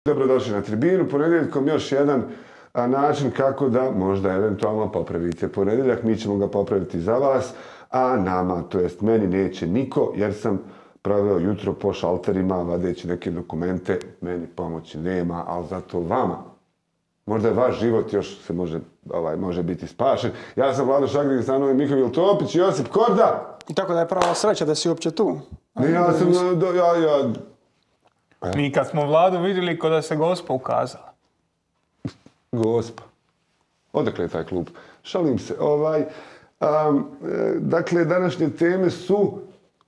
Dobrodošli na tribinu. Ponedjeljkom još jedan način kako da možda eventualno popravite ponedjeljak. Mi ćemo ga popraviti za vas, a nama, to jest meni, neće niko, jer sam proveo jutro po šalterima vadeći neke dokumente. Meni pomoći nema, ali zato vama. Možda je vaš život još se može biti spašen. Ja sam Vlado Šagrin, sa mnom Mihovil Topić i Josip Korda. I tako da je prava sreća da si uopće tu. Ne, ja sam... Mi kad smo Vladu vidjeli ko da se Gospa ukazala. Gospa. Odakle je taj klub? Šalim se. Dakle, današnje teme su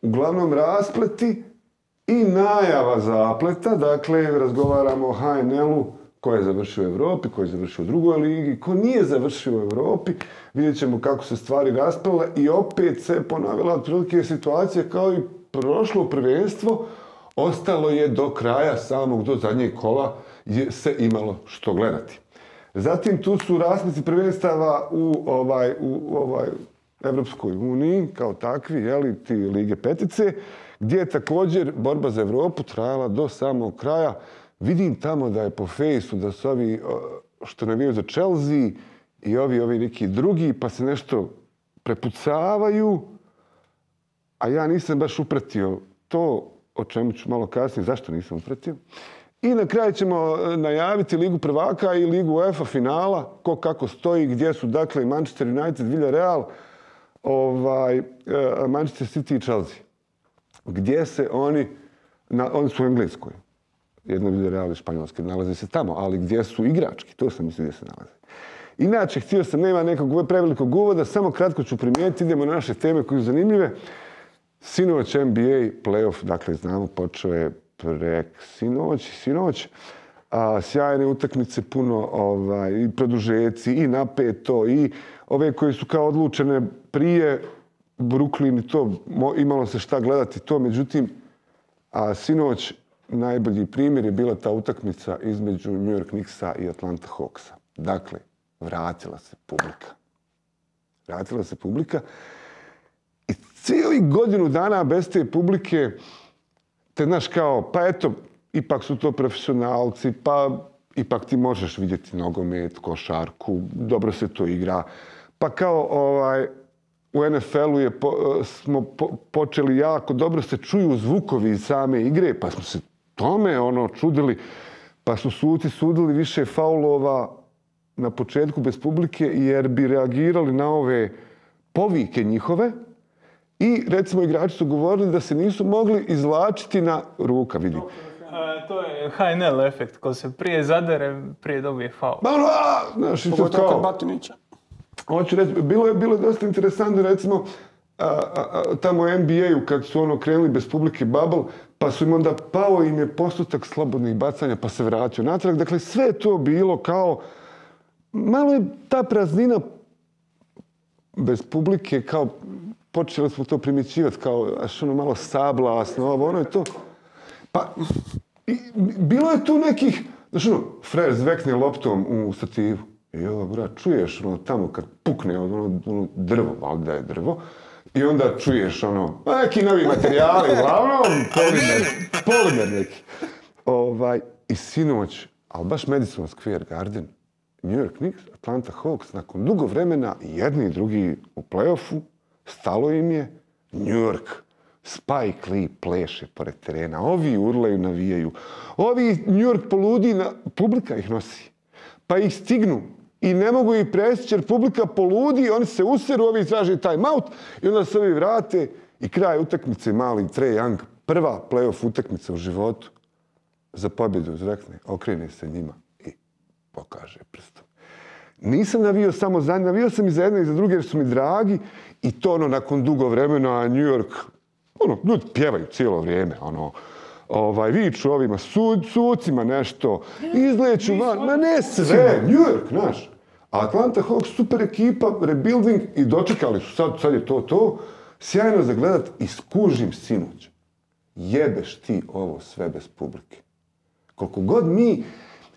uglavnom raspleti i najava zapleta. Dakle, razgovaramo o HNL-u, ko je završio u Europi, ko je završio u drugoj ligi, ko nije završio u Europi. Vidjet ćemo kako se stvari rasplele i opet se ponavila otprilike situacija kao i prošlo prvenstvo. Ostalo je do kraja, samog do zadnjeg kola se imalo što gledati. Zatim tu su raspleti prvenstava u Evropskoj uniji, kao takvi, ti Lige petice, gdje je također borba za Evropu trajala do samog kraja. Vidim tamo da je po fejsu da su ovi što navijaju za Chelsea i ovi neki drugi, pa se nešto prepucavaju, a ja nisam baš upratio to, o čemu ću malo kasnije, zašto nisam upratio. I na kraju ćemo najaviti Ligu prvaka i Ligu UEFA finala, ko kako stoji, gdje su dakle Manchester United, Villarreal, Manchester City i Chelsea. Gdje se oni su u Engleskoj. Jedno Villarreal i Španjolske nalaze se tamo, ali gdje su igrački, to sam mislio gdje se nalaze. Inače, htio sam, nema nekog prevelikog uvoda, samo kratko ću primijetiti, idemo na naše teme koje su zanimljive. Sinoć NBA playoff, dakle znamo, počeo je sinoć. Sjajne utakmice, puno i produžeci, i napeto, i ove koje su kao odlučene prije Brooklyn i to, imalo se šta gledati to, međutim, sinoć najbolji primjer je bila ta utakmica između New York Knicksa i Atlanta Hawksa. Dakle, vratila se publika. I cijeli godinu dana bez te publike, te znaš kao, pa eto, ipak su to profesionalci, pa ipak ti možeš vidjeti nogomet, košarku, dobro se to igra. Pa kao u NFL-u smo počeli jako dobro se čuju zvukovi iz same igre, pa smo se tome čudili, pa su suci sudili više faulova na početku bez publike jer bi reagirali na ove povike njihove. I, recimo, igrači su govorili da se nisu mogli izvlačiti na ruka, vidim. To je HNL efekt, ko se prije zadere, prije dobije faul. Znaš, isto Pogotovo kod kao... Batinića. Hoću reći, bilo je dosta interesantno, recimo, tamo u NBA-u kad su krenuli bez publike bubble, pa su im onda pao im je postotak slobodnih bacanja, pa se vratio natrag. Dakle, sve je to bilo kao... Malo je ta praznina bez publike kao... Počeli smo to primjećivati kao malo sablasno, ovo je to. Pa, bilo je tu nekih, znaš frajer zvekne loptom u stativu. Čuješ tamo kad pukne drvo, valjda je drvo, i onda čuješ neki novi materijali, uglavnom, polimer neki. I sinoć, ali baš Madison Square Garden, New York Knicks, Atlanta Hawks, nakon dugo vremena, jedni i drugi u play-offu, stalo im je, New York, Spike Lee pleše pored terena, ovi urlaju, navijaju, ovi New York poludi, publika ih nosi, pa ih stignu i ne mogu ih presjeći jer publika poludi, oni se useru, ovi traže time out i onda se ovi vrate i kraj utakmice, mali Trae Young, prva play-off utakmica u životu, za pobjedu zvekne, okrene se njima i pokaže prstom. Nisam navio samo za njih, navio sam i za jedne i za druge jer su mi dragi i to nakon dugo vremena New York, ljudi pjevaju cijelo vrijeme, viču ovima sucima nešto, izleću van, ma ne sve, New York, znaš. Atlanta Hawks, super ekipa, rebuilding i dočekali su, sad je to, sjajno za gledat i skužim sinoć. Jebeš ti ovo sve bez publike. Koliko god mi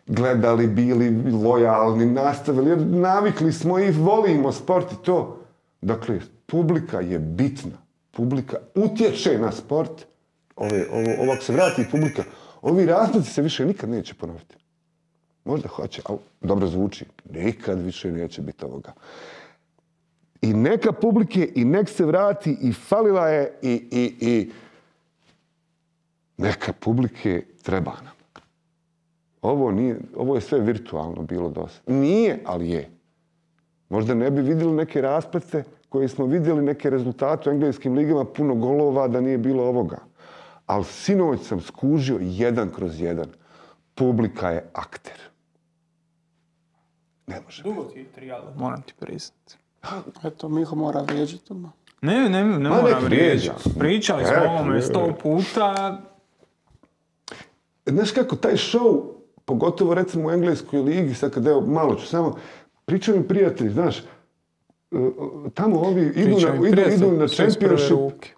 gledali, bili lojalni, nastavili, jer navikli smo i volimo sport i to. Dakle, publika je bitna. Publika utječe na sport. Ovako se vrati publika, Ovi raspreci se više nikad neće ponoviti. Možda hoće, ali dobro zvuči. Nikad više neće biti ovoga. I neka publike, i nek se vrati, i falila je, i neka publike treba nam. Ovo je sve virtualno bilo dosta. Nije, ali je. Možda ne bi vidjeli neke rasprece koje smo vidjeli, neke rezultate u engleskim ligama, puno golova da nije bilo ovoga. Ali sinoć sam skužio 1/1. Publika je akter. Ne može. Dugo ti je trijalo, moram ti priznati. Eto, Miho mora vrijeđati odmah. Ne moram nek vrijeđa. vrijeđati. Pričali smo o ovome 100 puta. Znaš kako, taj show, pogotovo recimo u engleskoj ligi, sad kad evo, malo ću samo, pričaju mi prijatelji, znaš, tamo ovi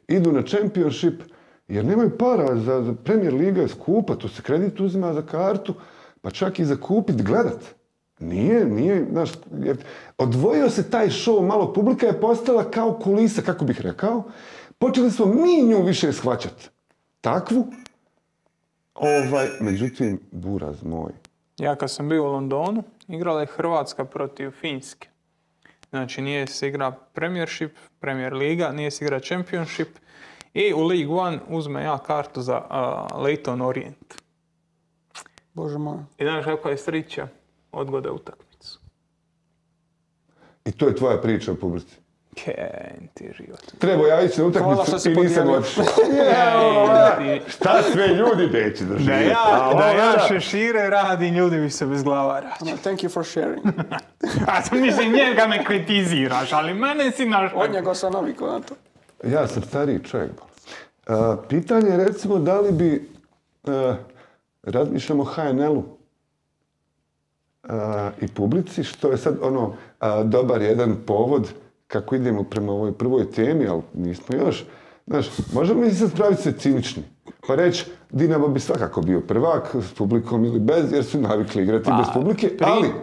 idu na championship, jer nemaju para za Premier Liga je skupa, to se kredit uzima za kartu, pa čak i za kupit, gledat. Nije, znaš, jer odvojio se taj show malo, publika je postala kao kulisa, kako bih rekao, počeli smo mi nju više shvaćati. Takvu, međutim, buraz moj. Ja kad sam bio u Londonu, igrala je Hrvatska protiv Finske. Znači nije se igra Premiership, Premier Liga, nije se igra Championship i u League One uzme ja kartu za Leyton Orient. Bože moj. I znaš kako je sreća, odgode utakmicu. I to je tvoja priča o publici. Ken ti život. Trebao ja ići na Hvala što utakmicu si i nisam podijelio. otišao. Šta sve ljudi neće da žive? Da ja šešire radim, ljudi bi se bez glava rađu. Thank you for sharing. A mislim, njega me kritiziraš, ali mene si našao. Od njega sam navikao na to. Ja sam stariji čovjek. Pitanje je recimo da li bi razmišljamo o HNL-u i publici, što je sad dobar jedan povod kako idemo prema ovoj prvoj temi, ali nismo još. Znaš, možemo mi sad praviti se cinični. Pa reći, Dinamo bi svakako bio prvak s publikom ili bez, jer su navikli igrati bez publike.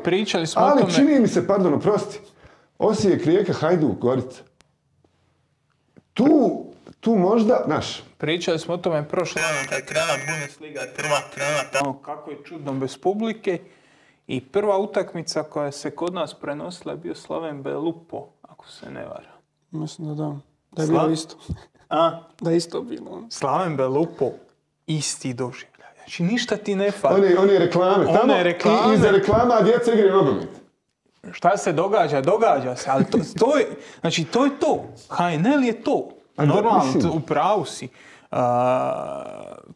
Pričali smo o tome. Ali čini mi se, pardon, oprosti, Osijek, Rijeka, Hajduk, Gorica. Tu možda, znaš. Pričali smo o tome prošle godine kad je krenula Bundesliga, prva krenula kako je čudno bez publike. I prva utakmica koja se kod nas prenosila je bio Slaven Belupo, ako se ne vara. Mislim da da. Da je bilo isto. Da je isto bilo. Slaven Belupo, isti doživljaj. Znači ništa ti ne fali. One reklame. Tamo i iza reklama djeca igraju nogomet. Šta se događa? Događa se. Ali to je, znači to je to. HNL je to. Normalno, u pravu si.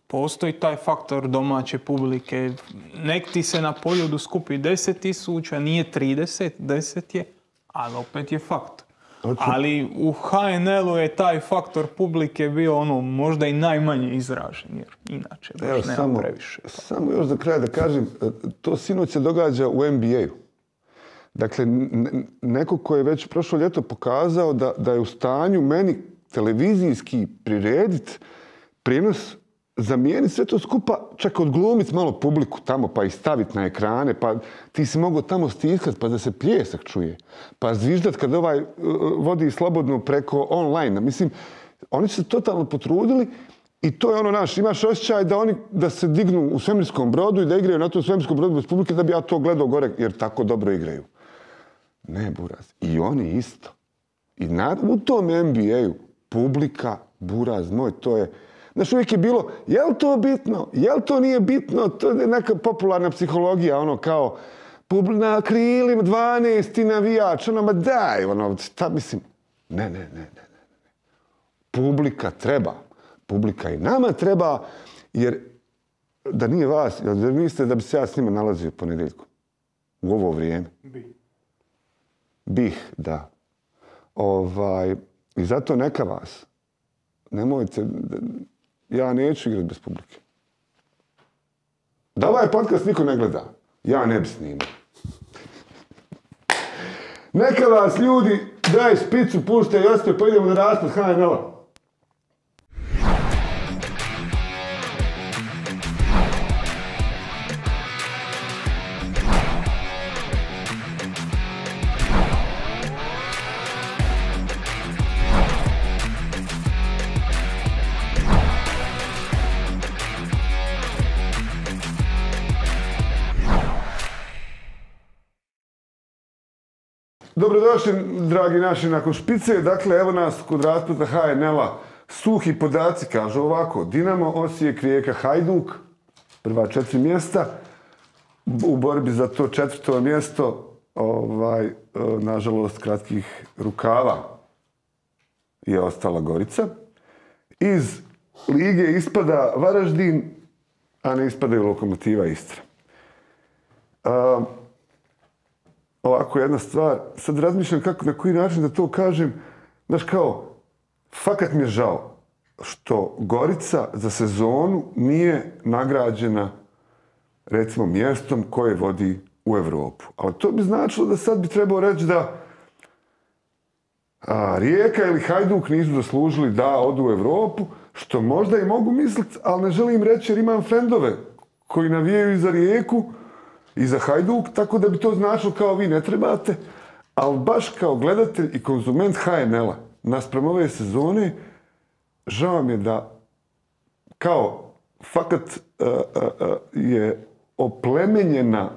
Postoji taj faktor domaće publike. Nek ti se na Poljudu skupi 10.000, nije 30, 10 je, ali opet je faktor. Ali u HNL-u je taj faktor publike bio možda i najmanje izražen, jer inače baš nema previše. Samo još za kraj da kažem, to sinoć se događa u NBA-u. Dakle, neko ko je već prošlo ljeto pokazao da je u stanju meni televizijski prirediti prijenos, zamijeniti sve to skupa, čak odglumiti malo publiku tamo, pa ih staviti na ekrane, pa ti si mogao tamo stiskati pa da se pljesak čuje, pa zviždat kad ovaj vodi slobodno preko online. Mislim, oni su se totalno potrudili i to je imaš osjećaj da se dignu u svemirskom brodu i da igraju na tom svemirskom brodu bez publike da bi ja to gledao gore, jer tako dobro igraju. Ne, buraz. I oni isto. I u tom NBA-u publika, buraz moj, to je... Znaš, uvijek je bilo, je li to bitno? Je li to nije bitno? To je neka popularna psihologija, kao na krilima 12 navijač, ma daj, šta mislim? Ne. Publika treba. Publika i nama treba, jer da nije vas, jel mislite da bi se ja s njima nalazio ponedjeljkom? U ovo vrijeme? Bih, da. I zato neka vas. Nemojte... Ja neću igrati bez publike. Da ovaj podcast niko ne gleda, ja ne bi snimao. Neka vas ljudi, daj špicu, puštaj Josipe, pa idemo na raspad HNL-a. Dobrodošli, dragi naši, nakon špice. Dakle, evo nas kod raspleta HNL-a. Suhi podaci kažu ovako. Dinamo, Osijek, Rijeka, Hajduk. Prva 4 mjesta. U borbi za to 4. mjesto, nažalost, kratkih rukava je ostala Gorica. Iz lige ispada Varaždin, a ne ispadaju Lokomotiva Istra. Ovako jedna stvar, sad razmišljam na koji način da to kažem. Znaš kao, fakat mi je žao što Gorica za sezonu nije nagrađena recimo mjestom koje vodi u Europu. Ali to bi značilo da sad bi trebao reći da Rijeka ili Hajduk nisu zaslužili da odu u Europu, što možda i mogu misliti, ali ne želim reći jer imam frendove koji navijaju i za Rijeku i za Hajduk, tako da bi to značilo kao vi ne trebate, ali baš kao gledatelj i konzument HNL-a naspram ove sezone, žao mi je da kao fakat je oplemenjena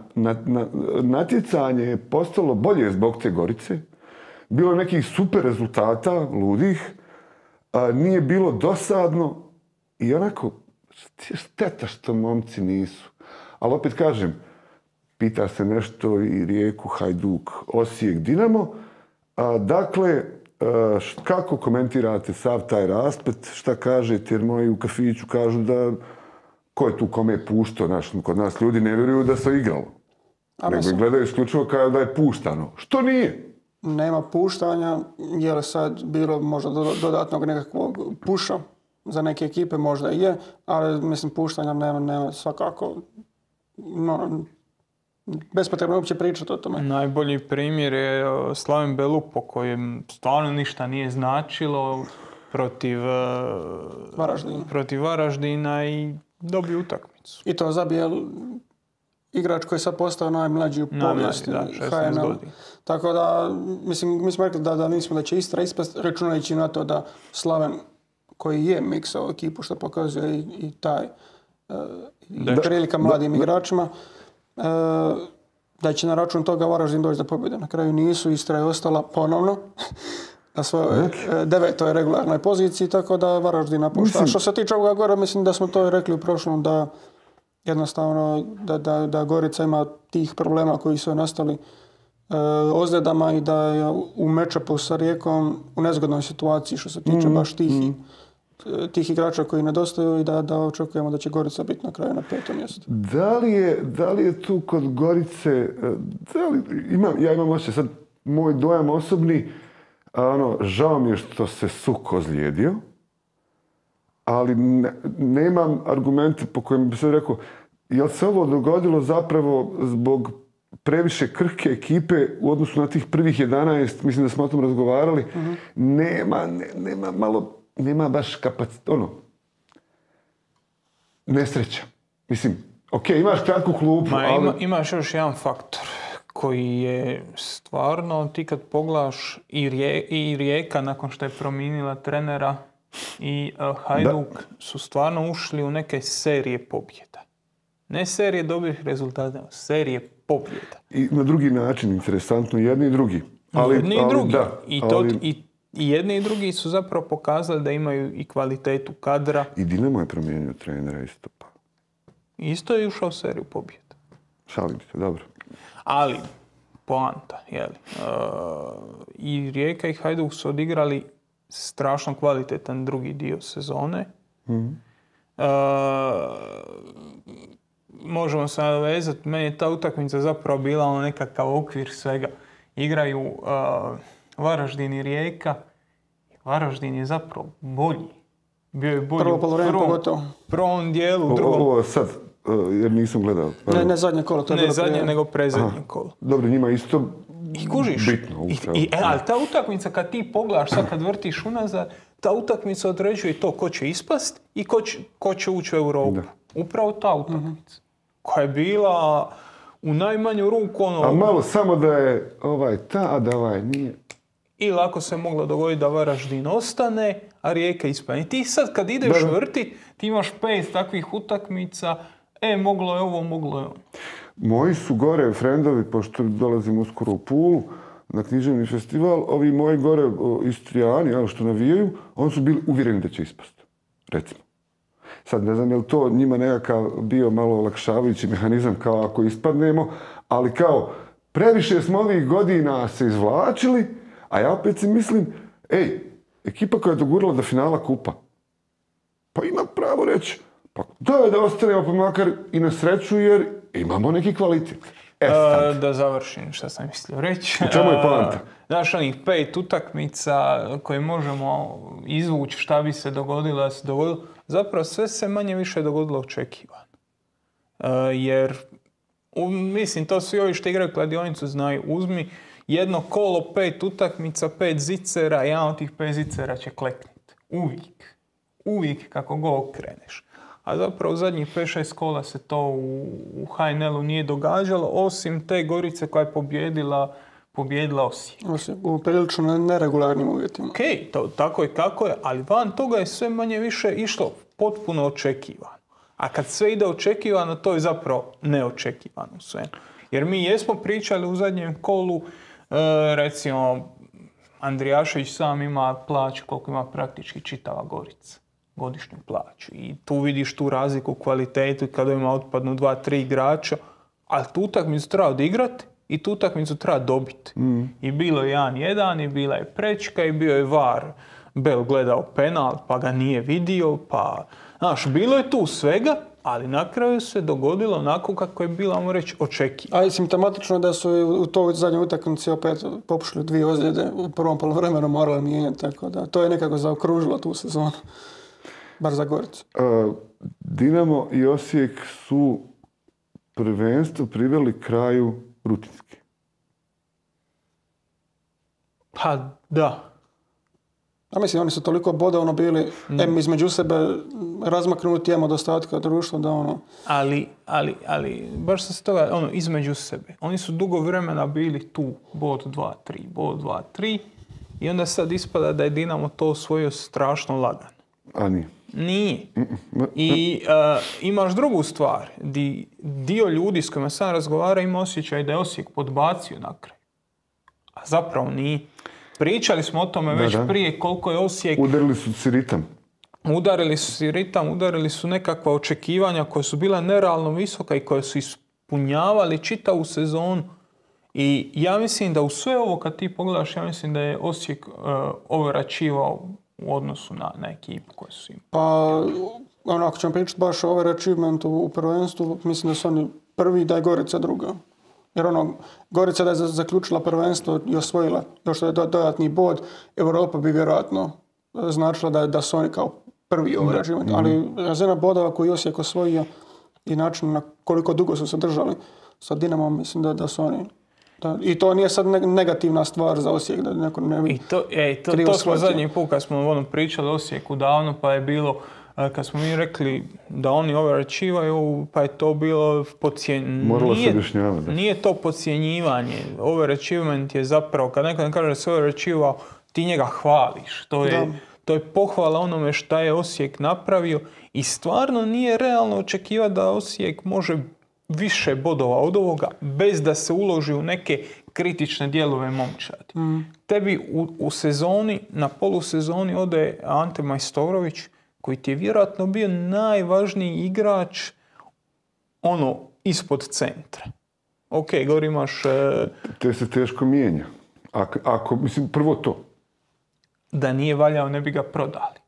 natjecanje je postalo bolje zbog te Gorice. Bilo nekih super rezultata, ludih, nije bilo dosadno i onako šteta što momci nisu. Ali opet kažem, pita se nešto i Rijeku, Hajduk, Osijek, Dinamo. Dakle, kako komentirate sav taj rasplet? Šta kažete? Jer moji u kafiću kažu da ko je tu kome puštao? Kod nas ljudi ne vjeruju da se igralo. Nego gledaju isključivo kao da je puštano. Što nije? Nema puštanja, je li sad bilo možda dodatnog nekakvog puša za neke ekipe, možda je, ali mislim puštanja nema svakako. Bespotrebno uopće pričati o tome. Najbolji primjer je Slaven Belupo kojem stvarno ništa nije značilo protiv Varaždina i dobio utakmicu. I to zabije igrač koji je sad postao najmlađi u povijesti HNL. Tako da, mislim, mi smo rekli da nismo da će Istra ispast, računajući na to da Slaven koji je miksao ekipu, što pokazuje i taj prilika mladim igračima, da će na račun toga Varaždin doći do pobjede. Na kraju nisu, Istra je ostala ponovno na svojoj 9. regularnoj poziciji, tako da Varaždin napušta. A što se tiče ovoga gore, mislim da smo to rekli u prošlom, da jednostavno da Gorica ima tih problema koji su nastali ozljedama i da je u matchupu sa Rijekom u nezgodnoj situaciji što se tiče baš tih igrača koji nedostaju i da očekujemo da će Gorica biti na kraju na 5. mjestu. Da li je tu kod Gorice, ja imam osjećaj sad, moj dojam osobni, žao mi je što se Suk ozlijedio, ali nemam argumente po kojima bi se rekao, jel se ovo dogodilo zapravo zbog previše krhke ekipe u odnosu na tih prvih 11, mislim da smo o tom razgovarali, nema baš nesreća. Mislim, imaš kratku klupu, ali... Imaš još jedan faktor koji je stvarno, ti kad pogledaš i Rijeka nakon što je promijenila trenera i Hajduk su stvarno ušli u neke serije pobjeda. Ne serije dobrih rezultata, nego serije pobjeda. I na drugi način, interesantno, jedni i drugi. Jedni i drugi. I jedni i drugi su zapravo pokazali da imaju i kvalitetu kadra. I Dinamo je promijenio trenera isto. Isto je ušao u seriju pobjeda. Šalim se, dobro. Ali, poanta, i Rijeka i Hajduk su odigrali strašno kvalitetan drugi dio sezone. Možemo se nadovezati, meni je ta utakmica zapravo bila nekakav okvir svega. Igraju Varaždin i Rijeka. Varaždin je zapravo bolji. Bio je bolji u prvom dijelu, u drugom. Ovo sad, jer nisam gledao. Ne zadnje kolo. Ne zadnje, nego predzadnje kolo. Dobro, njima isto i kužiš, bitno. Ali ta utakmica kad ti pogledaš, sad kad vrtiš unazad, ta utakmica određuje to ko će ispast i ko će ući u Europu. Upravo ta utakmica. Koja je bila u najmanju ruku A malo samo da je a da nije. I lako se moglo dogoditi da Varaždin ostane, a Rijeka ispane. I ti sad kad ideš vrti, ti imaš 5 takvih utakmica, moglo je ovo, moglo je ono. Moji su gore frendovi, pošto dolazim uskoro u Pulu, na književni festival, ovi moji gore Istrijani, što navijaju, oni su bili uvjereni da će ispast, recimo. Sad ne znam je li to njima nekakav bio malo olakšavajući mehanizam kao ako ispadnemo, ali kao previše smo ovih godina se izvlačili, a ja opet si mislim, ekipa koja je dogurala do finala kupa, pa ima pravo reći, pa da ostanemo pa makar i na sreću jer imamo neki kvalitet. Da završim što sam mislio reći. U čemu je poanta? Znaš, onih 5 utakmica koje možemo izvući šta bi se dogodilo da se dogodilo, zapravo sve se manje više dogodilo očekivano. Jer, mislim, to svi ovi što igraju kladionicu znaju, uzmi jedno kolo, 5 utakmica, 5 zicera, jedan od tih 5 zicera će klekniti. Uvijek. Uvijek kako go okreneš. A zapravo u zadnjih 5-6 kola se to u HNL-u nije događalo, osim te Gorice koja je pobjedila Osijek. U prilično neregularnim uvjetima. Ok, tako je kako je, ali van toga je sve manje više išlo potpuno očekivano. A kad sve ide očekivano, to je zapravo neočekivano sve. Jer mi jesmo pričali u zadnjem kolu, recimo, Andrijašević sam ima plaću koliko ima praktički čitava Gorica. Godišnju plaću. I tu vidiš tu razliku u kvalitetu kada ima otpadnu 2-3 igrača, ali tu utakmicu treba odigrati i tu utakmicu treba dobiti. I bilo je 1-1 i bila je prečka i bio je VAR. Bel gledao penal pa ga nije vidio, pa... Znaš, bilo je tu svega, ali na kraju se dogodilo onako kako je bilo, ajmo reći, očekivano. A i simptomatično da su u toj zadnjoj utakmici opet popušili 2 ozljede u prvom poluvremenu morali mijenjati, tako da to je nekako zaokružilo tu sezonu. Bar za Goricu. Dinamo i Osijek su prvenstvo priveli kraju rutinski. Pa da. A mislim, oni su toliko bodovno bili između sebe razmaknuti od ostatka društva da Ali, baš se toga, između sebe. Oni su dugo vremena bili tu, bod 2-3, bod 2-3 i onda sad ispada da je Dinamo to osvojio strašno lagano. A nije. Nije. I imaš drugu stvar. Dio ljudi s kojima sam razgovara ima osjećaj da je Osijek podbacio na kraj. A zapravo nije. Pričali smo o tome već prije koliko je Osijek... Udarili su si ritam. Udarili su nekakva očekivanja koja su bila nerealno visoka i koja su ispunjavali čitavu sezonu. I ja mislim da u sve ovo kad ti pogledaš, ja mislim da je Osijek overačivao u odnosu na ekipu koje su imali. Pa, ako ćemo pričati baš o overachievementu u prvenstvu, mislim da su oni prvi, da je Gorica druga. Jer Gorica da je zaključila prvenstvo i osvojila još je dodatni bod, Europa bi vjerojatno značila da su oni kao prvi overachievement. Ali razina bodova koju Osijek osvojio i način na koliko dugo su se držali sa Dinamom, mislim da su oni... I to nije sad negativna stvar za Osijek, da neko ne bi to smo zadnji put kad smo pričali o Osijeku davno, pa je bilo, kad smo mi rekli da oni overachievaju, pa je to bilo podcjenjivanje. Moralo se objašnjavati. Nije to podcjenjivanje. Overachievement je zapravo, kad neko ne kaže da se overachievao, ti njega hvališ. To je pohvala onome šta je Osijek napravio i stvarno nije realno očekivati da Osijek može više bodova od ovoga bez da se uloži u neke kritične dijelove momčadi. Tebi u sezoni, na polusezoni ode Ante Majstorović koji ti je vjerojatno bio najvažniji igrač ispod centra. Ok, govori imaš... Te se teško mijenja. Mislim, prvo to. Da nije valjao, ne bi ga prodali.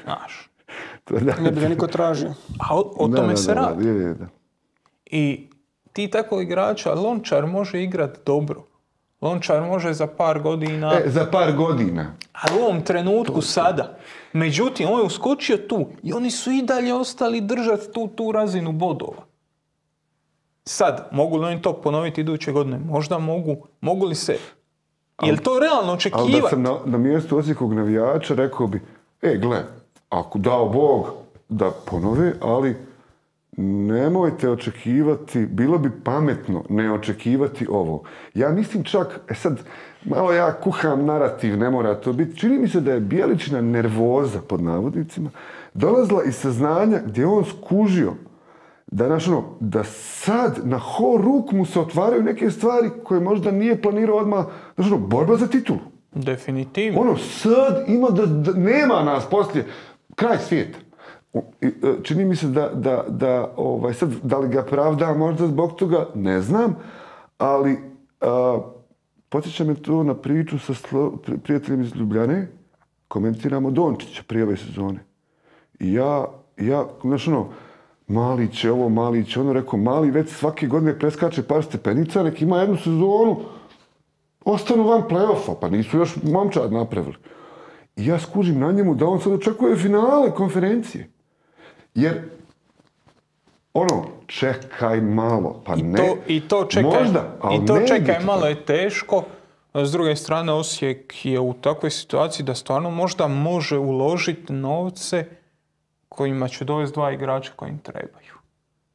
Znaš. Ne bi ga niko tražio. A o tome se radi. Da. I ti tako igrača, Lončar može igrati dobro. Lončar može za par godina... Za par godina. Ali u ovom trenutku sada. Međutim, on je uskočio tu i oni su i dalje ostali držati tu razinu bodova. Sad, mogu li oni to ponoviti iduće godine? Možda mogu. Mogu li se... Je li to realno očekivati? Ali da sam na mjestu Osijekog navijača rekao bi, gle, ako dao Bog da ponove, ali nemojte očekivati, bilo bi pametno ne očekivati ovo. Ja mislim čak, sad, malo ja kuham narativ, ne mora to biti, čini mi se da je Bjeličina nervoza, pod navodnicima, dolazila iz saznanja gdje on skužio da sad na ruk mu se otvaraju neke stvari koje možda nije planirao odmah, borba za titulu. Definitivno. Sad ima da nema nas poslije, kraj svijeta. Čini mi se sad, da li ga pravda možda zbog toga, ne znam, ali podsjeća me to na priču sa prijateljem iz Ljubljane, komentiramo Dončića prije ove sezone. I ja, Malić je ovo, Malić je ono, rekao, Mali već svake godine preskače par stepenica, nek ima jednu sezonu, ostanu van play-offa, pa nisu još momčad napravili. I ja skužim na njemu da on sad očekuje finale konferencije. Jer, čekaj malo, pa ne. I to čekaj, možda, ali čekaj malo je teško. S druge strane, Osijek je u takvoj situaciji da stvarno možda može uložiti novce kojima će dovesti 2 igrača koji im trebaju.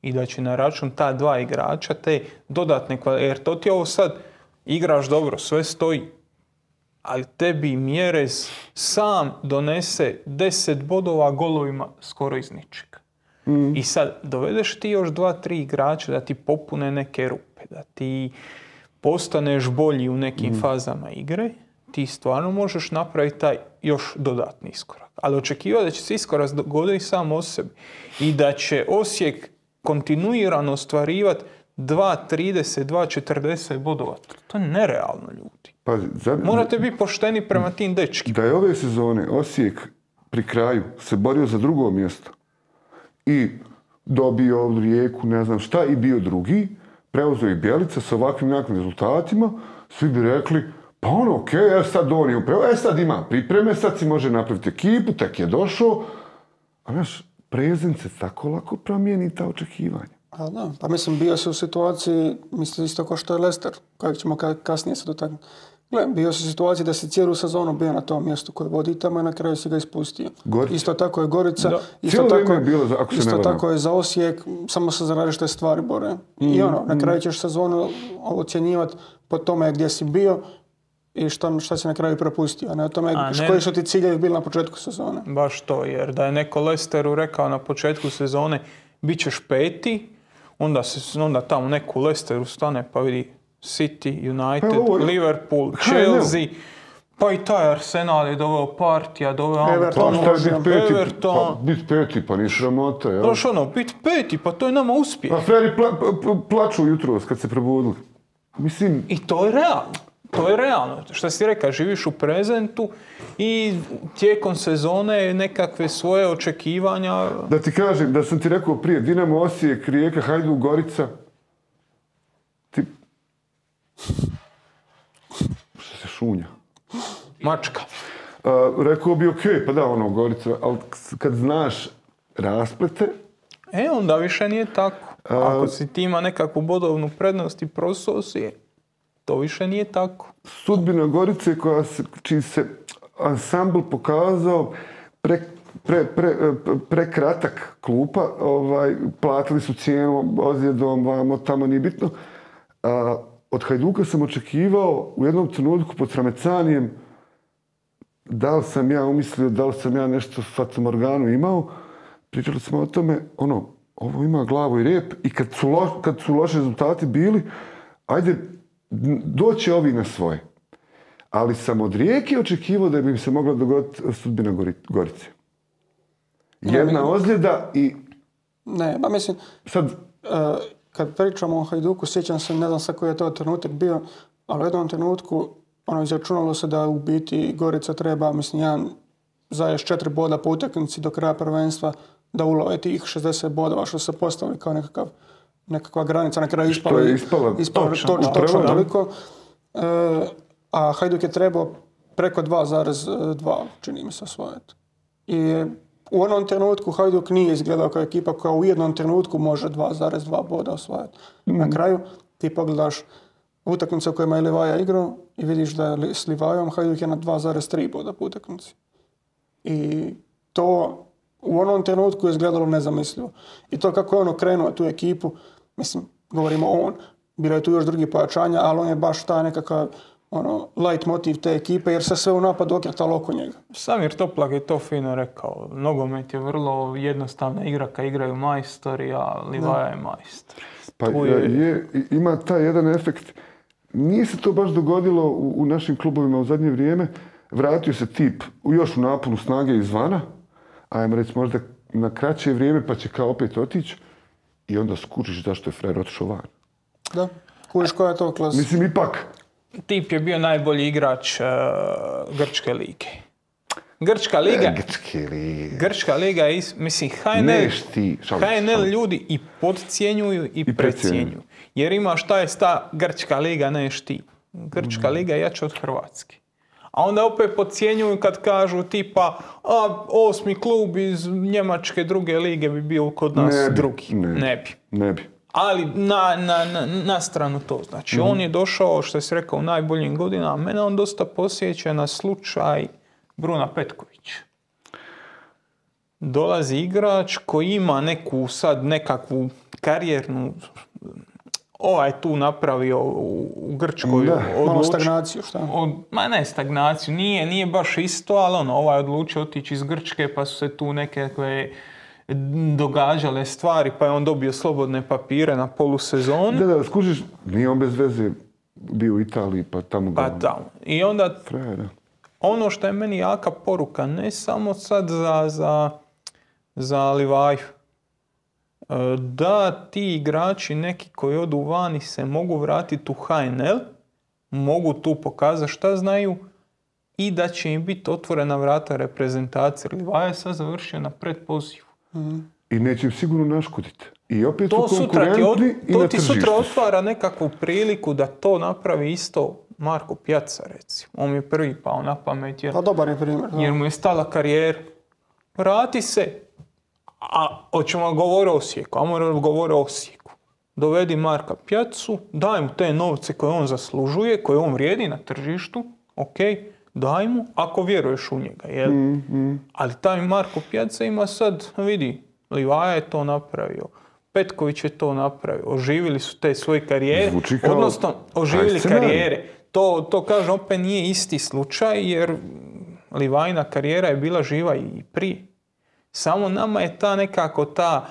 I da će na račun ta 2 igrača te dodatne kvalitete. Jer to ti ovo sad igraš dobro, sve stoji. Ali tebi Mjerez sam donese 10 bodova golovima skoro iz ničega. I sad dovedeš ti još 2-3 igrača da ti popune neke rupe, da ti postaneš bolji u nekim fazama igre, ti stvarno možeš napraviti taj još dodatni iskorak. Ali očekivati da će se iskorak dogoditi sam o sebi i da će Osijek kontinuirano ostvarivati 2.30, 2.40 bodova. To je nerealno, ljudi. Pazi, morate biti pošteni prema tim dečkima. Da je ove sezone Osijek pri kraju se borio za drugo mjesto i dobio Rijeku, ne znam šta, i bio drugi, preuzeo i Bjelica sa ovakvim nekakvim rezultatima, svi bi rekli, pa okej, sad on je upravo, sad ima pripreme, sad si može napraviti ekipu, tek je došao. A prezent se tako lako promijeni ta očekivanja. Pa mislim, bio se u situaciji, mislim isto kao što je Leicester, kojeg ćemo kasnije se dotaknuti. Bio se u situaciji da si cijelu sezonu bio na tom mjestu koje vodi tamo i na kraju si ga ispustio. Isto tako je Gorica, isto tako je za Osijek, samo se za različite stvari bore. I na kraju ćeš sezonu ocjenjivati po tome gdje si bio i šta si na kraju propustio, a ne o tome koji su ti ciljevi bili na početku sezone. Baš to, jer da je neko Leicesteru rekao na početku sezone bit ćeš 5. onda tamo neko Leicesteru stane pa vidi City, United, Liverpool, Chelsea, pa i taj Arsenal je doveo Partija, doveo Everton. Pa biti 5. pa ni sramota, jel? Znaš biti 5. pa to je nama uspjeh. Pa Freri plaču jutros kad se probudili. Mislim... I to je realno. To je realno. Što si rekao, živiš u prezentu i tijekom sezone nekakve svoje očekivanja... Da ti kažem, da sam ti rekao prije, Dinamo, Osijek, Rijeka, Hajduk, Gorica. Što se šunja? Mačka. Rekao bi okej, pa da, Gorica, ali kad znaš rasplete... Onda više nije tako. Ako si ti ima nekakvu bodovnu prednost i prosao si, to više nije tako. Sudbina Gorice čiji se ansambl pokazao prekratak klupa, platili su cijenu ozljedom, vamo, tamo nije bitno. Od Hajduka sam očekivao u jednom trenutku pod Sramecanijem da li sam ja umislio, da li sam ja nešto fatamorganu imao. Pričali smo o tome, ovo ima glavu i rep i kad su loši rezultati bili, ajde, doći ovi na svoje. Ali sam od Rijeke očekivao da bi im se mogla dogoditi sudbina Gorice. Jedna ozljeda i... Ne, pa mislim... Sad... Kad pričamo o Hajduku, sjećam se, ne znam sa koji je to trenutak bio, ali u jednom trenutku izračunalo se da u biti Gorica treba, mislim, 1,4 boda po utakmici do kraja prvenstva da ulove tih 60 bodova što se postavili kao nekakva granica. Na kraju ispalo točno toliko. A Hajduk je trebao preko 2,2, čini mi se, osvojiti. I u onom trenutku Hajduk nije izgledao kao ekipa koja u jednom trenutku može 2,2 boda osvajati. Na kraju ti pogledaš utakmice u kojima je Livaja igrao i vidiš da je s Livajom Hajduk je na 2,3 boda po utakmici. I to u onom trenutku je izgledalo nezamislivo. I to kako je on okrenuo tu ekipu, mislim, govorimo bilo je tu još drugi pojačanja, ali on je baš ta nekakav light motiv te ekipe, jer se sve u napadu okretalo oko njega. Samir Toplak je to fino rekao. Nogomet je vrlo jednostavna igra kad igraju majstori, a Livaja je majstor. Pa ima taj jedan efekt. Nije se to baš dogodilo u našim klubovima u zadnje vrijeme. Vratio se tip još u naponu snage izvana, ajmo reći možda na kraće vrijeme, pa će kao opet otići i onda skučiš zašto je frajer otišao van. Da, kužiš koja je to klasa. Mislim, ipak. Tip je bio najbolji igrač Grčke lige. Grčka liga je, mislim, HNL ljudi i podcjenjuju i precjenjuju. Jer ima šta je ta Grčka liga, neš ti. Grčka liga je jača od Hrvatske. A onda opet podcjenjuju kad kažu tipa 8. klub iz Njemačke druge lige bi bio kod nas drugi. Ne bi. Ali na stranu to. Znači, on je došao, što si rekao, u najboljim godinama. Mene on dosta posjeća na slučaj Bruna Petkovića. Dolazi igrač koji ima nekakvu karijernu... Ovaj tu napravio u Grčkoj. Malo stagnaciju, šta? Ne stagnaciju, nije baš isto, ali ovaj odlučio otići iz Grčke, pa su se tu nekakve događale stvari, pa je on dobio slobodne papire na polusezonu. Da, skužiš, nije on bez veze bio u Italiji, pa tamo ga... Pa tamo. I onda, ono što je meni jaka poruka, ne samo sad za Livaju, da ti igrači neki koji odu vani se mogu vratiti u HNL, mogu tu pokazati šta znaju i da će im biti otvorena vrata reprezentacije. Livaja je sad završio na predpozivu. I neće im sigurno naškoditi. I opet su konkurentni i na tržištu. To ti sutra otvara nekakvu priliku da to napravi isto Marko Pjaca, recimo. On mi je prvi pao na pamet dobar je primjer, jer mu je stala karijera. Vrati se. A hoćemo govoriti o Osijeku, Dovedi Marka Pjacu, daj mu te novce koje on zaslužuje, koje on vrijedi na tržištu, ok, daj mu, ako vjeruješ u njega, jel? Ali taj Marko Pjaca ima sad, vidi, Livaja je to napravio, Petković je to napravio, oživili su te svoje karijere, odnosno oživili karijere. To kažem, opet nije isti slučaj, jer Livajina karijera je bila živa i prije. Samo nama je ta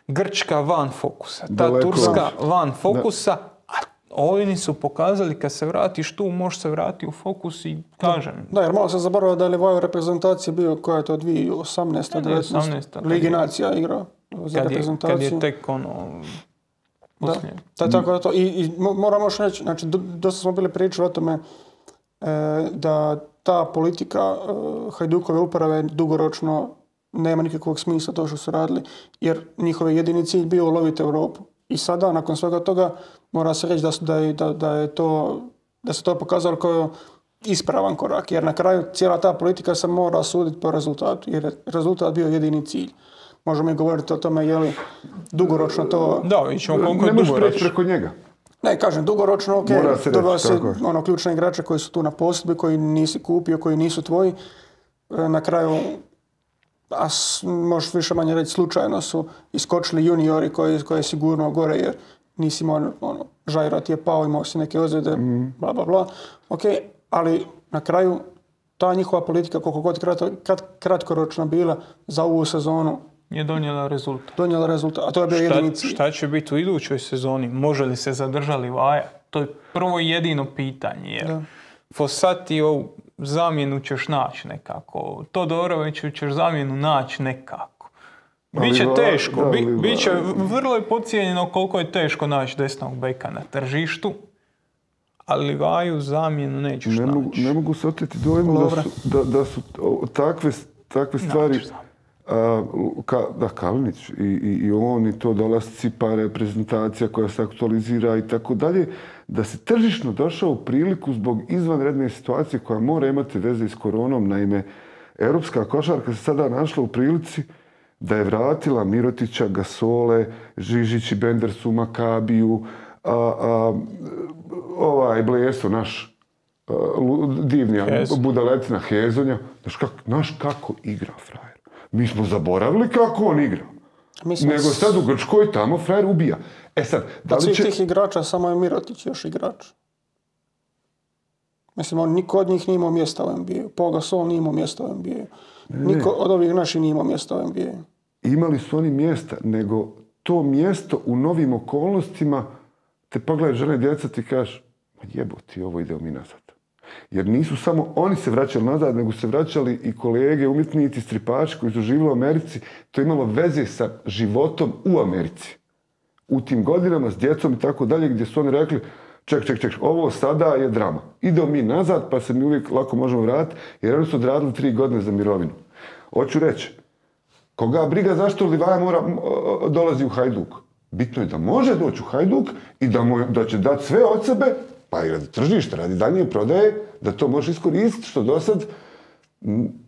Grčka van fokusa, ta Turska van fokusa, a oni su pokazali kad se vratiš tu, možeš se vratiti u fokus i kažem. Da, jer malo se zaboravio da je Livaju reprezentacija bio koja je to 2018. 19. Ligi nacija igrao za reprezentaciju. Kad je tek poslije. Tako da to. I moram još reći, znači dosta smo bili pričali o tome da ta politika Hajdukove uprave dugoročno nema nikakvog smisla to što su radili, jer njihov jedini cilj bio uloviti Europu. I sada, nakon svega toga, mora se reći da se to pokazalo kao ispravan korak, jer na kraju cijela ta politika se mora suditi po rezultatu, jer je rezultat bio jedini cilj. Možemo i govoriti o tome je li dugoročno to... Da, ićemo koliko je dugoročno. Ne možeš preći preko njega. Ne, kažem, dugoročno, ok, dobio se ključne igrače koji su tu na posudbi, koji nisi kupio, koji nisu tvoji. Na kraju, možeš više manje reći, slučajno su iskočili juniori koji je sigurno gore, jer nisi imao, Žajra ti je pao, imao si neke ozljede, bla, bla, bla. Ok, ali na kraju ta njihova politika, koliko god kratkoročna bila za ovu sezonu, je donijela rezultat. A to je bio jedini cilj. Šta će biti u idućoj sezoni? Može li se zadržati Livaja? To je prvo i jedino pitanje. Jer Fossatiju zamjenu ćeš naći nekako. Todoroviću ćeš zamjenu naći nekako. Biće teško. Biće vrlo je podcijenjeno koliko je teško naći desnog beka na tržištu. Ali Livaju zamjenu nećeš naći. Ne mogu se oteti dojmu da su takve stvari... Kalinić i on i to dolasci, pa reprezentacija koja se aktualizira i tako dalje, da se tržišno došao u priliku zbog izvanredne situacije koja mora imati veze s koronom. Naime, europska košarka se sada našla u prilici da je vratila Mirotića, Gasole, Žižić i Bendersu, Makabiju, Bleso, naš divnija budaletina Hezonja. Znaš kako igra frajer. Mi smo zaboravili kako on igra. Nego sad u Grčkoj tamo frajer ubija. Od svih tih igrača samo je Mirotić još igrač. Mislim, niko od njih nije imao mjesta u NBA-u. Paul Gasol nije imao mjesta u NBA-u. Niko od ovih naših nije imao mjesta u NBA-u. Imali su oni mjesta, nego to mjesto u novim okolnostima te pogledaj žene djeca ti kažeš jebote, ovo idemo mi nazad. Jer nisu samo oni se vraćali nazad, nego se vraćali i kolege, umjetnici, stripači koji su živjeli u Americi. To je imalo veze sa životom u Americi. U tim godinama s djecom i tako dalje, gdje su oni rekli ček, ovo sada je drama. Idemo mi nazad, pa se mi uvijek lako možemo vratiti, jer oni su odradili 3 godine za mirovinu. Hoću reći, koga briga zašto Livaja dolazi u Hajduk? Bitno je da može doći u Hajduk i da će dati sve od sebe, pa i radi tržišta, radi daljnje prodaje, da to može iskoristiti, što do sad,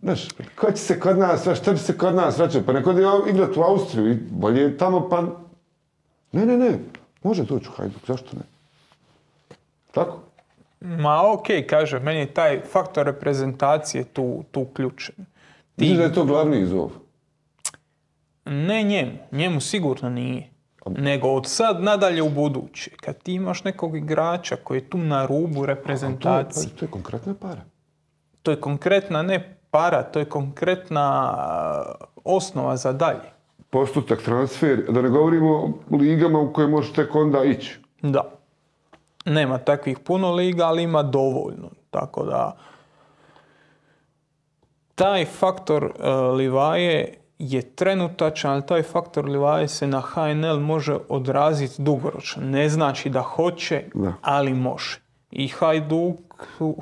znaš, ko će se kod nas, šta će se kod nas vraćati? Pa neko je igrati u Austriju i bolje je tamo, pa... Ne, može doći u Hajduk, zašto ne? Tako? Ma okej, kaže, meni je taj faktor reprezentacije tu ključan. Misliš da je to glavni izazov? Ne njemu sigurno nije. Nego od sad nadalje u buduće. Kad ti imaš nekog igrača koji je tu na rubu reprezentacije. To je konkretna para. To je konkretna ne para, to je konkretna osnova za dalje. Postotak transfer, da ne govorimo o ligama u koje možeš tek onda ići. Da. Nema takvih puno liga, ali ima dovoljno. Tako da taj faktor Livaje je trenutačan, ali taj faktor Livaje se na HNL može odraziti dugoročno. Ne znači da hoće, ali može. I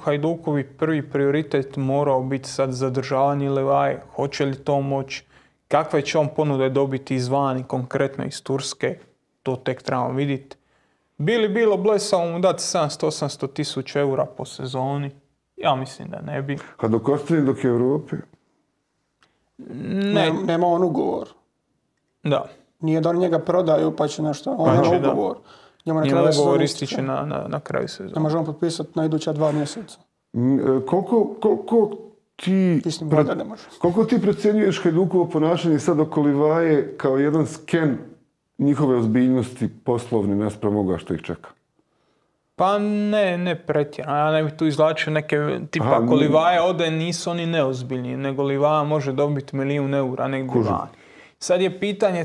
Hajdukovi prvi prioritet morao biti sad zadržavanje Livaje. Hoće li to moći? Kakve će on ponude dobiti izvani, konkretno iz Turske? To tek trebamo vidjeti. Bilo blesao mu dati 700-800 tisuća eura po sezoni? Ja mislim da ne bi. A dok ostane dok je u Europi? Nema on ugovor. Da. Nije da oni njega prodaju pa će nešto. On nema ugovor. Njemu ugovor ističe na kraju sezona. Ne možemo potpisati na iduća 2 mjeseca. Koliko ti procjenjuješ Hajdukovo ponašanje sad oko Livaje kao jedan sken njihove ozbiljnosti poslovne naspram ovoga što ih čeka? Pa ne pretjerano. Ja ne bih tu izvlačio neke, tipa ako Livaja ode nisu oni neozbiljni, nego Livaja može dobiti 1 milijun eura negdje vani. Sad je pitanje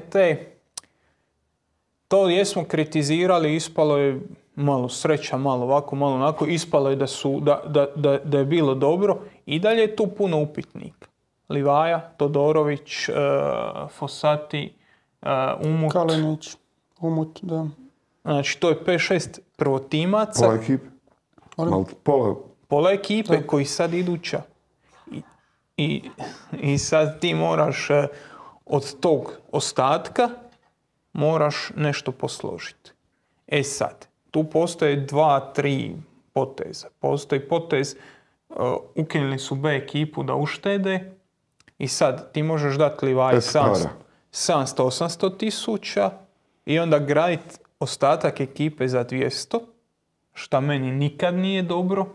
to jesmo kritizirali, ispalo je malo sreća, malo ovako, malo onako, ispalo je da je bilo dobro i dalje je tu puno upitnika. Livaja, Todorović, Fossati, Umut. Kalinić, Umut, da. Znači, to je 5-6 prvotimaca. Pola ekipe. Pola ekipe koji sad iduća. I sad ti moraš od tog ostatka moraš nešto posložiti. Sad, tu postoje 2-3 poteza. Postoji potez, ukinuli su B ekipu da uštede i sad ti možeš dati Livaji 700-800 tisuća i onda graditi ostatak ekipe za 200, šta meni nikad nije dobro.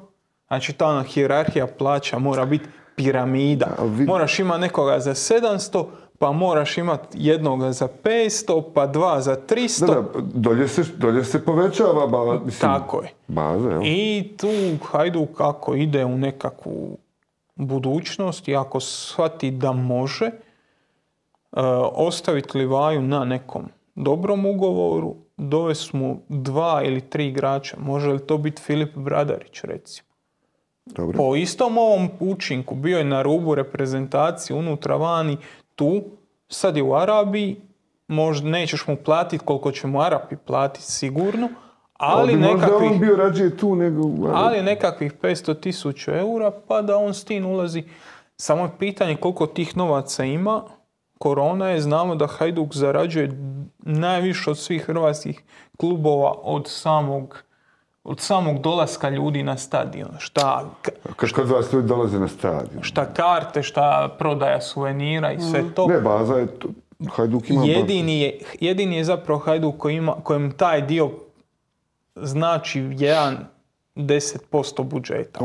Znači ta ona hijerarhija plaća mora biti piramida. Moraš imati nekoga za 700, pa moraš imati jednoga za 500, pa 2 za 300. Da, dolje se povećava baza. Tako je. Baza, jel? I tu Hajduk ako ide u nekakvu budućnost i ako shvati da može ostaviti Livaju na nekom dobrom ugovoru, dovesti mu 2 ili 3 igrača. Može li to biti Filip Bradarić, recimo? Dobre. Po istom ovom učinku bio je na rubu reprezentacije unutra vani, tu, sad je u Arabiji, možda nećeš mu platiti koliko će mu Arapi platiti sigurno, ali on bio rađe tu nego u Arabiji. Ali nekakvih 500.000 eura, pa da on s tim ulazi. Samo je pitanje koliko tih novaca ima. Korona je, znamo da Hajduk zarađuje najviše od svih hrvatskih klubova od samog dolaska ljudi na stadion. Kod vas ljudi dolaze na stadion? Šta karte, šta prodaja suvenira i sve to. Ne, baza je to. Hajduk ima jedini je zapravo Hajduk kojem taj dio znači 10% budžeta.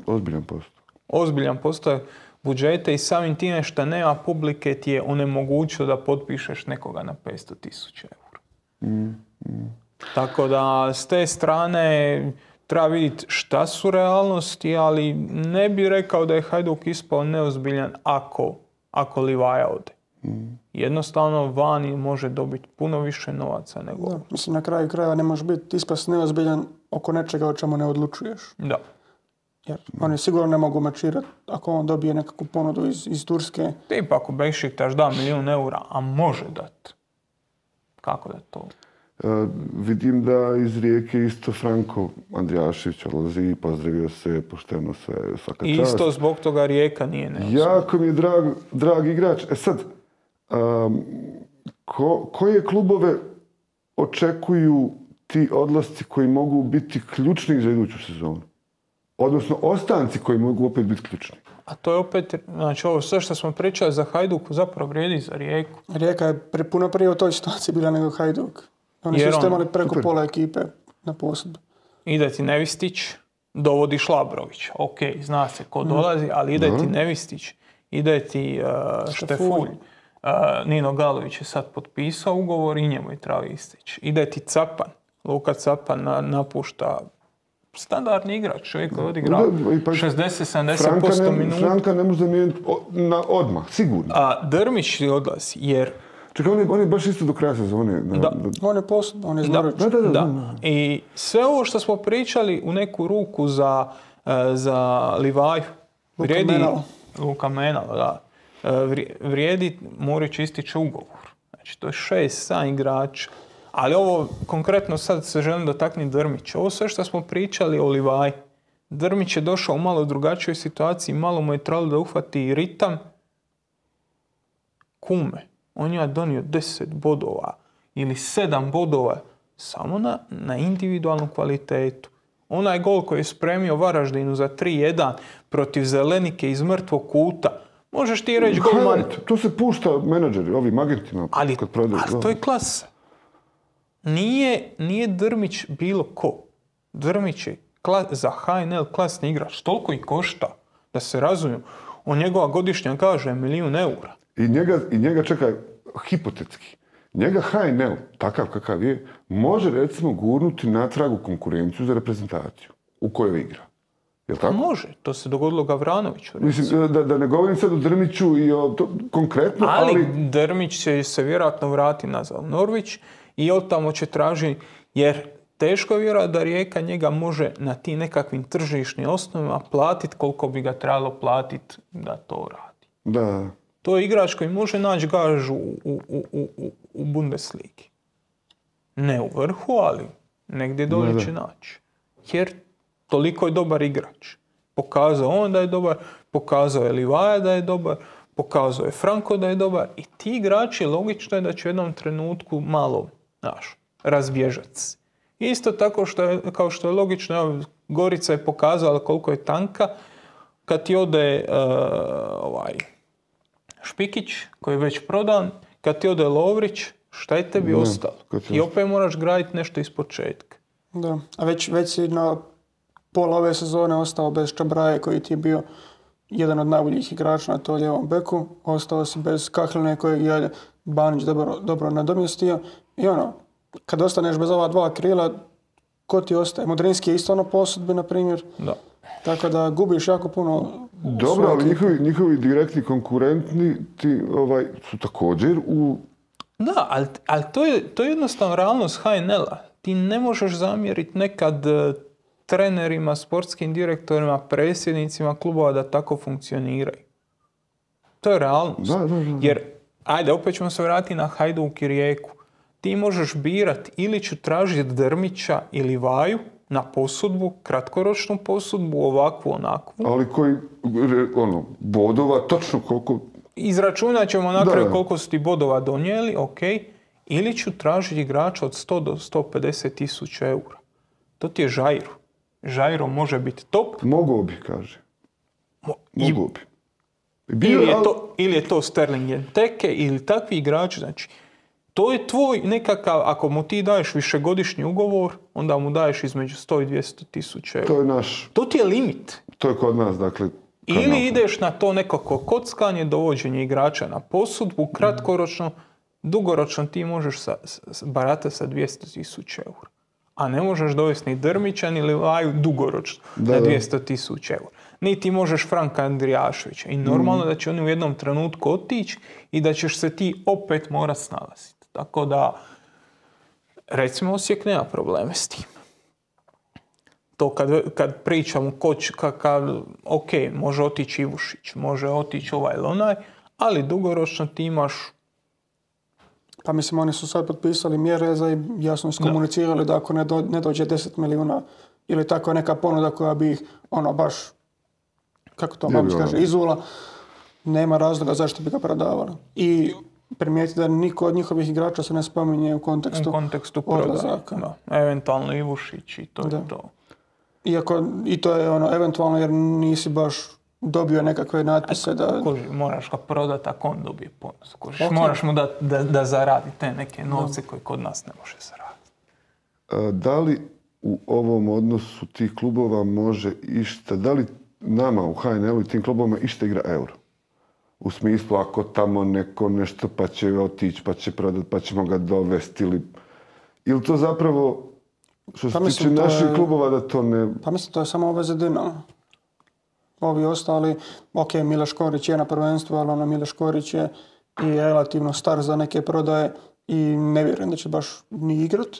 Ozbiljan posto. Ozbiljan posto budžeta i samim time što nema publike ti je onemogućio da potpišeš nekoga na 500.000 eura. Tako da s te strane treba vidjeti šta su realnosti, ali ne bi rekao da je Hajduk ispao neozbiljan ako Livaja ode. Jednostavno vani može dobiti puno više novaca nego... Da, mislim, na kraju krajeva ne može biti ispast neozbiljan oko nečega o čemu ne odlučuješ. Da. Jer oni sigurno ne mogu mačirati ako on dobije nekakvu ponudu iz Turske. Tipa ako Bešiktaš da 1 milijun eura, a može dati. Kako da to? Vidim da iz Rijeke isto Franko Andrijašević odlazi i pozdravio se pošteno sve, svaka čast. Isto zbog toga Rijeka nije neozbiljna. Jako mi je drag igrač. Sad, koje klubove očekuju ti odlasci koji mogu biti ključni za iduću sezonu? Odnosno, ostanci koji mogu opet biti ključni. A to je opet, znači ovo sve što smo pričali za Hajduk zapravo vrijedi za Rijeku. Rijeka je puno prije u toj situaciji bila nego Hajduk. Oni su isto imali preko pola ekipe na posudbu. Ide ti Nevistić, dovodi Šlabrović. Ok, zna se ko dolazi, ali ide ti Nevistić, ide ti Štefulj. Nino Galović je sad potpisao ugovor i njemu je treba istići. Ide ti Capan. Luka Capan napušta standardni igrač, čovjek koji odigrao 60-70% minuta. Franka ne može zamijeniti odmah, sigurno. A Drmić odlazi, jer... Čekaj, on je baš isto do kraja sezone. On je posebno, on je znaroč. Da. I sve ovo što smo pričali u neku ruku za Livaju, Luka Menalo, da. Vrijedi Morić ističe ugovor. Znači, to je 6-7 igrača. Ali ovo, konkretno sad se želim dotaknuti Drmića. Ovo sve što smo pričali o Livaji. Drmić je došao u malo drugačijoj situaciji, malo mu je trebalo da uhvati ritam. Kume, on je donio 10 bodova ili 7 bodova samo na individualnu kvalitetu. Onaj gol koji je spremio Varaždinu za 3-1 protiv Zelenike iz mrtvog kuta. Možeš ti reći golman... To se pušta menadžeri, ovim agentima. Ali to je klasa. Nije Drmić bilo ko. Drmić je za HNL klasni igrač. Toliko i košta, da se razumiju. Njegova godišnja kaže 1 milijun eura. I njega čekaj, hipotetski. Njega HNL, takav kakav je, može recimo gurnuti natrag u konkurenciju za reprezentaciju u kojoj igra. Jel' tako? Može, to se dogodilo Gavranoviću. Mislim, da ne govorim sad o Drmiću i o konkretno, ali... Drmić će se vjerojatno vratiti nazad u Norvić i od tamo će tražiti, jer teško je vjerojatno da Rijeka njega može na tim nekakvim tržišnim osnovima platiti koliko bi ga trebalo platiti da to radi. Da. To je igrač koji može naći gažu u Bundesligi. Ne u vrhu, ali negdje dolje će naći. Jer toliko je dobar igrač. Pokazao on da je dobar, pokazao je Livaja da je dobar, pokazao je Franko da je dobar i ti igrači logično je da će u jednom trenutku malo razbježati se. Isto tako kao što je logično, Gorica je pokazala koliko je tanka kad ti ode Špikić koji je već prodan, kad ti ode Lovrić, šta je tebi ostalo? I opet moraš graditi nešto iz početka. Da, a već si na pola ove sezone ostao bez Čabraje koji ti je bio jedan od najboljih igrača na to lijevom beku. Ostao si bez Kahline kojeg je Banić dobro nadomjestio. I kad ostaneš bez ova dva krila, ko ti ostaje? Modrinski je isto na posudbi, na primjer. Da. Tako da gubiš jako puno. Dobro, ali njihovi direktni konkurentni su također u... Da, ali to je jednostavno realnost HNL-a. Ti ne možeš zamjeriti nekad trenerima, sportskim direktorima, predsjednicima klubova da tako funkcioniraju. To je realnost. Da. Jer, ajde, opet ćemo se vratiti na Hajduk i Rijeku. Ti možeš birati ili ću tražiti Drmića ili Vaju na posudbu, kratkoročnu posudbu, ovakvu, onakvu. Ali koji, bodova, točno koliko... Izračunat ćemo na kraju koliko su ti bodova donijeli, ok. Ili ću tražiti igrača od 100 do 150 tisuća eura. To ti je Žajro. Žajro može biti top. Mogao bi, kaže. Mogao bi. Ili je to Sterling Jenteke ili takvi igrači. Znači, to je tvoj nekakav, ako mu ti daješ višegodišnji ugovor, onda mu daješ između 100 i 200 tisuća eura. To je naš... To ti je limit. To je kod nas, dakle... Ili ideš na to nekako kockanje, dovođenje igrača na posudbu, kratkoročno, dugoročno ti možeš baratati sa 200 tisuća eura. a ne možeš dovesti ni Drmića ni Livaju dugoročno na 200.000 eura. Niti možeš Franka Andrijaševića. I normalno da će oni u jednom trenutku otići i da ćeš se ti opet morat snalaziti. Tako da, recimo, Osijek nema probleme s tim. To kad pričamo ok, može otići Ivušić, može otići ovaj ili onaj, ali dugoročno ti imaš... Pa mislim, oni su sad potpisali mjere i jasno iskomunicirali da ako ne dođe 10 milijuna ili tako neka ponuda koja bi ih baš, kako to Babić kaže, izula, nema razloga zašto bi ga prodavali. I primijeti da niko od njihovih igrača se ne spominje u kontekstu odlazaka. Da. Eventualno Ivušić i to je to. Iako i to je eventualno jer nisi baš dobio nekakve natpise da... Moraš ga prodati ako on dobije bonus. Moraš mu da zaradi te neke novce koje kod nas ne može zaraditi. Da li u ovom odnosu tih klubova može išta, da li nama u HNL-u i tim klubovima išta igra euro? U smislu ako tamo neko nešto pa će otići, pa će prodati, pa ćemo ga dovesti ili to zapravo što se tiče naših klubova da to ne... Pa mislim to je samo obveze Dinama. Ovi ostali, ok, Miloš Škorić je na prvenstvu, ali Miloš Škorić je i relativno star za neke prodaje i ne vjerujem da će baš ni igrat.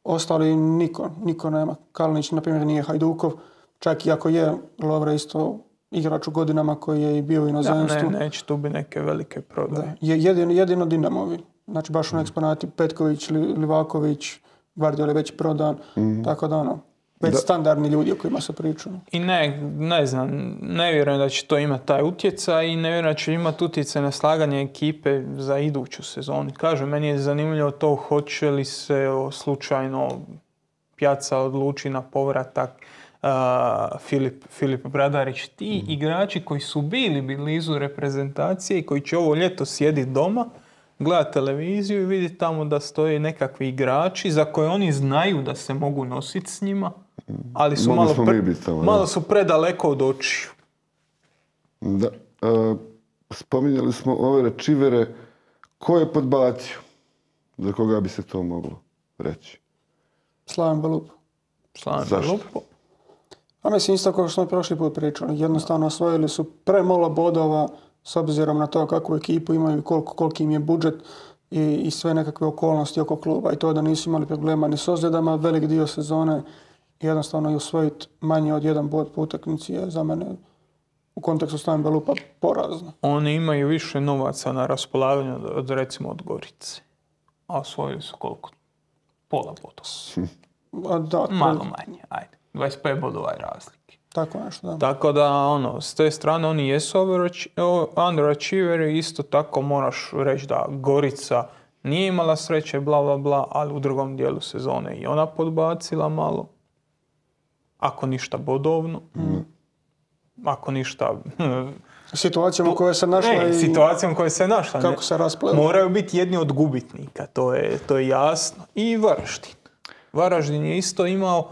Ostali niko nema. Kalinić, na primjer, nije Hajdukov, čak i ako je Lovre isto igrač u godinama koji je i bio u inozemstvu. Neće tu bi neke velike prodaje. Jedino Dinamovi. Znači baš eksponati Petković, Livaković, Gvardiol je već prodan, tako da već standardni ljudi o kojima se pričaju. I ne znam, ne vjerujem da će to imati taj utjecaj i ne vjerujem da će imati utjecaj na slaganje ekipe za iduću sezonu. Kažem, meni je zanimljivo to hoće li se slučajno Pjaca odluči na povratak, Filip Bradarić, ti igrači koji su bili blizu reprezentacije i koji će ovo ljeto sjediti doma, gledati televiziju i vidjeti tamo da stoje nekakvi igrači za koje oni znaju da se mogu nositi s njima, ali su malo su predaleko od očiju. Da. Spominjali smo ove rečivere. Ko je podbacio? Za koga bi se to moglo reći? Slaven Belupo. Zašto? A mislim isto kao što smo prošli put pričali. Jednostavno osvojili su premalo bodova s obzirom na to kakvu ekipu imaju i koliki im je budžet i sve nekakve okolnosti oko kluba. I to da nisu imali problema ni s ozljedama, velik dio sezone jednostavno i osvojiti manje od jedan bod po utakmici je za mene u kontekstu Slaven Belupa porazno. Oni imaju više novaca na raspolaganju recimo od Gorice. A osvojili su koliko? Pola bodova. Malo manje, ajde. 25 bodova je razlike. Tako nešto, da. Tako da, s te strane oni jesu underachieveri, isto tako moraš reći da Gorica nije imala sreće, bla, bla, bla, ali u drugom dijelu sezone i ona podbacila malo. Ako ništa bodovno. Ako ništa... Situacijom u kojoj se našla situacijom u kojoj se našla. Kako se rasplela. Moraju biti jedni od gubitnika, to je jasno. I Varaždin. Varaždin je isto imao,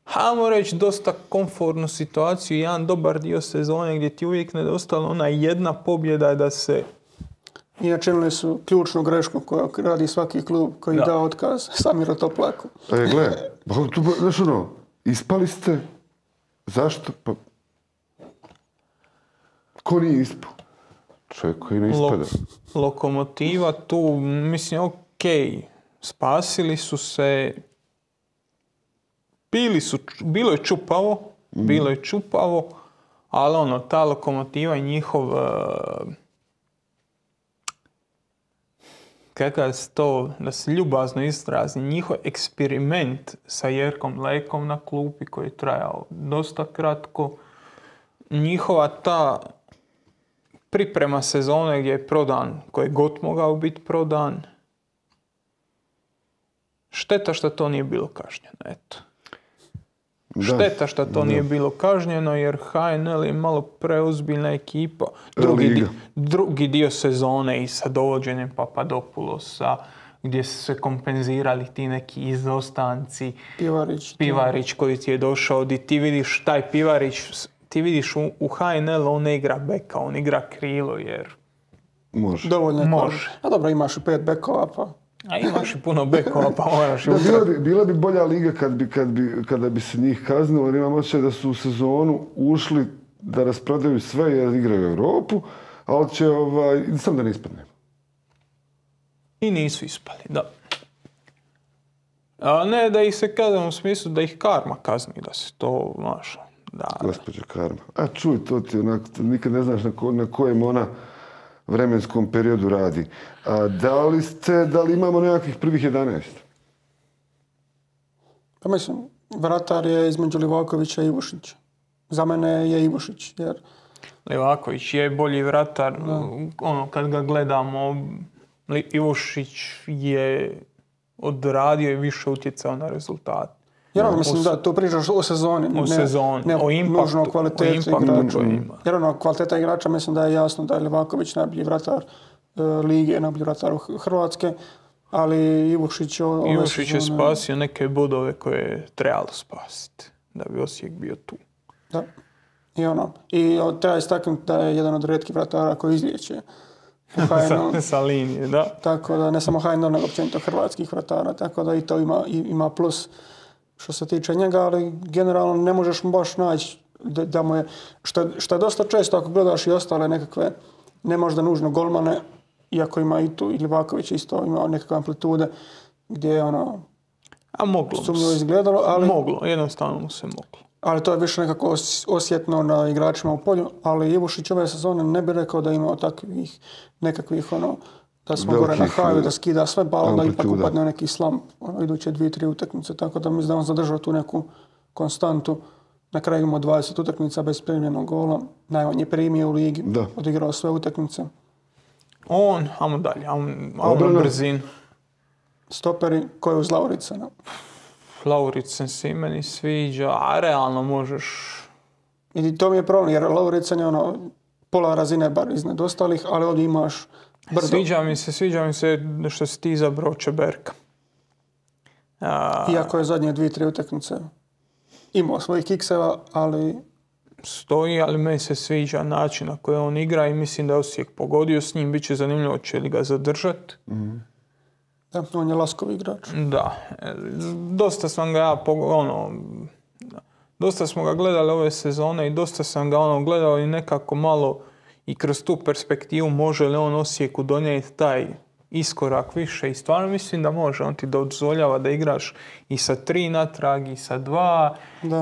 hajmo reći, dosta komfortnu situaciju, jedan dobar dio sezone gdje ti uvijek nedostala ona jedna pobjeda da se... I načinili su ključnu grešku koju radi svaki klub koji da otkaz Samiru Toplaku. Gle, znaš ispali ste, zašto? Pa... Ko nije ispao? Čovjek koji ne ispada. Lokomotiva tu, mislim, spasili su se, bilo je čupavo, ali ta Lokomotiva i njihov, kakav se to, da se ljubazno izrazi, njihov eksperiment sa Jerkom Lekom na klupi koji je trajao dosta kratko, njihova ta priprema sezone gdje je prodan, koji je god mogao biti prodan. Šteta što to nije bilo kažnjeno, eto. Šteta što to nije bilo kažnjeno jer HNL je malo preozbiljna ekipa. Drugi dio sezone i sa dovođenjem Papadopoulosa, gdje su se kompenzirali ti neki izostanci. Pivarić koji ti je došao, gdje ti vidiš taj Pivarić, ti vidiš u HNL on ne igra beka, on igra krilo jer... Može. Dovoljno može. A dobro, imaš i 5 bekova pa... A imaš i puno bekova, pa moraš i Bila bi bolja liga kada bi se njih kaznilo, jer imam osjećaj da su u sezonu ušli da rasprodaju sve jer igraju u Europu, ali će, sam da ne ispadne. I nisu ispali, da. A ne da ih se kazne u smislu da ih karma kazni, da se to, znaš, da. Gospođa karma. A čuj, to ti onako, nikad ne znaš na kojem ona vremenskom periodu radi. A da li imamo nekakvih prvih 11? Pa mislim, vratar je između Livakovića i Ivušića. Za mene je Ivušić, jer... Livaković je bolji vratar, kad ga gledamo, Ivušić je odradio i više utjecao na rezultat. Jer mislim da tu pričaš o sezoni, ne o impaktu, nužno kvaliteti igrača. Ima. Jer kvaliteta igrača mislim da je jasno da je Livaković najbolji vratar lige, najbolji vratar Hrvatske, ali Ivušić je spasio neke bodove koje je trebalo spasiti da bi Osijek bio tu. Da. I treba istaknuti da je jedan od rijetkih vratara koji izlijeće u HNL. sa linije, da. Tako da ne samo HNL, nego općenito hrvatskih vratara, tako da i to ima plus što se tiče njega, ali generalno ne možeš baš naći da mu je, što je dosta često ako gledaš i ostale nekakve, ne možda nužno golmane, iako ima i tu, i Livaković isto ima nekakve amplitude, gdje je sumnjivo izgledalo, ali... Jednostavno mu se moglo. Ali to je više nekako osjetno na igračima u polju, ali Ivušić ove sezone ne bi rekao da ima takvih nekakvih da smo gore na haju, da skida sve, pa onda ipak upadne neki slump iduće 2-3 utakmice, tako da mislim da on zadržao tu neku konstantu. Na kraju imamo 20 utakmica bez primljenog gola, najmanje primio u ligi, odigrao sve utakmice. Ajmo dalje, ajmo brzin. Stoperi, ko je uz Lauricena? Lauricen se meni sviđa, a realno možeš... I to mi je problem, jer Lauricen je pola razine bar iznad ostalih, ali ovdje imaš brdo. Sviđa mi se što si ti izabrao Čeberka. Iako je zadnje 2-3 utakmice imao svojih kikseva, ali... Stoji, ali meni se sviđa način na koji on igra i mislim da je Osijek pogodio s njim. Biće zanimljivo će li ga zadržati. Da, on je laskov igrač. Da. Dosta sam ga dosta smo ga gledali ove sezone i dosta sam ga gledao i nekako malo i kroz tu perspektivu može li on Osijeku donijeti taj iskorak više i stvarno mislim da može. On ti dozvoljava da igraš i sa 3 natrag i sa 2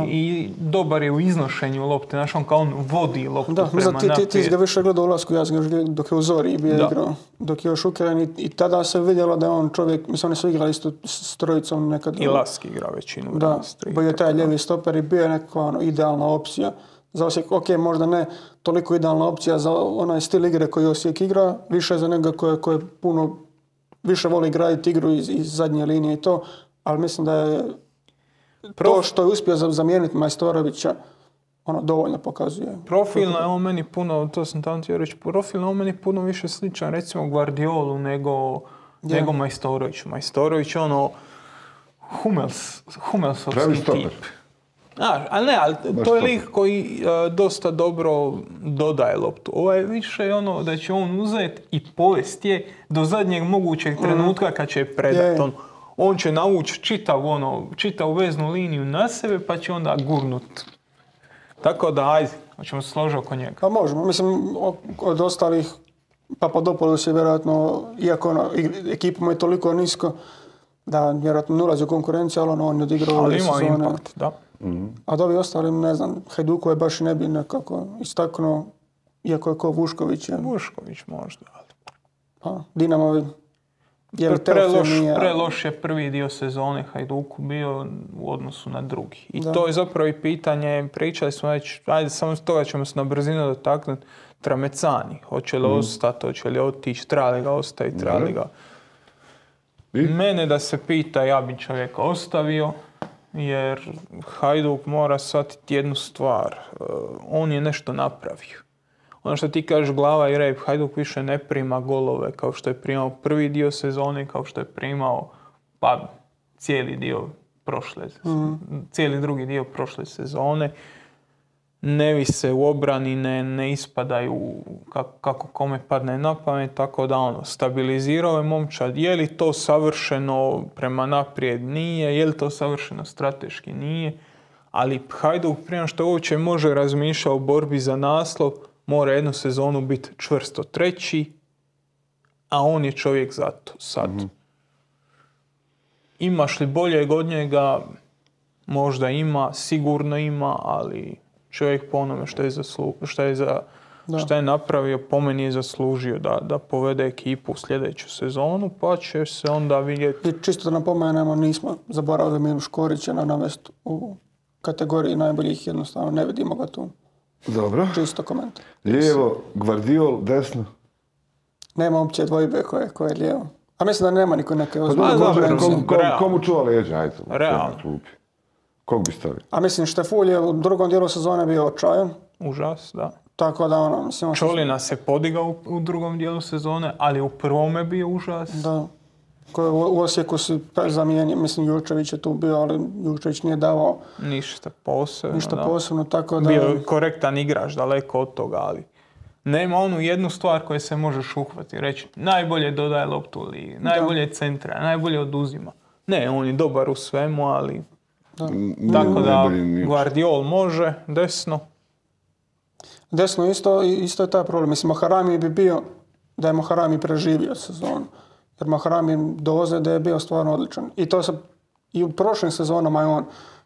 i dobar je u iznošenju lopte. Znaš, on kao on vodi loptu prema naprijed. Ti si ga više gledao u Lasku, ja sam ga gledao dok je u Zori bio igrao. Dok je još Ukren i tada se vidjelo da je on čovjek, mislim oni su igrali isto s trojicom nekad. I Laski igra većinu. Da, bio je taj ljevi stoper i bio je neka idealna opcija. Za Osijek, možda ne toliko idealna opcija za onaj stil igre koji Osijek igra, više za njega koji puno više voli graditi igru iz zadnje linije i to, ali mislim da je to što je uspio zamijeniti Majstorovića, dovoljno pokazuje. Profilno je on meni puno, to sam tamo htio reći, profilno je on meni puno više sličan recimo Guardiolu nego Majstoroviću. Majstorović Hummelsovski tip. Ali to je lik koji dosta dobro dodaje loptu. Ovo je više da će on uzeti i povesti je do zadnjeg mogućeg trenutka kad će je predati. On će navući čitavu veznu liniju na sebe pa će onda gurnut. Tako da, ajde, hoćemo se složiti oko njega. Pa možemo. Mislim, od ostalih Papadopoulos je vjerojatno, iako ekipa mu je toliko nisko, da vjerojatno ne ulazi u konkurenciju, ali on je odigrao ove sezone. Ali ima impakt, da. A da ovi ostali, ne znam, Hajduku je baš ne bi nekako istaknuo, iako je ko Vušković. Vušković možda, ali... Dinamovi. Preloš je prvi dio sezone Hajduku bio u odnosu na drugi. I to je zapravo i pitanje, pričali smo već, ajde samo s toga ćemo se na brzinu dotaknuti, Tramecani. Hoće li ostati, hoće li otići, treba li ga ostaviti, treba li ga... Mene da se pita, ja bi čovjeka ostavio, jer Hajduk mora shvatiti jednu stvar. On je nešto napravio. Ono što ti kažeš glava i rep, Hajduk više ne prima golove kao što je primao prvi dio sezone, kao što je primao cijeli drugi dio prošle sezone. ne vise u obrani, ne ispadaju kako kome padne na pamet, tako da stabilizirao je momčad. Je li to savršeno prema naprijed? Nije. Je li to savršeno strateški? Nije. Ali Hajduk prije što uopće može razmišljati o borbi za naslov, mora jednu sezonu biti čvrsto treći, a on je čovjek za to sad. Imaš li boljeg od njega? Možda ima, sigurno ima, ali čovjek po onome što je napravio, po meni je zaslužio da povede ekipu u sljedeću sezonu, pa će se onda vidjeti. I čisto da napomenemo, nismo zaboravili Milu Škorića na navest u kategoriji najboljih, jednostavno ne vidimo ga tu. Dobro. Čisto komentar. Lijevo, Gvardiol, desno. Nema uopće dvojbe koje je lijevo. A mislim da nema niko neke Komu čuva leđa, ajde. Realno. Kog bi stavio? A mislim, Štefulj je u drugom dijelu sezone bio očajan. Užas, da. Tako da mislim... Čolina se podigao u drugom dijelu sezone, ali u prvome bio užas. Da. U Osijeku si zamijenio, mislim, Jurčević je tu bio, ali Jurčević nije davao ništa posebno. Tako da... Bio korektan igrač, daleko od toga, ali nema onu jednu stvar koju se možeš uhvatiti. Reći, najbolje dodaje loptu u ligi, najbolje centra, najbolje oduzima. Ne, on je dobar u svemu, ali... Da. Tako da Gvardiol može, desno. Desno isto je taj problem. Mislim, Mahrami bi bio da je Mahrami preživio sezonu. Jer Mahrami do ozljede je bio stvarno odličan. I to se i u prošlim sezonama je on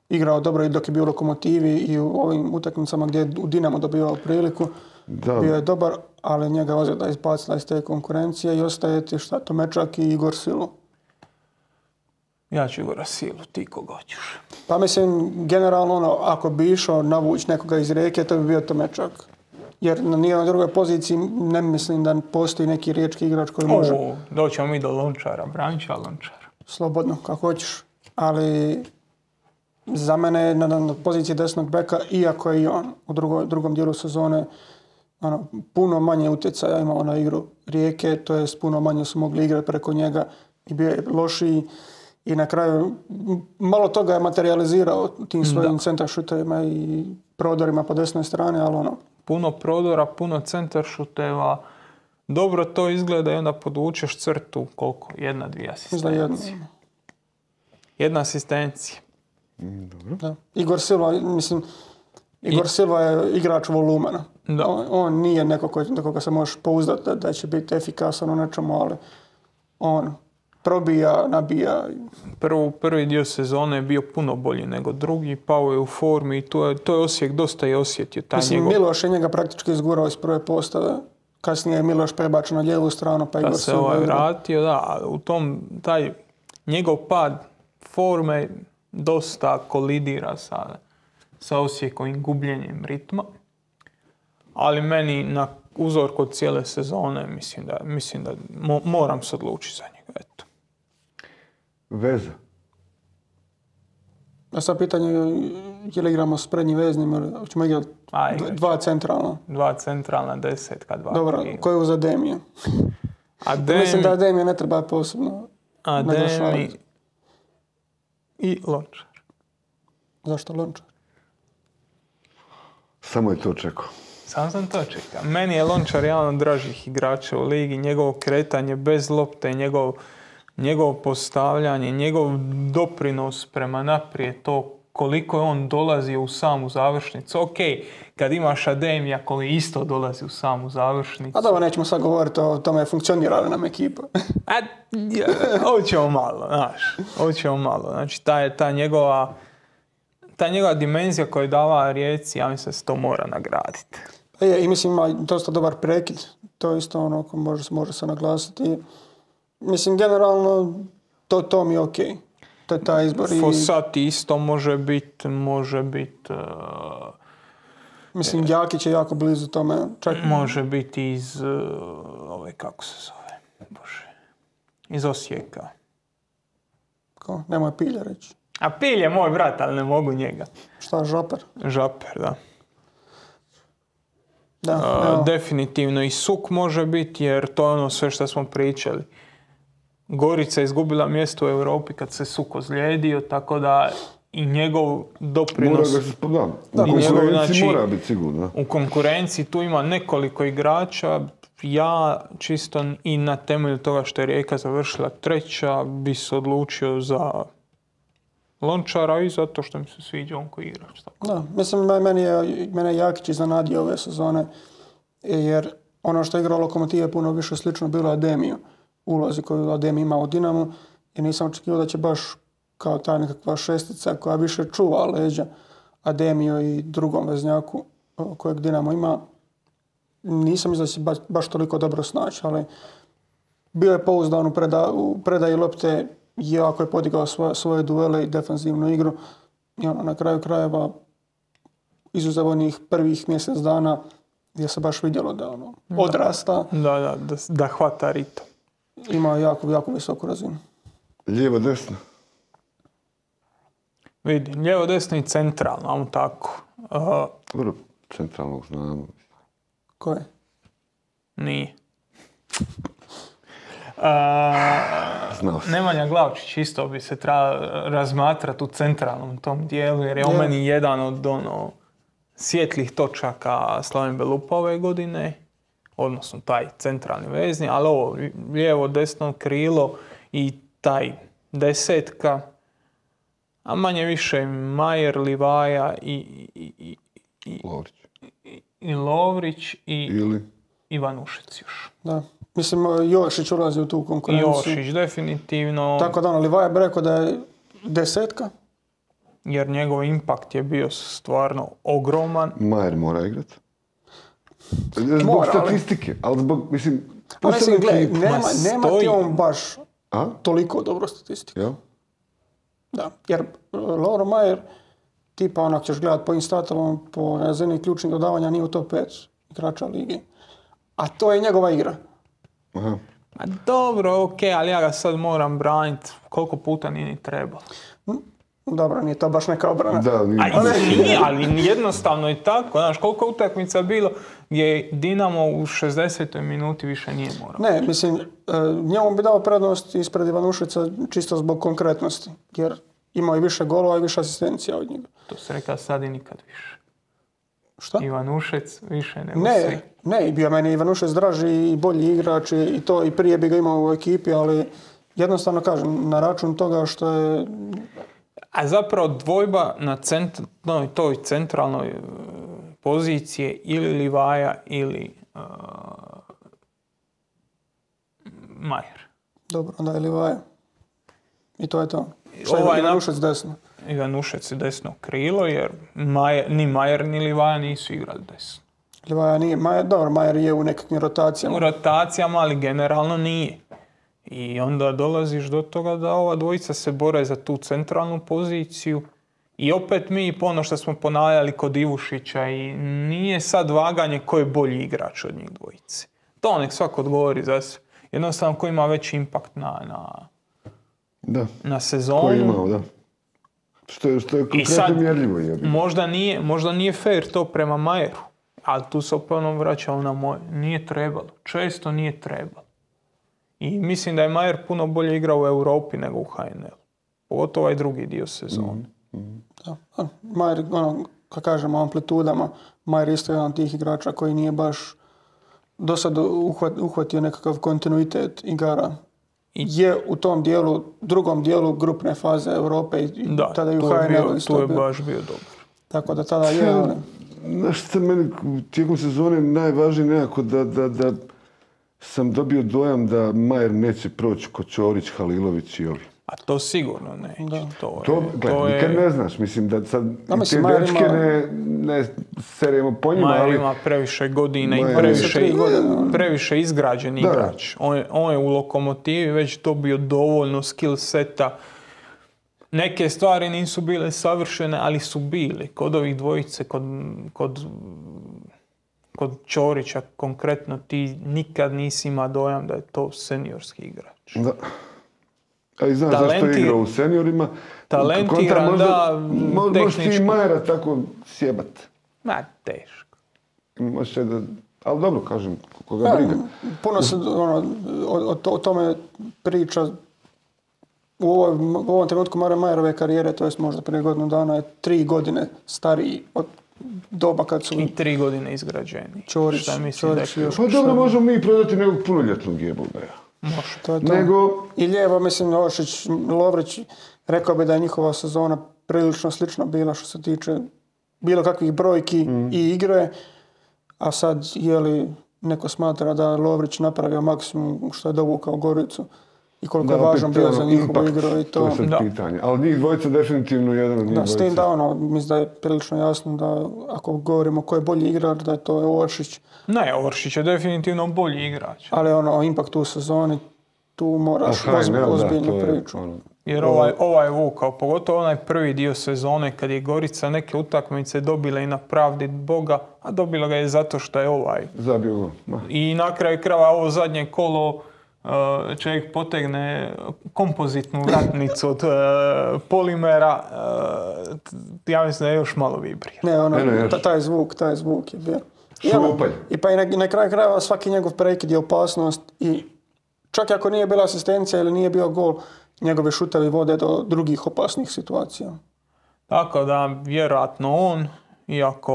igrao dobro i dok je bio u Lokomotivi i u ovim utakmicama gdje je u Dinamo dobivao priliku. Da. Bio je dobar, ali njega ozljeda izbacila iz te konkurencije i ostaje ti Tomečak i Igor Silu. Ja ću Igora Silu, ti koga hoćeš. Pa mislim, generalno ako bi išao navući nekoga iz Rijeke, to bi bio Tomečak. Jer na nijednoj drugoj poziciji ne mislim da postoji neki riječki igrač koji može... Doćemo mi do Lončara, Branča Lončara. Slobodno, kako hoćeš. Ali za mene na poziciji desnog beka, iako je i on u drugom dijelu sezone puno manje utjecaja imao na igru Rijeke, to jest puno manje su mogli igrati preko njega i bio je lošiji. I na kraju malo toga je materializirao tim svojim centaršutovima i prodorima po desnoj strani, ali puno prodora, puno centaršuteva. Dobro to izgleda i onda podvučeš crtu, koliko? 1-2 asistencije. Jedna asistencija. Dobro. Da. Igor Silva je igrač volumena. On nije neko koga se možeš pouzdati da će biti efikasan u nečemu, ali on probija, nabija. Prvi dio sezone je bio puno bolji nego drugi, pao je u formi i to je Osijek dosta je osjetio. Miloš je njega praktički izgurao iz prve postave. Kasnije je Miloš prebačen na lijevu stranu, pa Igor se vratio, da. U tom, taj njegov pad forme dosta kolidira sa Osijekovim gubljenjem ritma. Ali meni na uzorku od cijele sezone mislim da moram se odlučiti za njega. Eto. Veza. A sad pitanje je li igramo s prednjim veznim ili ćemo igrati dva centralna? Dva centralna, desetka, dva. Dobro, ko je uz Ademije? Mislim da Ademije ne treba posebno Ademi i Lončar. Zašto Lončar? Samo je to čekao. Sam to čekao. Meni je Lončar jedan od dražih igrača u ligi. Njegovo kretanje bez lopte, njegovo postavljanje, njegov doprinos prema naprijed, to koliko je on dolazi u samu završnicu. Ok, kad imaš Ademija koji isto dolazi u samu završnicu. A dobro, nećemo sad govoriti o tome funkcionira li nam ekipa. Hoćemo malo. Znači, ta njegova dimenzija koju je dala Rijeci, ja mislim da se to mora nagraditi. I mislim ima dosta dobar prekid. To je isto ono ko može se naglasiti. Mislim, generalno, to mi je okej. To je taj izbor. Fossati isto može biti... Mislim, Đakić je jako blizu tome. Može biti iz... kako se zove? Bože. Iz Osijeka. Ko? Nemoj Pilja reći. A Pilj je moj brat, ali ne mogu njega. Šta, Žaper? Žaper, da. Definitivno i Suk može biti, jer to je ono sve što smo pričali. Gorica je izgubila mjesto u Europi kad se Suk ozlijedio, tako da i njegov Mora doprinos. ga se spodam. Da, U i njegov, konkurenciji znači, mora biti sigurno. U konkurenciji tu ima nekoliko igrača. Ja čisto i na temelju toga što je Rijeka završila 3. bi se odlučio za Lončara i zato što mi se sviđa on koji igrač. Da, mislim, mene je Jakić iznenadio ove sezone, jer ono što je igrao Lokomotive puno više slično bilo Ademiju, ulozi koju Ademi ima u Dinamu, i nisam očekivao da će baš kao ta nekakva šestica koja više čuva leđa Ademiju i drugom veznjaku kojeg Dinamo ima. Nisam mislio da će baš toliko dobro snaći, ali bio je pouzdan u predaji lopte, jako je podigao svoje duele i defanzivnu igru. I na kraju krajeva, izuzev onih prvih mjesec dana, gdje se baš vidjelo da odrasta. Da hvata ritam. Ima jako visoku razinu. Lijevo, desno. Vidi, lijevo, desno i centralno, ajmo tako. Dobro, centralnog znamo. Ko je? Nije. Znao sam. Nemanja Glavčić isto bi se trebao razmatrati u centralnom tom dijelu, jer je on meni jedan od svjetlih točaka Slaven Belupa ove godine, odnosno taj centralni vezni, ali ovo lijevo, desno krilo i taj desetka, a manje više Majer, Livaja i Lovrić. i Lovrić i Ili? Ivanušec još. Da. Mislim, Jošić ulazi u tu konkurenciju. Jošić, definitivno. Tako da Livaja bi rekao da je desetka. Jer njegov impakt je bio stvarno ogroman. Majer mora igrati. Zbog Mora, statistike, ali zbog, mislim... Pa mislim, gledaj, nema stoji. ti on baš A? toliko dobro statistiku. Jel? Da, jer Lovro Majer, tipa onak ćeš gledat po instatovom, po razini ključnih dodavanja, nije u top 5 igrača lige. A to je njegova igra. Aha. A dobro, okej, ali ja ga sad moram braniti. Koliko puta nije ni trebalo. Dobro, nije to baš neka obrana. Da, nije. Ali jednostavno je tako. Znaš, koliko utakmica bilo gdje Dinamo u 60. minuti više nije morao. Ne, mislim, njemu bi dao prednost ispred Ivanušeca čisto zbog konkretnosti. Jer imao je više golova i više asistencija od njega. To se rekao sad i nikad više. Šta? Ivanušec više nego svi. Ne, bio meni Ivanušec draži i bolji igrač i to i prije bi ga imao u ekipi, ali jednostavno kažem, na račun toga što je... A zapravo dvojba na toj centralnoj poziciji ili Livaja ili Majer. Dobro, onda je Livaja. I to je to. Ivanušec desno. Ivanušec je desno krilo, jer ni Majer ni Livaja nisu igrali desno. Livaja nije. Majer je u nekakvim rotacijama. U rotacijama, ali generalno nije. I onda dolaziš do toga da ova dvojica se bore za tu centralnu poziciju. I opet mi, ono što smo ponavljali kod Ivušića, i nije sad vaganje ko je bolji igrač od njih dvojice. To nek svako odgovori za sve. Jednostavno ko ima veći impakt na sezonu. Ko je imao, da. Što je konkretno mjerljivo. Možda nije fair to prema Majeru. Ali tu se opet vraćalo na moje. Nije trebalo. Često nije trebalo. I mislim da je Majer puno bolje igrao u Europi nego u HNL. Pogotovo ovaj drugi dio sezone. Da. Majer, kako kažemo, amplitudama, Majer isto jedan od tih igrača koji nije baš do sad uhvatio nekakav kontinuitet igara. Je u tom dijelu, drugom dijelu grupne faze Europe i tada i u HNL-u isto bio. To je baš bio dobro. Tako da tada je... Znaš što meni tijekom sezone najvažnije nekako da sam dobio dojam da Majer neće proći kod Ćorić, Halilović i ovi. A to sigurno neće. Nikad ne znaš. Mislim da sad te dečke ne seremo po njima. Majer ima previše godina i previše izgrađen igrač. On je u Lokomotivi već dobio dovoljno skill seta. Neke stvari nisu bile savršene, ali su bile. Kod ovih dvojice, kod Ćorića konkretno, ti nikad nisi imao dojam da je to seniorski igrač. Da. A i znaš zašto je igrao u seniorima? Talentiran, da, tehničko. Možeš ti Majera tako sjebat. Ma, teško. Možeš da... Ali dobro, kažem, koga briga. Puno se o tome priča u ovom trenutku Mare Majerove karijere, to jest možda prije godinu dana, je 3 godine stariji od doba kad su... I 3 godine izgrađeni. Ćorić i još... Pa dobro, možemo mi prodati nekog punoljetnog Jebulbeja. Može. To je to. Nego... I lijevo, mislim, Oršić, Lovrić, rekao bi da je njihova sezona prilično slična bila što se tiče bilo kakvih brojki i igre, a sad je li neko smatra da Lovrić napravio maksimum što je dovukao Goricu i koliko je važan bio za njihovu igru i to. To je sad pitanje. Ali njih dvojica definitivno jedan od njih dvojica. S tim da mislim da je prilično jasno da ako govorimo ko je bolji igrač, da je to Oršić. Ne, Oršić je definitivno bolji igrač. Ali impact u sezoni, tu moraš ozbiljnu priču. Jer ovaj vukao, pogotovo onaj prvi dio sezone kad je Gorica neke utakmice dobila i na pravdi Boga, a dobila ga je zato što je zabio. I na kraju krajeva ovo zadnje kolo čovjek potegne kompozitnu vratnicu od polimera, ja mislim da je još malo vibrira. Ne, taj zvuk je bio. Šupalj. I pa i na kraju krajeva svaki njegov prekid je opasnost i čak i ako nije bila asistencija ili nije bio gol, njegove šutevi vode do drugih opasnih situacija. Tako da, vjerojatno on, iako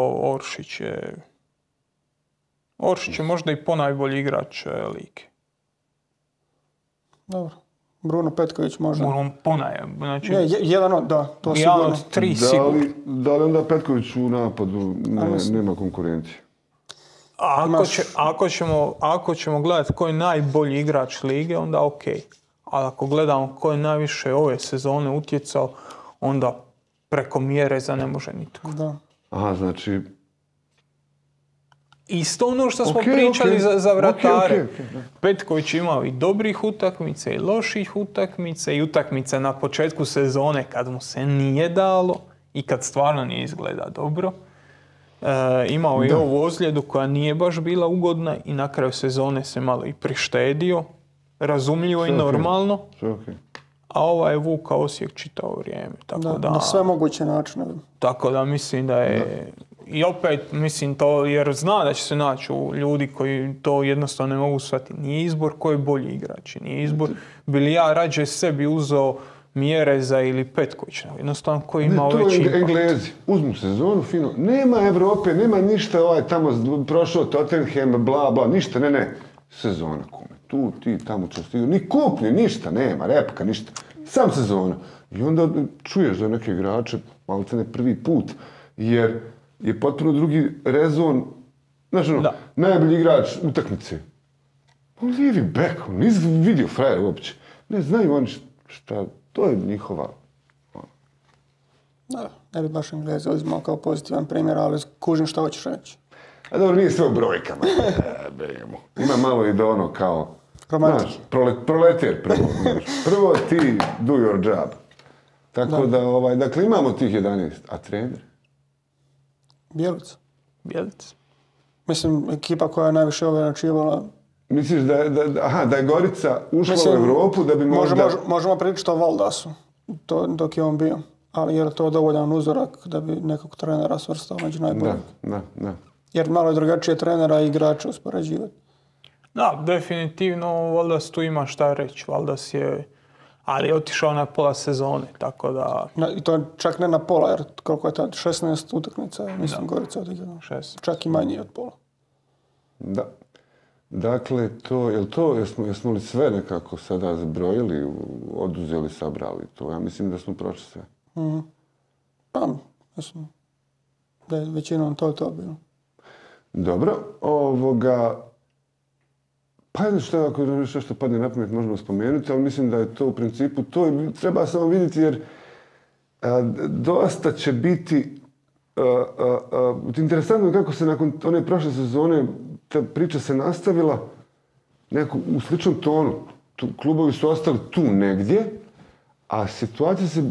Oršić je možda i ponajbolji igrač lige. Dobro. Bruno Petković možda. Znači, to sigurno. Od 3 sigurno. Da li onda Petković u napadu nema konkurencije? Ako ćemo gledati ko je najbolji igrač lige, onda ok. Ali ako gledamo ko je najviše ove sezone utjecao, onda preko Mjereza ne može nitko. Da. Aha, znači... Isto ono što smo pričali za vratare. Petković imao i dobrih utakmica i loših utakmica i utakmice na početku sezone kad mu se nije dalo i kad stvarno nije izgleda dobro. Imao je ovu ozljedu koja nije baš bila ugodna i na kraju sezone se malo i prištedio. Razumljivo i normalno. A ovaj je vukao Osijek čitavo vrijeme. Na sve moguće načine. Tako da mislim da je... I opet, mislim to, jer zna da će se naći ljudi koji to jednostavno ne mogu shvatiti. Nije izbor ko je bolji igrač. Nije izbor, bili ja rađe sebi uzeo Mjereza ili Petkovića. Jednostavno koji ima veći impact. Englezi, uzmu sezonu, fino. Nema Evrope, nema ništa tamo prošao Tottenham, bla, bla, ništa, ne. Sezona kome. Tu, ti, tamo će stigati. Ni kupnje, ništa, nema, repka, ništa. Sam sezona. I onda čuješ za neke igrače, malo ne prvi put, jer je potpuno drugi rezon, znaš najbolji igrač utakmice. Lijevi bek, nisi vidio frajer uopće. Ne znaju oni šta, to je njihova. Da, ne bi baš Engleza uzimao kao pozitivan primjer, ali kužim šta hoćeš reći. A dobro, nije sve u brojkama. Ima malo i do kao, znaš, proleter prvo. Prvo ti do your job. Tako da, dakle, imamo tih 11. A trener? Bjelica. Bjelica. Mislim, ekipa koja je najviše načinila. Misliš da je Gorica ušla u Europu da bi možda... Možemo pričati o Valdasu, dok je on bio. Ali je li to dovoljan uzorak da bi nekog trenera svrstao među najboljim? Da. Jer malo je drugačije trenera i igrača uspoređivati. Da, definitivno Valdas tu ima šta reći. Valdas je... Ali je otišao na pola sezone, tako da... I to čak ne na pola, jer koliko je tad? 16 utakmica, mislim, Gorica odigrala. Čak i manje od pola. Da. Dakle, jesmo li sve nekako sada zbrojili, oduzeli, sabrali to? Ja mislim da smo prošli sve. Pa, mislim, da je većinom to bilo. Dobro, pa ako nešto što padne na pamet možemo spomenuti, ali mislim da je to u principu to. Treba samo vidjeti jer dosta će biti interesantno kako se nakon one prošle sezone ta priča se nastavila u sličnom tonu. Klubovi su ostali tu negdje, a situacija se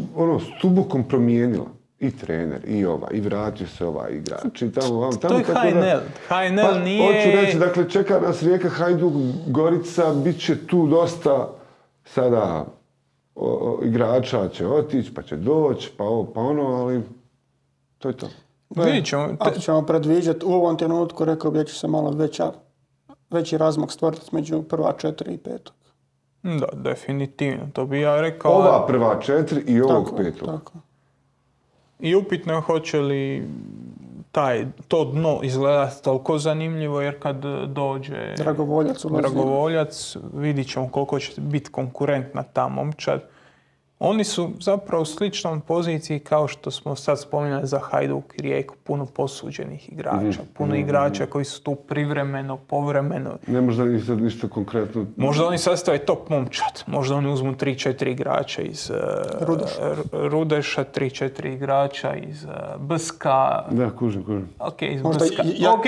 stubokom promijenila. I trener, i vratio se igrač. I tamo. To je HNL. HNL nije... Hoću reći, dakle, čeka nas Rijeka, Hajduk, Gorica, bit će tu dosta sada igrača će otići, pa će doći, pa ovo, pa ono, ali to je to. Vidjet ćemo. Ako ćemo predviđati, u ovom trenutku rekao bi da će se malo veći razmak stvoriti među prva 4 i 5. Da, definitivno, to bi ja rekao. Ova prva 4 i ovog 5. Tako. I upitno je hoće li to dno izgledati toliko zanimljivo, jer kad dođe Dragovoljac, vidit ćemo koliko će biti konkurentna ta momčad. Oni su zapravo u sličnom poziciji kao što smo sad spominjali za Hajduk i Rijeku, puno posuđenih igrača, puno igrača koji su tu privremeno, povremeno. Ne možda ni sad ništa konkretno. Možda oni sastave top momčad, možda oni uzmu 3-4 igrača iz Rudeša, 3-4 igrača iz Brska. Da, kužim. Ok,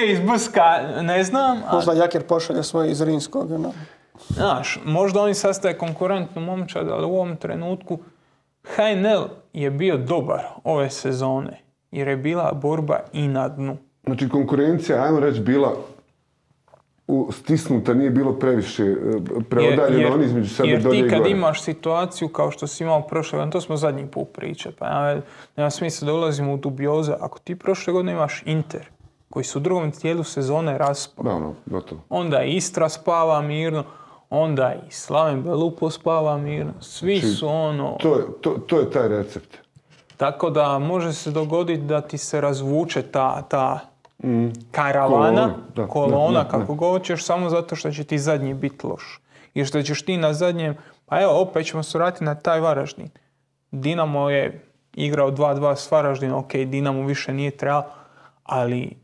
iz Brska ne znam. Možda Jakir pošalje svoje iz Rinskog. No. Znaš, možda oni sastaje konkurentnu momčad, ali u ovom trenutku HNL je bio dobar ove sezone, jer je bila borba i na dnu. Znači konkurencija, ajmo reći, bila stisnuta, nije bilo previše preodaljeno oni između sebe dolje i gore. Jer ti kad imaš situaciju kao što si imao prošle godine, to smo zadnji put pričali, pa nema smisla da ulazimo u dubioze. Ako ti prošle godine imaš Inter, koji su u drugom dijelu sezone raspali, onda Istra spava mirno, onda i Slaven Belupo spava mirno, svi su ono... To je taj recept. Tako da može se dogoditi da ti se razvuče ta karavana, kolona, kako god ćeš, samo zato što će ti zadnji biti loš. I što ćeš ti na zadnjem, pa evo, opet ćemo se vratiti na taj Varaždin. Dinamo je igrao 2-2 s Varaždinom, ok, Dinamo više nije trebalo, ali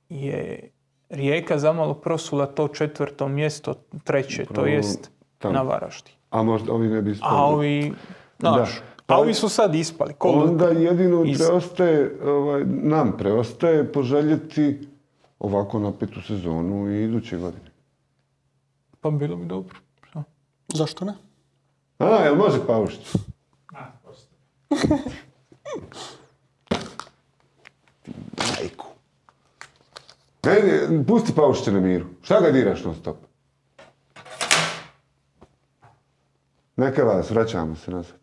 je Rijeka zamalo prosula to 4. mjesto, 3. to jest na Varaždin. A možda ovi ne bi ispali. A ovi, znaš, ovi su sad ispali. Onda jedino nam preostaje poželjeti ovako napetu sezonu i iduće godine. Pa bilo bi dobro. Zašto ne? Jel može Paušić? Majku. Pusti Paušića na miru. Šta ga diraš non stop? Neka vas, vraćamo se nazad.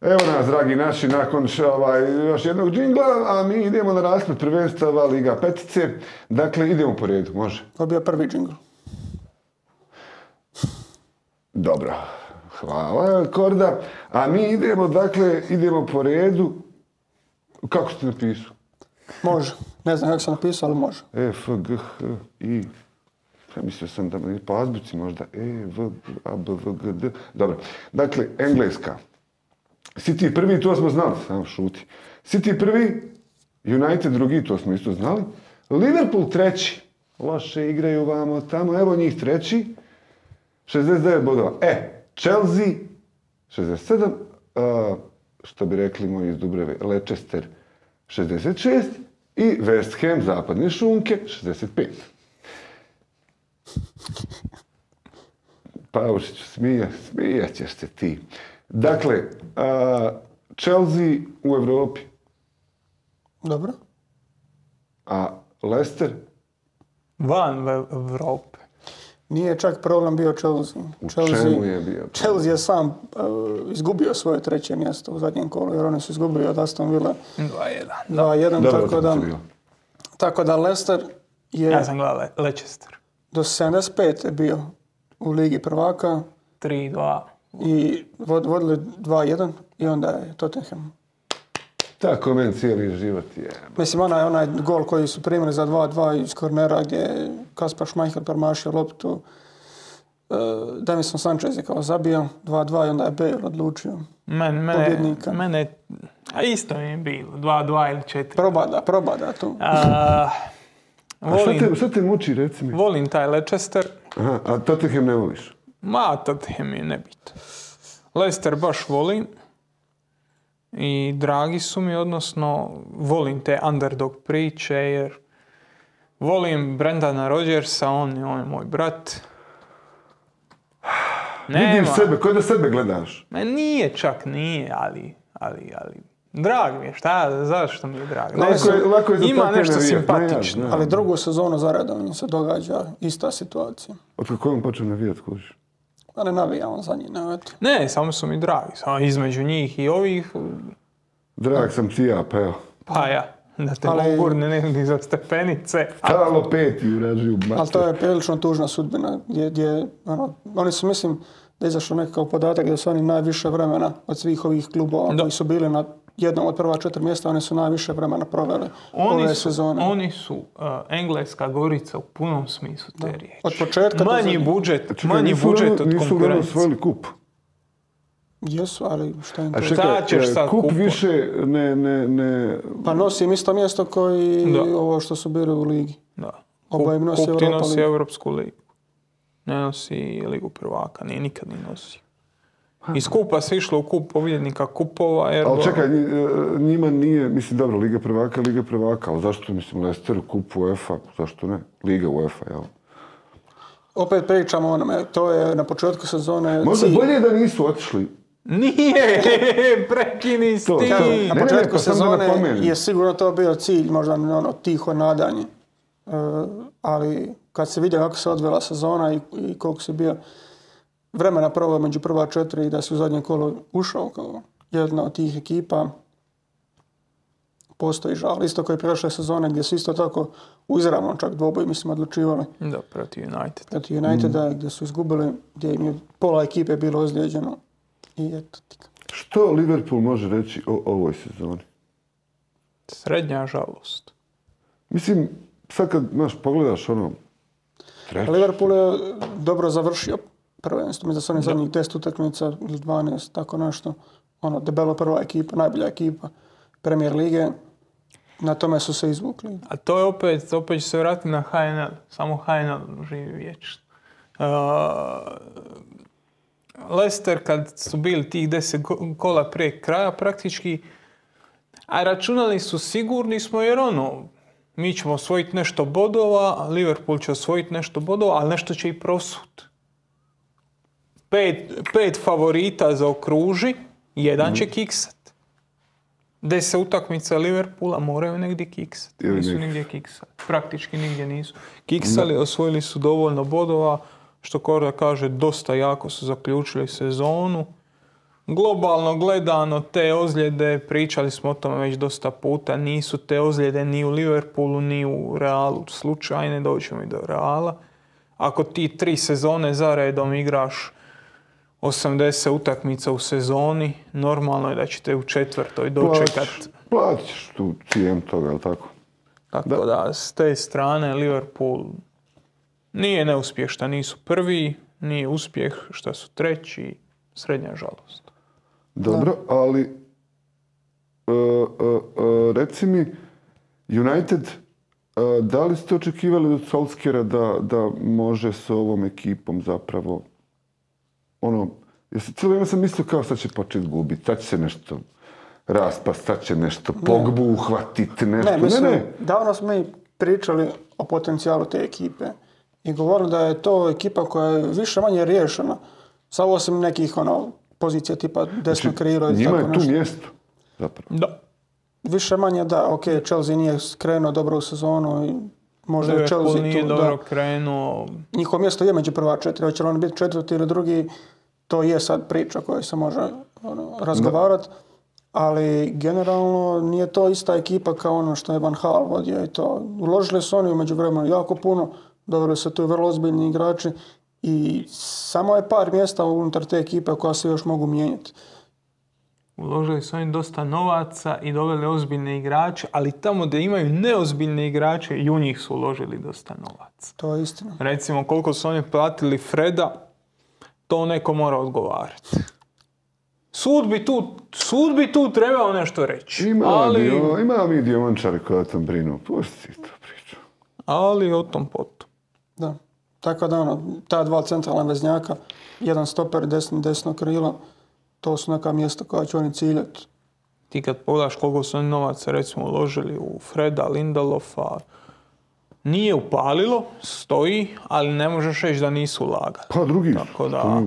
Evo nas, dragi naši, nakon još jednog džingla, a mi idemo na rasplet prvenstava Liga petice. Dakle, idemo po redu, može? To je bio prvi džingl. Dobro, hvala Korda. A mi idemo po redu. Kako ste napisao? Može. Ne znam kako sam napisao, ali može. E, F, G, H, I. Mislio sam da po azbuci možda E, V, A, B, V, G, D. Dobro. Dakle, Engleska. City prvi, to smo znali. Samo šuti. City prvi, United drugi, to smo isto znali. Liverpool treći. Loše igraju vamo tamo. Evo njih treći. 69 bodova. Chelsea 67. Što bi rekli moji iz Dubrave, Leicester 66. I West Ham, zapadne šunke, 65. Paušiću, smijat ćeš se ti. Dakle, Chelsea u Evropi. Dobro. A Leicester? Van Evrope. Nije čak problem bio Chelsea. U čemu je bio? Chelsea je sam izgubio svoje treće mjesto u zadnjem kolu, jer oni su izgubili od Aston Villa 2-1. Tako da Leicester je... Ja sam gledao Leicester. Do 75 je bio u Ligi prvaka. 3-2. I vodili 2-1 i onda je Tottenham. Tako meni cijeli život je. Mislim, onaj gol koji su primili za 2-2 iz kornera gdje je Kaspar Schmeichel promašio loptu. Davinson Sanchez je kao zabio 2-2 i onda je Bale odlučio pobjednika. Mene, a isto mi je bilo, 2-2 ili 4. Probada tu. Šta te muči, reci mi? Volim taj Leicester. Aha, a Tottenham ne voliš? Tottenham je nebitno. Leicester baš volim. I dragi su mi, odnosno volim te underdog priče, jer volim Brendana Rodgersa, on je moj brat. Vidiš sebe, koji da sebe gledaš? Nije, ali drag mi je, zašto mi je drag? Lako je ima nešto simpatično. Ali drugu sezonu zaredom se događa ista situacija. Od kako je on počeo navijat, kužiš? Pa ne navija on za njih, ne, samo su mi dragi, samo između njih i ovih. Drag sam ti ja, pa evo. Pa ja. Da te gurne negdje za stepenice. Halo 5 uražuju. Ali to je prilično tužna sudbina. Gdje, oni su, mislim, da je izašao nekakav podatak da su oni najviše vremena od svih ovih klubova koji su bili na jednom od prva 4 mjesta, oni su najviše vremena proveli ove sezone. Oni su engleska Gorica u punom smislu te riječi. Od početka manji budžet od konkurencije. Nisu uglavnom osvojili kup. Jesu, ali šta im to? Šta ćeš sad kup više ne... Pa nosim isto mjesto koji ovo što su bili u ligi. Da. Kup ti nosi Europsku ligu. Ne nosi Ligu prvaka, nije nikad ni nosio. Iz kupa se išlo u kup pobjednika kupova. Ali čekaj, njima nije, mislim, dobro, Liga prvaka, ali zašto, mislim, Leicester, kup UEFA, zašto ne? Liga UEFA, jel? Opet pričamo o onome, to je na početku sezone... Možda bolje da nisu otišli. Nije, prekini s tim. Na početku sezone je sigurno to bio cilj, možda tiho nadanje. Ali kad se vidio kako se odvela sezona i koliko se bio vremena proveo među prva 4 i da se u zadnje kolo ušao kao jedna od tih ekipa, postoji žal. Isto koji prošle sezone gdje su isto tako u izravnom čak dvoboj, mislim, odlučivali. Da, protiv United. Protiv Uniteda gdje su izgubili, gdje im je pola ekipe bilo ozlijeđeno. I eto. Što Liverpool može reći o ovoj sezoni? Srednja žalost. Mislim, sad kad pogledaš treći. Liverpool je dobro završio prvenstvo. Mislim da su oni zadnjih 10 utakmica ili 12, tako nešto. Debelo prva ekipa, najbolja ekipa Premier lige. Na tome su se izvukli. A to je opet će se vratiti na HNL. Samo HNL živi vječno. Leicester kad su bili tih 10 kola prije kraja praktički, a računali su sigurni smo jer mi ćemo osvojiti nešto bodova, Liverpool će osvojiti nešto bodova, ali nešto će i prosut. 5 favorita zaokruži, jedan će kiksat. 10 utakmica Liverpoola moraju negdje kiksati. Nisu nigdje kiksali. Praktički nigdje nisu. Kiksali, osvojili su dovoljno bodova, što Korda kaže, dosta jako su zaključili sezonu. Globalno gledano, te ozljede, pričali smo o tome već dosta puta, nisu te ozljede ni u Liverpoolu, ni u Realu slučajne, doćemo i do Reala. Ako ti 3 sezone zaredom igraš 80 utakmica u sezoni, normalno je da ćete u 4. dočekat. Platiš tu cijenu toga, ali tako? Tako da, s te strane Liverpool nije neuspjeh šta nisu prvi, nije uspjeh šta su treći, srednja žalost. Dobro, ali reci mi, United, da li ste očekivali od Solskjera da može s ovom ekipom zapravo cijelo vrijeme sam mislio kao sad će početi gubiti, sad će se nešto raspast, sad će nešto Pogbu uhvatiti, nešto. Ne. Davno smo mi pričali o potencijalu te ekipe i govorili da je to ekipa koja je više manje riješena, samo osim nekih pozicija tipa desno krilo i tako nešto. Njima je tu mjesto, zapravo. Da. Više manje da, ok, Chelsea nije krenuo dobro u sezonu i možda je Chelsea tu. Liverpool nije dobro krenuo. Njihovo mjesto je među prva 4, hoće li on biti 4. ili 2. To je sad priča koja se može razgovarati, ali generalno nije to ista ekipa kao ono što je Van Gaal vodio i to. Uložili su oni u međuvremenu jako puno, doveli su tu vrlo ozbiljni igrači i samo je par mjesta unutar te ekipe koja se još mogu mijenjati. Uložili su oni dosta novaca i doveli ozbiljne igrače, ali tamo gdje imaju neozbiljne igrače i u njih su uložili dosta novaca. To je istina. Recimo koliko su oni platili Freda, to neko mora odgovarati. Sud bi tu trebao nešto reći. Ima mi dijamančari koji o tom brinu. Pusti to priču. Ali o tom potom. Da. Tako da ta 2 centralna veznjaka, jedan stoper, desno krilo, to su neka mjesta koja će oni ciljati. Ti kad pogledaš koliko su oni novaca recimo uložili u Freda, Lindelofa, nije upalilo, stoji, ali ne možeš reći da nisu ulagali. Pa drugi tako da,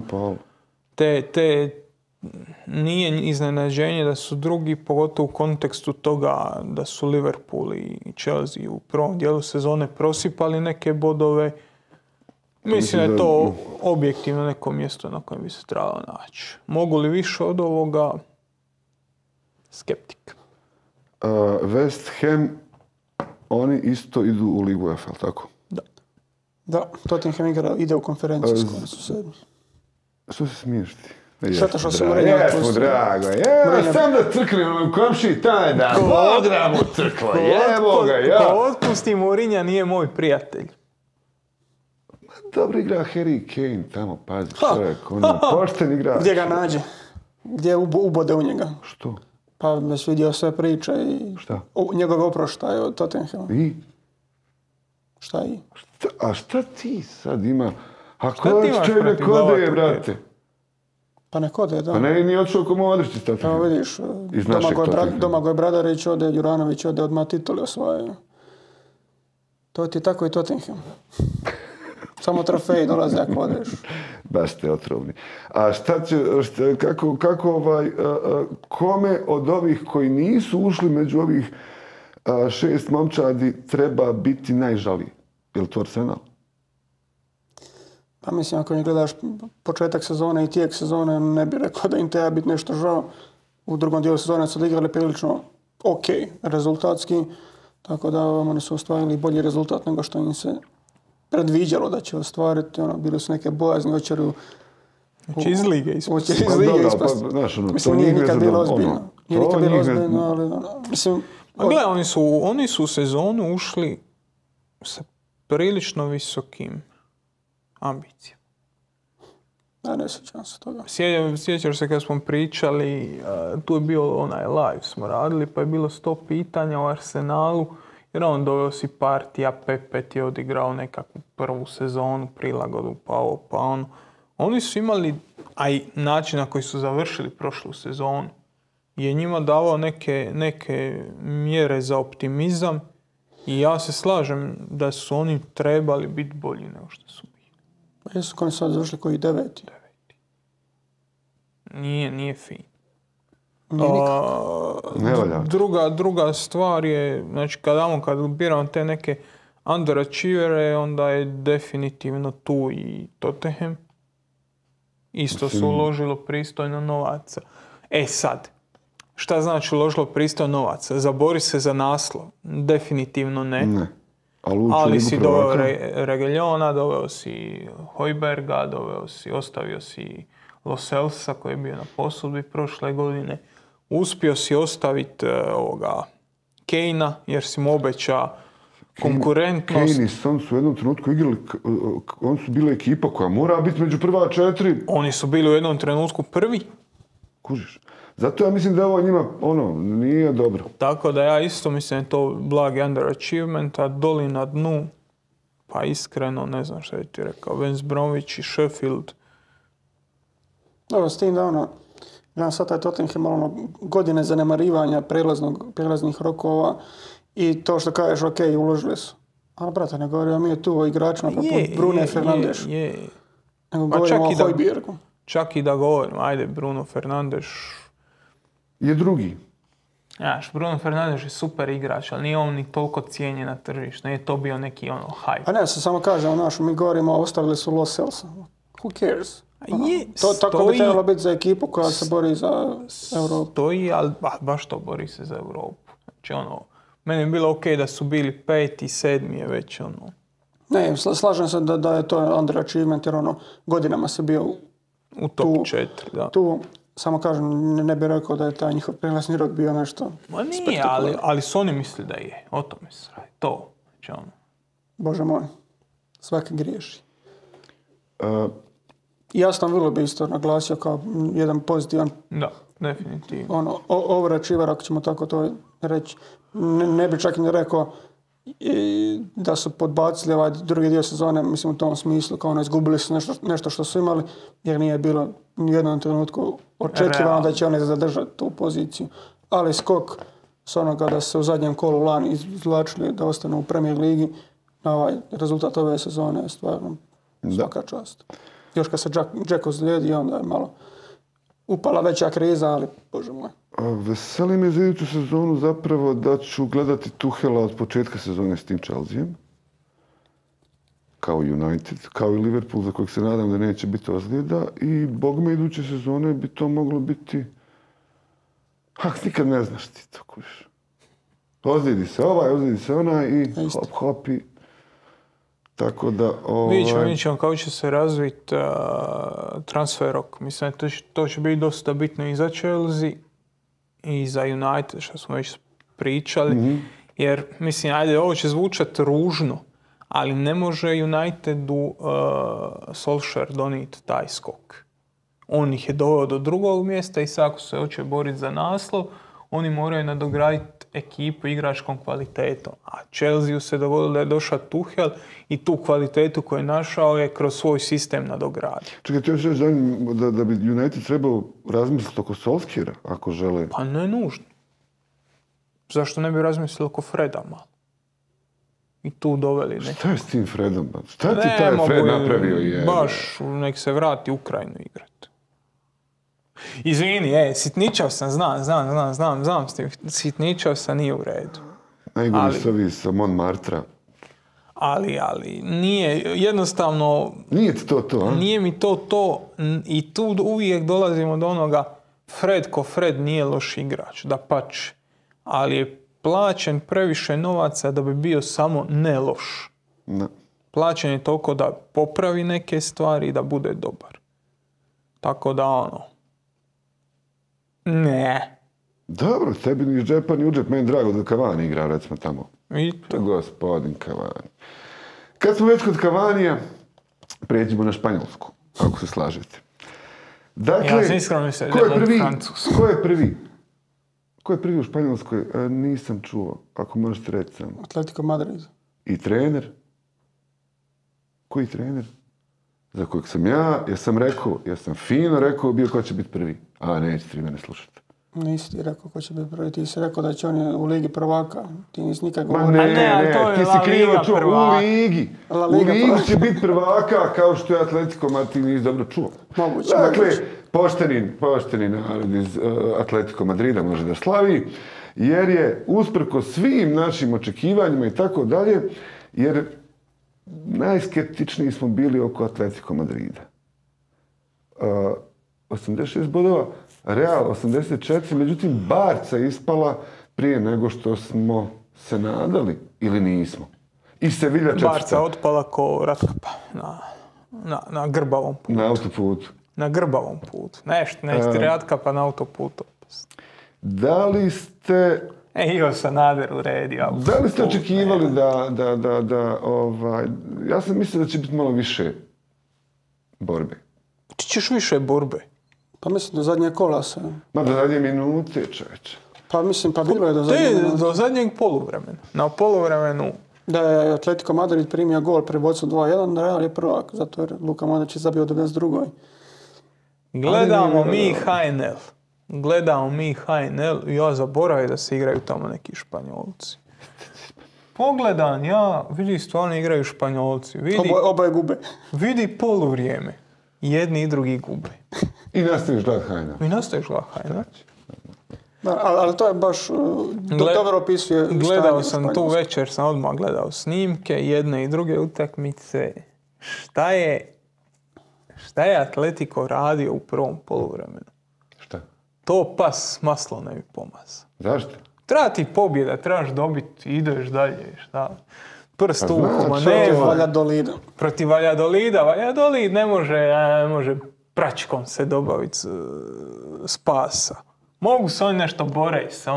nije iznenađenje da su drugi, pogotovo u kontekstu toga da su Liverpool i Chelsea u prvom dijelu sezone prosipali neke bodove. Mislim da je to objektivno neko mjesto na kojem bi se trebalo naći. Mogu li više od ovoga? Skeptik. West Ham, oni isto idu u Ligu UEFA, tako? Da, Tottenham ide u konferenciju s kojom su sedmi. Što se smiješ ti? Šteta što se Mourinho otpustio. Jesmo, drago. Sam da crkne u komši taj dan. Bog da mu crkla, jebo ga, ja. Ko otpusti Mourinha nije moj prijatelj. Dobro igra Harry Kane tamo, pazi čovjek. On je pošten igrač. Gdje ga nađe? Gdje ubode u njega? Što? Pa već vidio sve priče i Šta? njegov oproštaj od Tottenhama. I? Šta i? A šta ti sad ima? A Šta ti imaš će ne protiv kode, Novaka? brate? Pa ne kode, da. Pa ne, nije odšao ko Modrić. Evo vidiš, Iz našeg Tottenhama. Domagoj Bradarić ode, Juranović ode, odmah tituli osvajaju. To ti tako i Tottenham. Samo trofeji dolaze ako odeš. Baš ste otrovni. A kome od ovih koji nisu ušli među ovih 6 momčadi treba biti najžaliji? Je li to Arsenal? Pa mislim, ako ne gledaš početak sezone i tijek sezone, ne bih rekao da im treba biti nešto žao. U drugom dijelu sezone su odigrali prilično ok rezultatski, tako da oni su ostvarili bolji rezultat nego što im se predviđalo da će ostvariti. Bili su neke bojazni, hoće iz lige ispasti. Mislim, nije nikad bilo ozbiljno. Nije nikad bilo ozbiljno, ali mislim... Gle, oni su u sezonu ušli sa prilično visokim ambicijama. Ne sjećam se toga. Sjećaš se kad smo pričali, tu je bio onaj live smo radili, pa je bilo 100 pitanja o Arsenalu, jer on doveo si partija, Pepe je odigrao nekakvu prvu sezonu, prilagodu, pa ovo, pa ono. Oni su imali, a i način na koji su završili prošlu sezonu, je njima davao neke mjere za optimizam i ja se slažem da su oni trebali biti bolji nego što su bili. Jesu koji sad završili koji 9. Nije fin. Druga stvar je, znači kad biramo te neke underachievere, onda je definitivno tu i Tottenham. Isto su uložilo pristojno novaca. Sad, šta znači uložilo pristojno novaca? Zabori se za naslov? Definitivno ne. Ali si doveo Reguilona, doveo si Hojberga, ostavio si Lo Celsa koji je bio na posudbi prošle godine. Uspio si ostaviti Kejna jer si mu obeća konkurentnost. Kane i Son su u jednom trenutku igrali, oni su bili ekipa koja mora biti među prva 4. Oni su bili u jednom trenutku prvi. Kužiš. Zato ja mislim da ovo njima, nije dobro. Tako da ja isto mislim da je to blagi underachievement, a doli na dnu, pa iskreno, ne znam šta je ti rekao, West Bromwich i Sheffield. Dobro, s tim da gledam sad taj Tottenham, godine zanemarivanja prelaznih rokova i to što kažeš, ok, uložili su. Ali, brate, ne govorimo mi je tu o igračima poput Bruno Fernandes. Nego govorimo o Hojbjergu. Čak i da govorimo, ajde, Bruno Fernandes je drugi. Znaš, Bruno Fernandes je super igrač, ali nije on ni toliko cijenjen na tržištu. Nije to bio neki hype. A ne, se samo kažem, mi govorimo, ostavili su Lo Celsa. Who cares? Tako bi trebalo biti za ekipu koja se bori za Europu. Stoji, ali baš to bori se za Europu. Znači, meni je bilo ok da su bili 5. i 7. je već Ne, slažem se da je to underachievement, jer godinama se bio u top 4, da. Tu, samo kažem, ne bih rekao da je taj njihov prelazni rok bio nešto nije, ali su oni mislili da je. O tome se radi. To. Znači, Bože moj, svaki griješi. Ja sam vrlo bi isto naglasio kao jedan pozitivan... Da, definitivno. Overachiever, ako ćemo tako to reći. Ne bi čak ni rekao da su podbacili ovaj drugi dio sezone, mislim u tom smislu, kao izgubili su nešto što su imali, jer nije bilo u jednom trenutku očekivano da će oni zadržati tu poziciju. Ali skok s onoga da se u zadnjem kolu lani izvlačili da ostanu u Premier ligi, na ovaj rezultat ove sezone je stvarno svaka čast. Još kad se Džeko zlijedi, onda je malo upala veća kriza, ali bože moj. Veseli me za iduću sezonu zapravo da ću gledati Tuhela od početka sezone s tim Chelseaem. Kao United, kao i Liverpool za kojeg se nadam da neće biti ozljeda. I bogme iduće sezone bi to moglo biti... nikad ne znaš ti to kuš. Ozlijedi se ovaj, ozlijedi se onaj i hop i... Tako da... Vidjet ćemo kako će se razviti transfer rok. Mislim, to će biti dosta bitno i za Chelsea i za United, što smo već pričali. Jer, mislim, ajde, ovo će zvučati ružno, ali ne može Unitedu Solskjaer donijeti taj skok. On ih je doveo do drugog mjesta i sad ako se hoće boriti za naslov, oni moraju nadograditi ekipu igračkom kvalitetom. A Chelsea se dogodilo da je došao Tuchel i tu kvalitetu koju je našao je kroz svoj sistem nadogradio. Čekaj, ti još reći da bi United trebao razmisliti oko Solskjaera, ako žele? Pa ne nužno. Zašto ne bi razmislili oko Freda malo? I tu doveli neko. Šta je s tim Fredom? Šta ti taj Fred napravio? Baš nek se vrati u Ukrajinu igrati. Izvini, sitničao sam, znam, sitničao sam, nije u redu. Najgori su ovi sa Montmartra. Ali, nije, jednostavno... Nije ti to, a? Nije mi to i tu uvijek dolazimo do onoga Fred nije loš igrač, dapače, ali je plaćen previše novaca da bi bio samo ne loš. Ne. Plaćen je toliko da popravi neke stvari i da bude dobar. Tako da ne. Dobro, tebi ni iz džepa ni u džep, meni drago da Cavani igra, recimo tamo. I to. Gospodin Cavani. Kad smo već kod Cavanija, pređimo na Španjolsku, ako se slažete. Dakle, ja sam iskreno mislim da je Francus. Ko je prvi u Španjolskoj? Nisam čuo, ako možete reći samo. Atletico Madrid. I trener? Koji trener? Za kojeg sam ja sam fino rekao bio ko će biti prvi. A neće ti mene slušati. Nisi ti rekao ko će biti prvi, ti si rekao da će oni u Ligi prvaka. Ti nisi nikad Ma govorio. ne, ti si krivo čuo. U Ligi. U Ligi će biti prvaka kao što je Atletico Madrid, nisi dobro čuo. Moguće. Dakle, pošteni narod iz Atletico Madrida može da slavi, jer je usprko svim našim očekivanjima i tako dalje, jer najskeptičniji smo bili oko Atletico Madrida. 86 bodova, Real 84, međutim Barca ispala prije nego što smo se nadali ili nismo. I Sevilla 4. Barca otpala ko ratkapa na grbavom putu. Na autoputu. Na grbavom putu. Nešto ratkapa na autoputu. Da li ste... Ivo Sanader uredio. Da li ste očekivali ja sam mislio da će biti malo više borbe. Ti ćeš više borbe. Pa mislim do zadnje kola se. Ma do zadnje minute, čovječe. Pa mislim, bilo je do zadnje minute. Do zadnjeg poluvremena. Na poluvremenu... Da je Atletico Madrid primio gol pri vodstvu 2-1, Real je prvak, zato jer Luka Modrić je zabio 92. Gledamo mi HNL i ja zaboravim da se igraju tamo neki Španjolci. Pogledam ja, vidi stvarno igraju Španjolci. Oboje gube. Vidi poluvrijeme. Jedni i drugi gube. I nastaviš gledat HNL. Da, ali to je baš dobro opisuje. Gledao sam tu večer, sam odmah gledao snimke, jedne i druge utakmice. Šta je Atletico radio u prvom poluvremenu? Šta? To pas maslo ne bi pomazao. Zašto? Treba ti pobjeda, trebaš dobiti, ideš dalje, šta? Prst u protiv Valladolida. Valladolid ne može pračkom se dobaviti spasa. Mogu se oni nešto boreći se,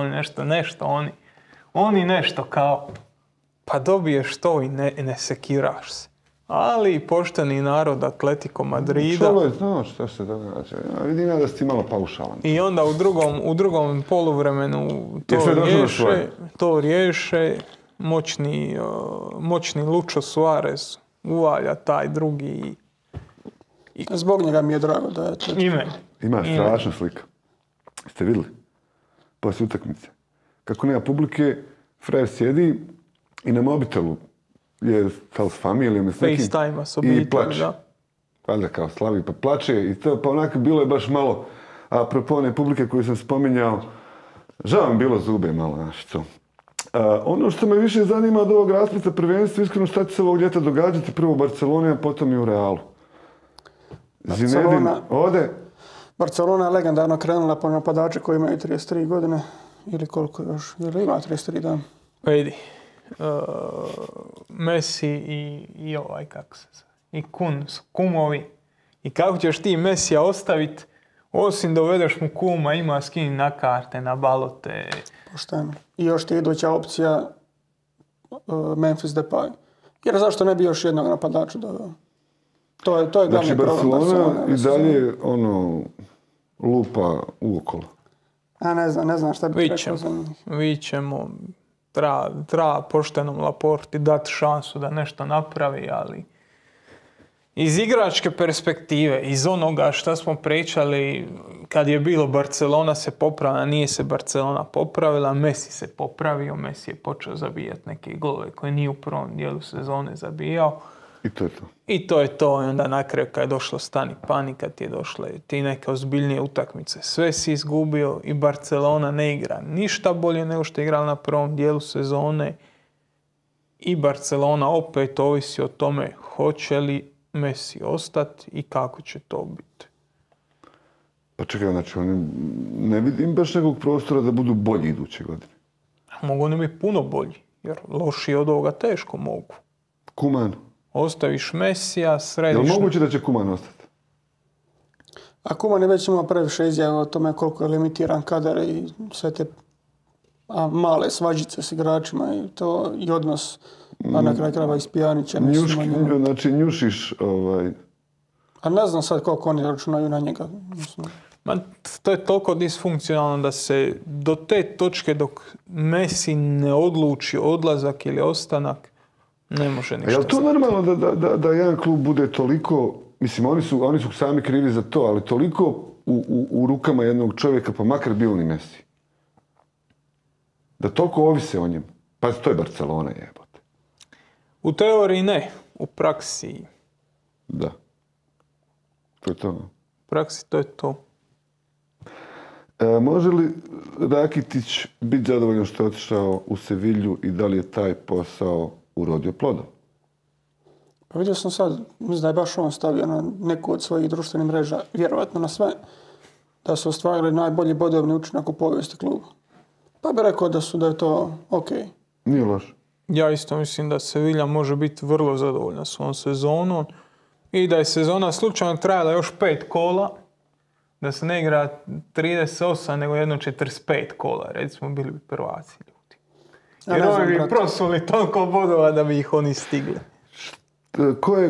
oni nešto kao, pa dobiješ to i ne sekiraš se. Ali pošteni narod Atletico Madrida... Čovjek znao što se događa. Ja vidim da si ti malo paušalan. I onda u drugom poluvremenu to riješe. Moćni Lucho Suarez uvalja taj drugi. Zbog njega mi je drago da je to. Ima strašna slika. Ste vidjeli? Poslije utakmice. Kako nema publike, frajer sjedi i na mobitelu je s familijom i s nekim i plače. Valjda kao slavi pa plače i to pa onako bilo je baš malo, apropo one publike koju sam spominjao, žao mi bilo zube malo naši to. Ono što me više zanima od ovog raspleta prvenstva, iskreno šta će se ovog ljeta događati, prvo u Barceloni, a potom i u Realu. Zinedine ode. Barcelona je legendarno krenula po napadače koji imaju 33 godine. ili koliko još, ili ima 33 dana. Vidi, Messi i ovaj, kako se zove, i Kun su kumovi. I kako ćeš ti Messija ostaviti, osim dovedeš mu kuma, ima s kim na karte, na balote. Pošteno. I još ti iduća opcija Memphis Depay. Jer zašto ne bi još jednog napadača doveo? To je glavni Znači, problem Barcelona i dalje lupa uokolo. A ne znam šta bi rekao za njih. Vićemo, treba poštenom Laporti dati šansu da nešto napravi, ali iz igračke perspektive, iz onoga što smo pričali, kad je bilo Barcelona se popravila, nije se Barcelona popravila, Messi se popravio, Messi je počeo zabijati neke golove koje nije u prvom dijelu sezone zabijao. I to je to. I to je to. I onda na kraju kad je došlo stani panika, ti je došle ti neke ozbiljnije utakmice. Sve si izgubio i Barcelona ne igra ništa bolje nego što je igrala na prvom dijelu sezone. I Barcelona opet ovisi o tome hoće li Messi ostati i kako će to biti. Pa čekaj, znači oni ne vidim baš nekog prostora da budu bolji iduće godine. Mogu oni biti puno bolji, jer loši od ovoga teško mogu. Kuman. Ostaviš Messija, središ... Je li moguće da će Kuman ostati? A Kuman je već imao previše izjava o tome koliko je limitiran kadar i sve te male svađice s igračima i to i odnos, a na kraju krajeva i s Pjanićem. Znači njušiš A ne znam sad koliko oni računaju na njega. Ma, to je toliko disfunkcionalno da se do te točke dok Messi ne odluči odlazak ili ostanak, ne može ništa. A je li to normalno da jedan klub bude toliko, mislim oni su sami krivi za to, ali toliko u rukama jednog čovjeka, pa makar bio ni Messi? Da toliko ovise o njemu? Pa to je Barcelona, jebote. U teoriji ne, u praksi. Da. To je to. U praksi to je to. Može li Rakitić biti zadovoljan što je otišao u Sevilju i da li je taj posao urodio plodom? Pa vidio sam sad, mislim da je baš on stavio na neku od svojih društvenih mreža, vjerovatno na sve, da su ostvarili najbolji bodovni učinak u povijesti kluba. Pa bi rekao da je to ok. Nije loš. Ja isto mislim da Sevilla može biti vrlo zadovoljna svom sezonom i da je sezona slučajno trajala još 5 kola, da se ne igra 38, nego jedno 45 kola, recimo bili bi prvaci ljudi. Jer ovi bi prosuli toliko bodova da bi ih oni stigli.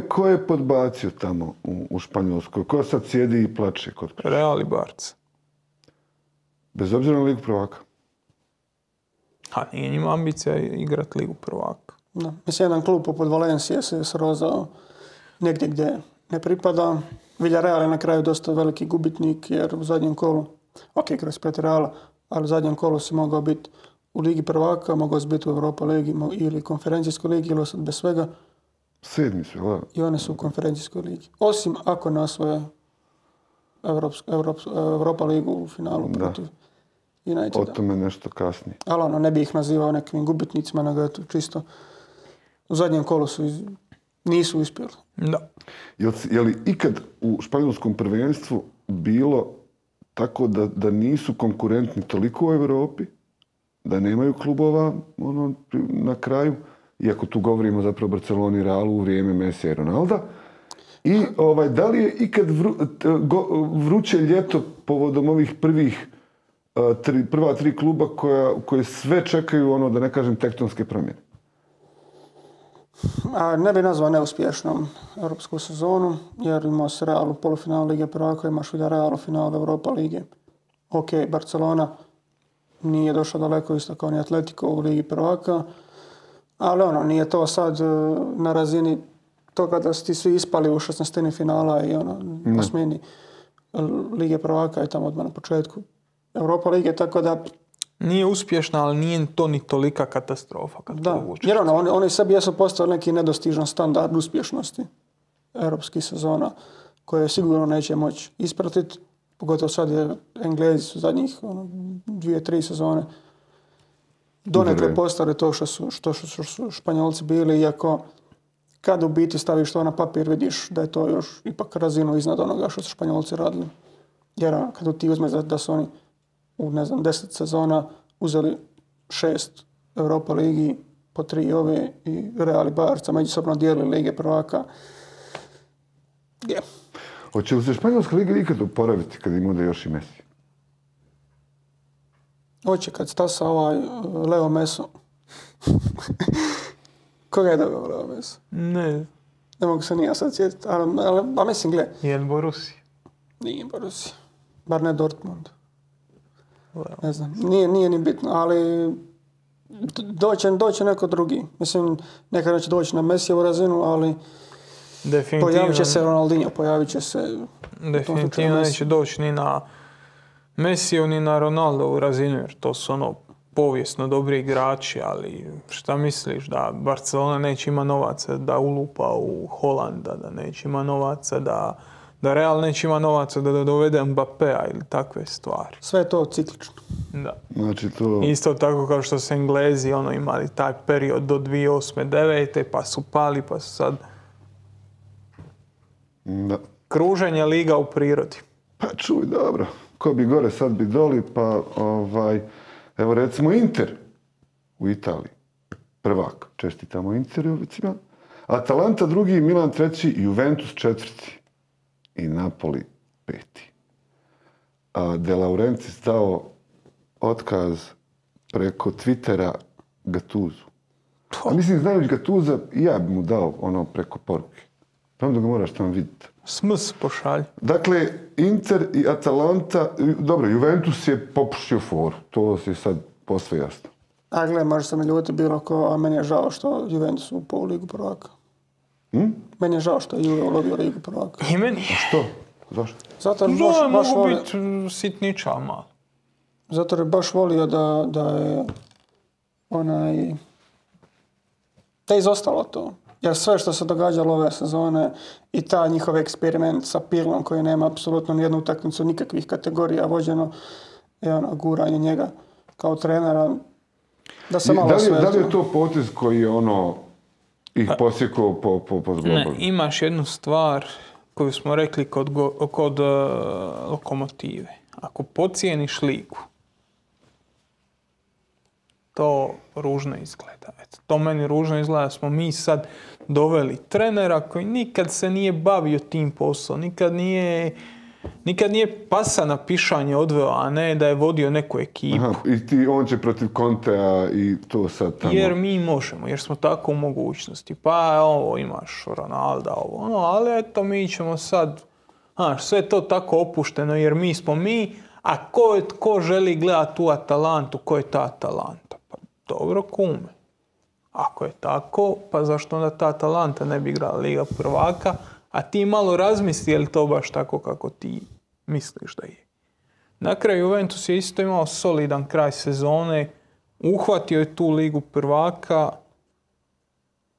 Ko je podbacio tamo u Španjolskoj? Ko sad sjedi i plače kod kuće? Real i Barca. Bez obzira na Ligu prvaka? A nije njima ambicija igrati Ligu prvaka. Da. Mislim, jedan klub poput Valencije se srozao negdje gdje ne pripada. Villarreal je na kraju dosta veliki gubitnik jer u zadnjem kolu, ok, kroz protiv Reala, ali u zadnjem kolu si mogao biti u Ligi prvaka, mogao si biti u Europa ligi ili konferencijskoj ligi ili sad bez svega. 7. su, da. I one su u konferencijskoj ligi. Osim ako ne osvoje Europa ligu u finalu protiv Uniteda. O tome nešto kasnije. Ali ne bi ih nazivao nekim gubitnicima, nego eto čisto u zadnjem kolu nisu uspjeli. Da. Je li ikad u španjolskom prvenstvu bilo tako da nisu konkurentni toliko u Europi, da nemaju klubova na kraju, iako tu govorimo zapravo o Barceloni i Realu u vrijeme Messija i Ronalda, i da li je ikad vruće ljeto povodom ovih prva 3 kluba koje sve čekaju, da ne kažem, tektonske promjene? Ne bi nazvao neuspješnom europsku sezonu, jer imao se Real u polufinalu Lige prvaka, imaš Villarreal u finalu Europa lige. Ok, Barcelona nije došla daleko isto kao ni Atletico u Ligi prvaka, ali nije to sad na razini toga da su ti svi ispali u 16. finala i po smjeni Lige prvaka i tamo odmah na početku Europa lige, tako da... Nije uspješna, ali nije to ni tolika katastrofa. Da, jer oni sebi jesu postavili neki nedostižan standard uspješnosti europskih sezona koje sigurno neće moći ispratiti. Pogotovo sad je Englezi su zadnjih 2-3 sezone donekle postali to što su Španjolci bili, iako kad u biti staviš to na papir vidiš da je to još ipak razinu iznad onoga što su Španjolci radili. Jer kad ti uzmeš da su oni u 10 sezona uzeli 6 Europa ligi, po 3 ove i Real i Barca međusobno dijelili lige prvaka. Hoće li se Španjolska liga ikad oporaviti kad im bude još i Messi? Hoće kad stasa Leo Meso. Koga je dobio Leo Meso? Ne. Ne mogu se nije sad sjetiti, ali mislim, gle. Je li Borussia? Nije Borussia. Bar ne Dortmund. Ne znam, nije ni bitno, ali doće neko drugi. Mislim, nekad neće doći na Messijevu razinu, ali pojavit će se Ronaldinho, pojavit će se... Definitivno neće doći ni na Messijevu, ni na Ronaldovu razinu, jer to su povijesno dobri igrači, ali šta misliš, da Barcelona neće ima novaca da ulupa u Holanda, da neće ima novaca da Real neće ima novaca da dovede Mbappéa ili takve stvari. Sve je to ciklično. Da. Znači to... Isto tako kao što su Englezi imali taj period do 2008-2009, pa su pali, pa su sad... Da. Kruženje liga u prirodi. Pa čuj, dobro. Ko bi gore, sad bi doli, pa evo recimo Inter u Italiji. Prvak. Čestitamo Interovicima. Atalanta drugi, Milan treći, Juventus četvrti. I Napoli peti. A De Laurentiis dao otkaz preko Twittera Gattusu. A mislim, znajući Gattusa, i ja bi mu dao preko poruke. Pravno da ga moraš tamo vidjeti. Sms pošalj. Dakle, Inter i Atalanta, dobro, Juventus je popušio foru. To je sad posve jasno. A gle, može se mi ljuti bilo ko, a meni je žao što Juventus upao u ligu prvaka. Meni je žao što je Juve ulovio ligu prvaka. I meni. Što? Zašto? Zato jer baš mogu volio... biti sitniča malo. Zato jer baš volio da je da je izostalo to. Jer sve što se događalo ove sezone i ta njihov eksperiment sa Pirlom koji nema apsolutno nijednu utakmicu, nikakvih kategorija vođeno i guranje njega kao trenera, da se malo sve... Da li je to potez koji je ih posjekao po zglobu? Ne, imaš jednu stvar koju smo rekli kod Lokomotive. Ako pocijeniš ligu, to ružno izgleda. To meni ružno izgleda da smo mi sad doveli trenera koji nikad se nije bavio tim poslom, nikad nije pasa na pišanje odveo, a ne da je vodio neku ekipu. Aha, i on će protiv Contea i to sad tamo... Jer mi možemo, jer smo tako u mogućnosti. Pa imaš Ronalda, ali eto mi ćemo sad... sve to tako opušteno jer mi smo mi, a ko želi gledati tu Atalantu, ko je ta Atalanta? Pa dobro, kume. Ako je tako, pa zašto onda ta Atalanta ne bi igrala Liga prvaka, a ti malo razmisli je li to baš tako kako ti misliš da je. Na kraju Juventus je isto imao solidan kraj sezone, uhvatio je tu Ligu prvaka,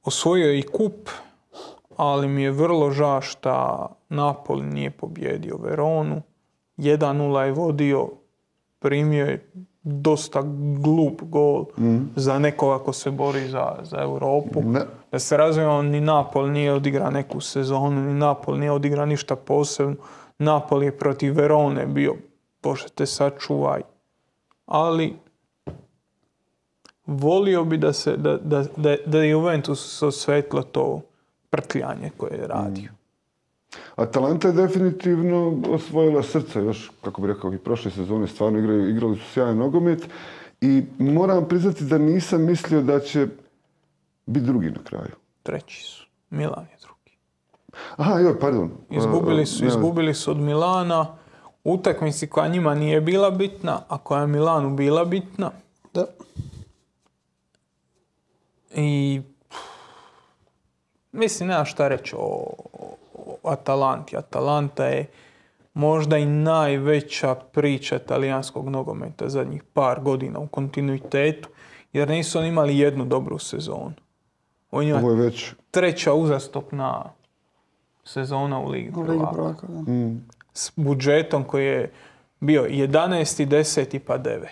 osvojio je i kup, ali mi je vrlo žao što Napoli nije pobjedio Veronu. 1-0 je vodio, primio je dosta glup gol za nekoga ko se bori za Europu. Ne. Da se razumijemo, ni Napoli nije odigrao neku sezonu, ni Napoli nije odigrao ništa posebno. Napoli je protiv Verone bio, Bože te sačuvaj. Ali volio bi da je Juventus osvetlo to prtljanje koje je radio. Atalanta je definitivno osvojila srca još, kako bi rekao, i prošle sezone stvarno igrali su sjajan nogomet i moram priznati da nisam mislio da će biti drugi na kraju. Treći su. Milan je drugi. Aha, joj, pardon. Izgubili su od Milana utakmici koja njima nije bila bitna, a koja je Milanu bila bitna. Da. I mislim, nema šta reći o Atalanti. Atalanta je možda i najveća priča talijanskog nogometa zadnjih par godina u kontinuitetu, jer nisu oni imali jednu dobru sezonu. Ovo je već treća uzastopna sezona u Ligi prvaka. S budžetom koji je bio 11. 10. pa 9.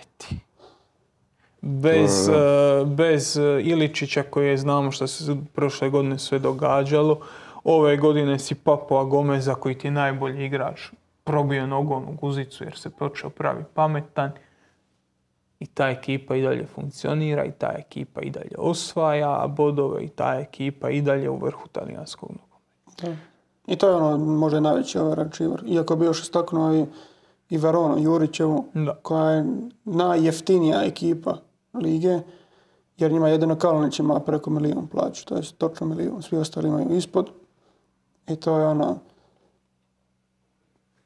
Bez Iličića koji znamo što se prošle godine sve događalo. Ove godine si Papoa Gomeza koji ti je najbolji igrač probio nogom u guzicu jer se počeo pravi pametan. i ta ekipa i dalje funkcionira i ta ekipa i dalje osvaja bodove i ta ekipa i dalje u vrhu talijanskog nogometa. I to je ono možda najveći overachiver. Iako bi još istaknuo i Veronu Jurićevu, koja je najjeftinija ekipa lige, jer njima jedino Kalinić ima preko 1 milijun plaću, to je točno 1 milijun, svi ostali imaju ispod. I to je ono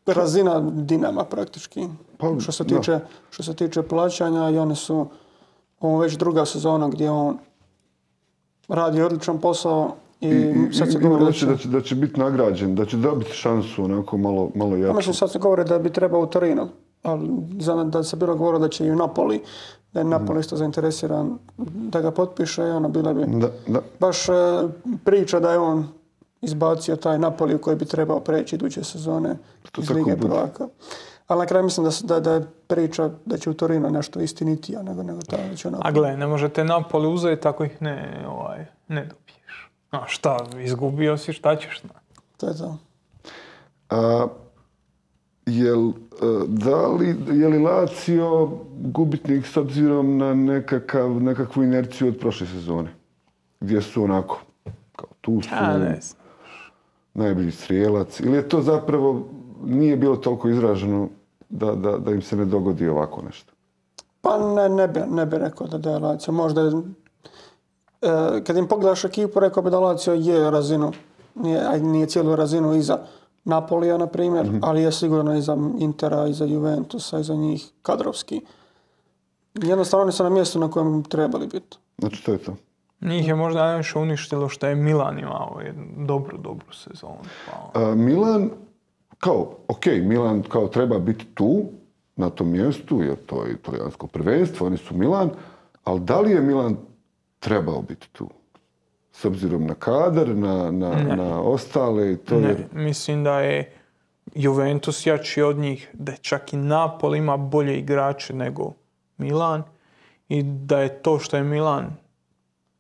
razina Dinama praktički. Što se tiče plaćanja, i oni su ovo već druga sezona gdje on radi odličan posao i sad se govori da će biti nagrađen, da će dobiti šansu onako malo jače. Mislim, sad se govori da bi trebao u Torino, ali da se bilo govorilo da će i u Napoli, da je Napoli isto zainteresiran da ga potpiše i ono bila bi baš priča da je on izbacio taj Napoli u koji bi trebao preći iduće sezone iz Lige prvaka. Ali na kraju mislim da je priča da će u Torino nešto istinitija nego tamo da će u Napoli. A gle, ne možete Napoli uzeti ako ih ne dobiješ. A šta, izgubio si, šta ćeš? To je to. Je li Lazio gubitnik s obzirom na nekakvu inerciju od prošle sezone? Gdje su onako, kao tu su, najbolji strijelac? Ili je to zapravo nije bilo toliko izraženo da im se ne dogodi ovako nešto? Pa ne bi rekao da je Lazio. Možda kad im pogledaš ekipu, rekao bi da Lazio je razinu, nije cijelu razinu iza Napolija, na primjer, ali je sigurno i za Intera, i za Juventusa, i za njih kadrovski. Jednostavno oni su na mjestu na kojem trebali biti. Znači to je to. Njih je možda najviše uništilo što je Milan imao jednu dobru sezonu. Milan, Milan kao treba biti tu, na tom mjestu, jer to je italijansko prvenstvo, oni su Milan, ali da li je Milan trebao biti tu? S obzirom na kadar, na ostale i to je... Mislim da je Juventus jači od njih, da čak i Napoli ima bolje igrače nego Milan i da je to što je Milan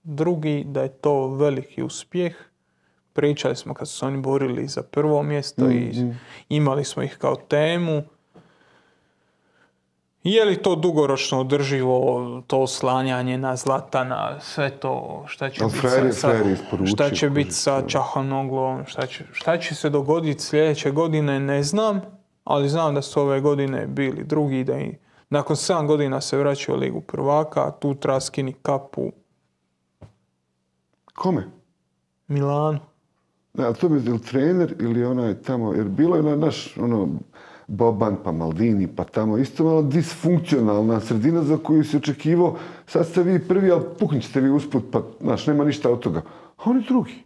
drugi, da je to veliki uspjeh. Pričali smo kad su se oni borili za prvo mjesto i imali smo ih kao temu. Je li to dugoročno održivo, to oslanjanje na Zlatana, sve to, šta će biti sa Čahanoglom, šta će se dogoditi sljedeće godine, ne znam, ali znam da su ove godine bili drugi, da i nakon 7 godina se vraćaju u Ligu prvaka, tu treba skini kapu. Kome? Milanu. Da, to bi ili trener ili onaj tamo, jer bilo je naš Boban, pa Maldini, pa tamo isto malo disfunkcionalna sredina za koju si očekivao. Sad ste vi prvi, ali puknite vi usput, pa nema ništa od toga. A oni drugi.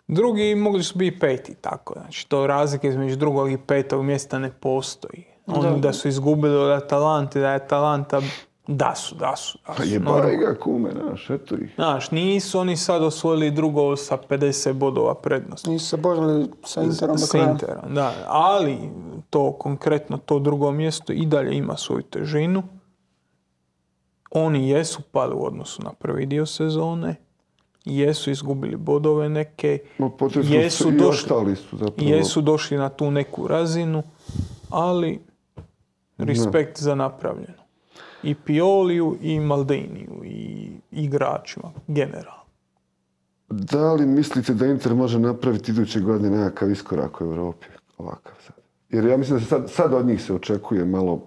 Drugi mogli su biti peti, tako. Znači, to razlike između drugog i petog mjesta ne postoji. Oni da su izgubili od Atalante, da je Atalanta... Da su. Pa jebaj ga kume, eto ih. Nisu oni sad osvojili drugo sa 50 bodova prednosti. Nisu se borili sa Interom do kraja. Da, ali to konkretno, to drugo mjesto i dalje ima svoju težinu. Oni jesu pali u odnosu na prvi dio sezone. Jesu izgubili bodove neke. Jesu došli na tu neku razinu, ali respekt za napravljeno. I Pioliju, i Maldiniju, i igračima, generalno. Da li mislite da Inter može napraviti iduće godine nekakav iskorak u Europi? Ovakav sad. Jer ja mislim da se sad od njih se očekuje malo...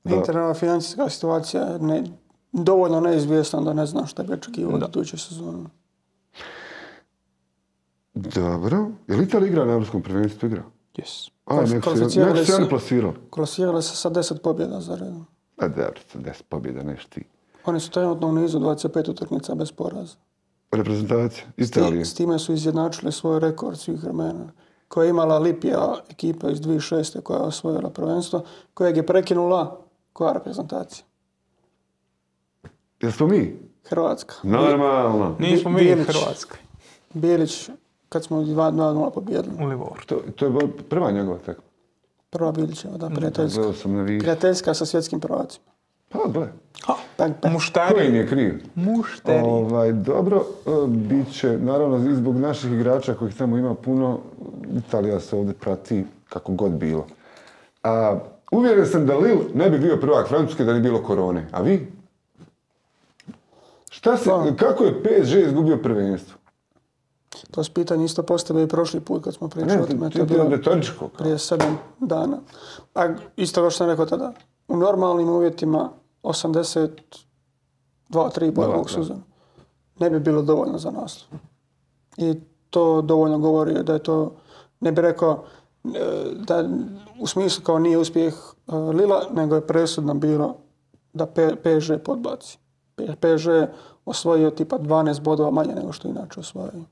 Interna financijska situacija je dovoljno neizvjesna da ne znam šta bi očekivao od iduće sezone. Dobro. Je li Italija igra na Europskom prvenstvu? Igra? Yes. Nek se oni plasirali. Klasirali se sa 10 pobjeda za redom. A dobro, 10 pobjeda, neš ti. Oni su trenutno u nizu 25 utakmica bez poraza. Reprezentacija Italije. S time su izjednačili svoj rekord svih vremena. Koja je imala Lipija, ekipa iz 2006. koja je osvojila prvenstvo, kojeg je prekinula koja reprezentacija? Jesmo mi? Hrvatska. Normalno. Nismo mi Hrvatska. Bilić, kad smo 2-0 pobjedili. U Livoru. To je prva njegova tekma. Prva Bilićeva, da, prijateljska. Prijateljska sa svjetskim prvacima. Pa, gle. Mušteri. Koji im je kriv? Mušteri. Dobro, bit će, naravno, i zbog naših igrača kojih tamo ima puno, Italija se ovdje prati kako god bilo. uvjeren sam da Lille ne bi bio prvak Francuske da nije bilo korone. A vi? Kako je PSG izgubio prvenstvo? To je pitanje isto postavio i prošli put kad smo pričali o tome. To je bilo retoričko. Prije 7 dana. A isto kao što sam rekao tada, u normalnim uvjetima 82-3 boja ovog sezona ne bi bilo dovoljno za naslov. I to dovoljno govori da je to, ne bih rekao, da u smislu kao nije uspjeh Lila, nego je presudno bilo da PSG podbaci. PSG osvojio tipa 12 bodova manje nego što inače osvojio.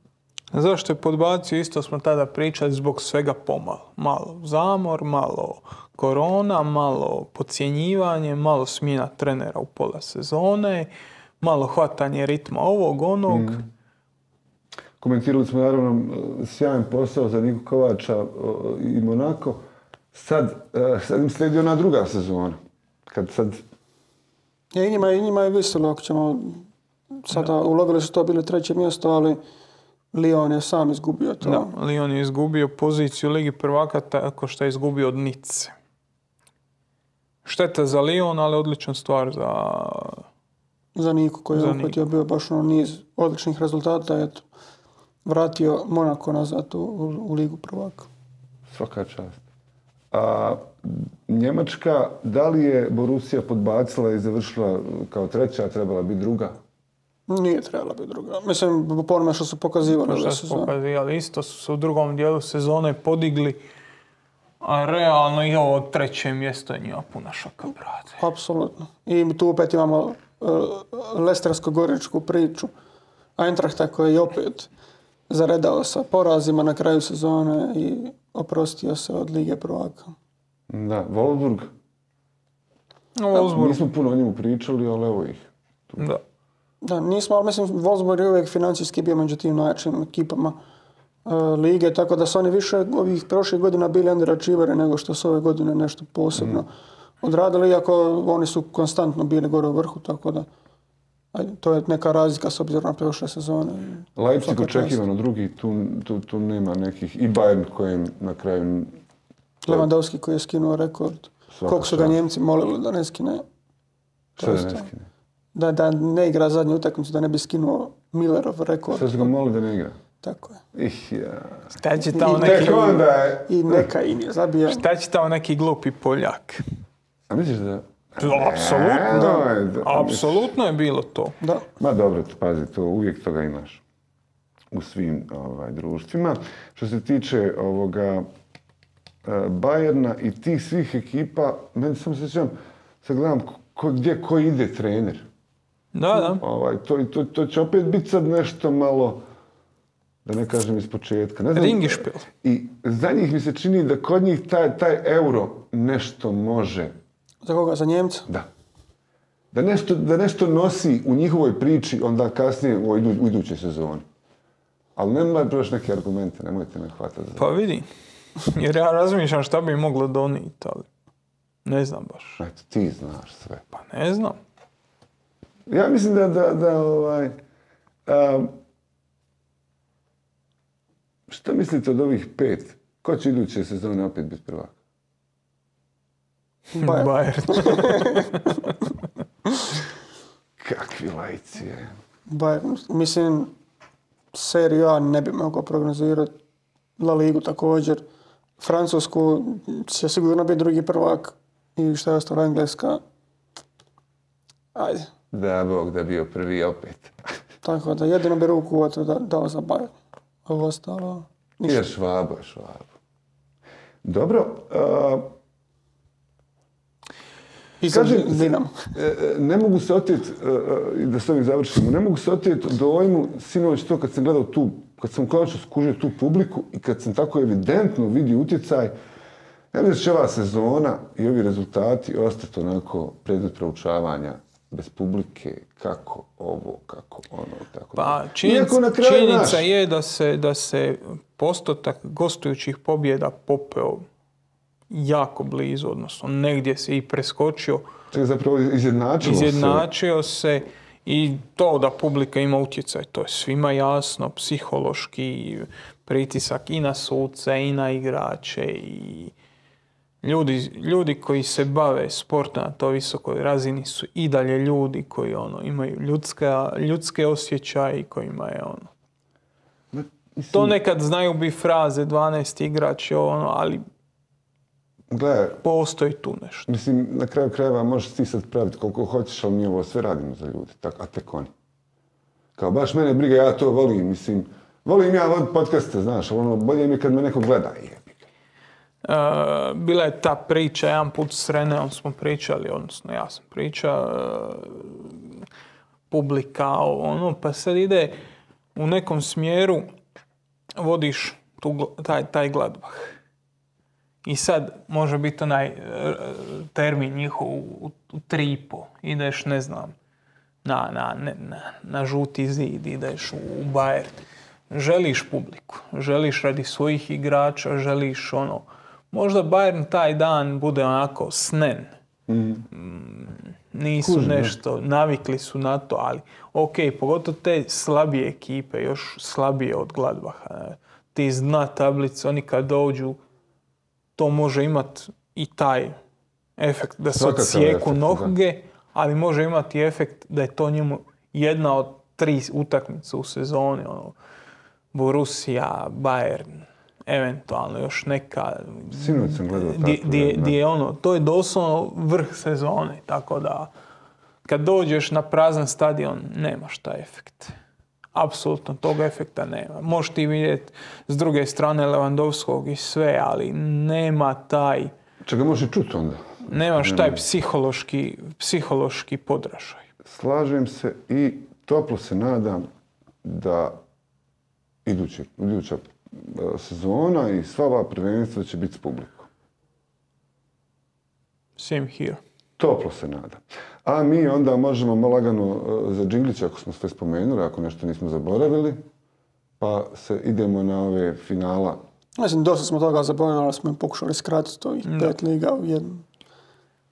Zašto je podbacio? Isto smo tada pričali zbog svega pomalo. Malo zamor, malo korona, malo podcjenjivanje, malo smjena trenera u pola sezone, malo hvatanje ritma ovog, onog. Komentirali smo naravno sjajan posao za Niku Kovača i Monako. Sad im slijedi ona druga sezona. I njima je visilo, ako ćemo sada ulovili su to bili 3. mjesto, ali Lyon je sam izgubio to. Da, Lyon je izgubio poziciju Ligi prvaka tako što je izgubio od Nice. Šteta za Lyon, ali odlična stvar za Niku koji je uhvatio bio baš niz odličnih rezultata. Eto, vratio Monako nazad u Ligu prvaka. Svaka čast. A Njemačka, da li je Borussia podbacila i završila kao 3., a trebala biti 2? Nije trebala biti 2. Mislim, po onome što su pokazivali. Što su pokazivali, isto su se u drugom dijelu sezone podigli, a realno i ovo 3. mjesto je njima puna šaka, brate. Apsolutno. I tu opet imamo lestersko-goričku priču. Eintrachta koji je opet zaredao sa porazima na kraju sezone i oprostio se od Lige prvaka. Da, Wolfsburg. Nismo puno o njemu pričali, ali evo ih. Da, nismo, ali mislim, Wolfsburg je uvijek financijski bio među tim najjačim ekipama lige, tako da su oni više ovih prošlih godina bili underachieveri nego što su ove godine nešto posebno odradili, iako oni su konstantno bili gore u vrhu, tako da to je neka razlika s obzirom na prošle sezone. Leipzig očekivano drugi, tu nema nekih, i Bayern kojem na kraju... Lewandowski koji je skinuo rekord. Koliko su ga Njemci molili da ne skine? Što da ne skine? Da ne igra zadnju utakmicu, da ne bi skinuo Millerov rekord. Što su ga molili da ne igra? Tako je. Šta će tamo neki glupi Poljak? A misliš da... Apsolutno je bilo to. Da. Ma dobro, pazi, to uvijek toga imaš u svim društvima. Što se tiče ovoga Bayerna i tih svih ekipa, meni samo se sjećam, sad gledam gdje ko ide trener. Da. To će opet biti sad nešto malo, da ne kažem iz početka. Ringišpil. I za njih mi se čini da kod njih taj euro nešto može. Za koga? Za Njemca? Da. Da nešto nosi u njihovoj priči onda kasnije u idućoj sezoni. Ali nemoj proći neke argumente, nemojte me hvatati za... Pa vidi, jer ja razmišljam šta bi moglo donijeti, ali ne znam baš. Eto, ti znaš sve. Pa ne znam. Ja mislim šta mislite od ovih 5? Ko će iduće sezone opet biti prvak? Bayern. Kakvi lajci je. Bayern. Mislim, Seriju A ne bi mogao prognozirati. La Ligu također. Francusku će sigurno biti drugi prvak. I šta je ostalo, Engleska. Ajde. Da, Bog da bio prvi opet. Tako da, jedino bi ruku dao za Bayern. Ovo ostalo ništa. Je Švabo. Dobro. Kažem, ne mogu se oteti, da s ovim završimo, ne mogu se oteti dojmu, sinoć to kad sam gledao kad sam konačno skužio tu publiku i kad sam tako evidentno vidio utjecaj, ja mislim da će ova sezona i ovi rezultati ostati onako predmet proučavanja bez publike, kako ovo, kako ono, tako da. Pa činjenica je da se postotak gostujućih pobjeda popeo jako blizu, odnosno negdje se i preskočio. Zapravo izjednačio se i to da publika ima utjecaj, to je svima jasno, psihološki pritisak i na suce i na igrače i Ljudi koji se bave sportom na toj visokoj razini su i dalje ljudi koji imaju ljudske osjećaje i kojima je To nekad znaju bi fraze 12 igrač, ali postoji tu nešto. Mislim, na kraju krajeva možeš ti sad praviti koliko hoćeš, ali mi ovo sve radimo za ljudi, a tek oni. Kao baš mene briga, ja to volim, mislim, volim ja voditi podcaste, znaš, bolje mi kad me neko gleda. Bila je ta priča, jedan put s Reneom smo pričali, odnosno ja sam pričao, publika, pa sad ide u nekom smjeru, vodiš taj Gladbach. I sad može biti onaj termin njihov u 3,5. Ideš, ne znam, na žuti zid, ideš u Bayern. Želiš publiku, želiš radi svojih igrača, želiš Možda Bayern taj dan bude onako snen. Nisu nešto, navikli su na to, ali pogotovo te slabije ekipe, još slabije od Gladbacha. Ti iz dna tablice, oni kad dođu, to može imati i taj efekt da se odsjeku noge, ali može imati efekt da je to njemu jedna od 3 utakmice u sezoni. Borussia, Bayern, eventualno još neka. Sinoć sam gledao to je doslovno vrh sezone, tako da kad dođeš na prazan stadion nemaš taj efekt. Apsolutno tog efekta nema. Možeš ti vidjeti s druge strane Lewandowskog i sve, ali nema taj... Čega možeš čuti onda? Nemaš taj psihološki podražaj. Slažem se i toplo se nadam da iduća sezona i sva ova prvenstva će biti s publikom. Same here. Toplo se nadam. A mi onda možemo malo lagano za džinglić, ako smo sve spomenuli, ako nešto nismo zaboravili, pa se idemo na ove finala. Mislim, dosta smo toga zaboravili, ali smo im pokušali skratiti to i 5 liga u jednom.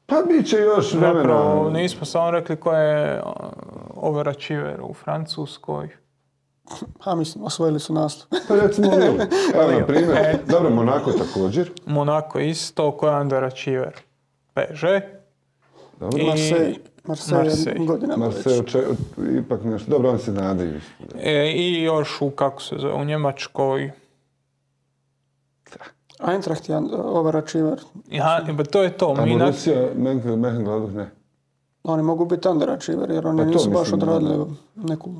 Pa bit će još vremena. Zapravo, nismo samo rekli ko je overachiver u Francuskoj. Mislim, osvojili su nastup. Pa recimo Lille. Evo, na primjer. Dobro, Monako također. Monako isto, ko je underachiever? PSG. Dobro. Marseille godinama već. Ipak nešto. Dobro, oni se nadaju. I još u Njemačkoj. Eintracht je overachiever. To je to. A Borussia, Mönchengladbach ne. Oni mogu biti underachiever jer oni nisu baš odradili neku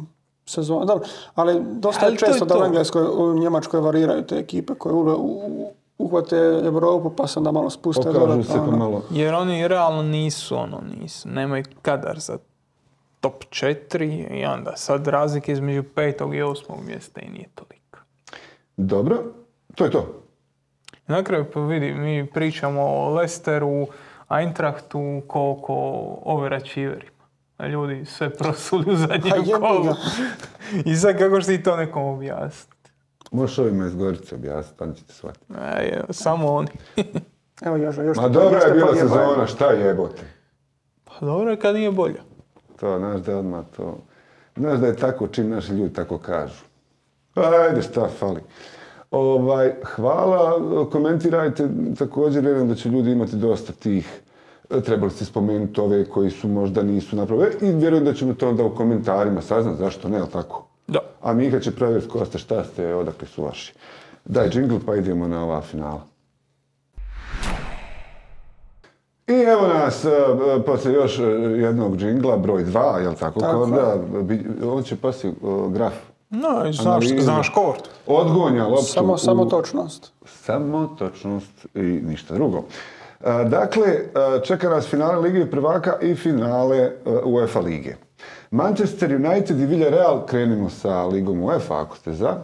sezonu. Dobro, ali dosta je često da u Engleskoj, u Njemačkoj variraju te ekipe koje uhvate Evropu pa se onda malo spuste. Pokažu se pa malo. Jer oni realno nisu. Nemaju kadar za top 4 i onda sad razlike između 5. i 8. mjesta i nije toliko. Dobro, to je to. Na kraju pa vidi, mi pričamo o Leicesteru, Eintrachtu, koliko overachieverima. Ljudi sve prosuli u zadnjem kolu. I sad kako će ti to nekom objasniti? Možeš ovima iz Gorice objasniti, oni će te shvatiti. Samo oni. Evo još ma dobra je bila sezona, šta jebote? Pa dobro je kad nije bolja. To, znaš da odmah to... Znaš da je tako čim naši ljudi tako kažu. Ajde, šta fali. Hvala, komentirajte, također vjerujem da će ljudi imati dosta tih, trebali ste spomenuti ove koji su možda nisu napravili i vjerujem da ćemo to onda u komentarima saznati zašto ne, ali tako? Da. A Mika će provjeriti ko ste, šta ste, odakle su vaši. Daj džingl pa idemo na ova finala. I evo nas, poslije još jednog džingla, broj 2, jel tako? Korda, on će poslije graf. No, znaš kort. Odgonja loptu. Samo točnost. Samo točnost i ništa drugo. Dakle, čeka nas finale Lige prvaka i finale UEFA lige. Manchester United i Villarreal, krenimo sa Ligom UEFA, ako ste za.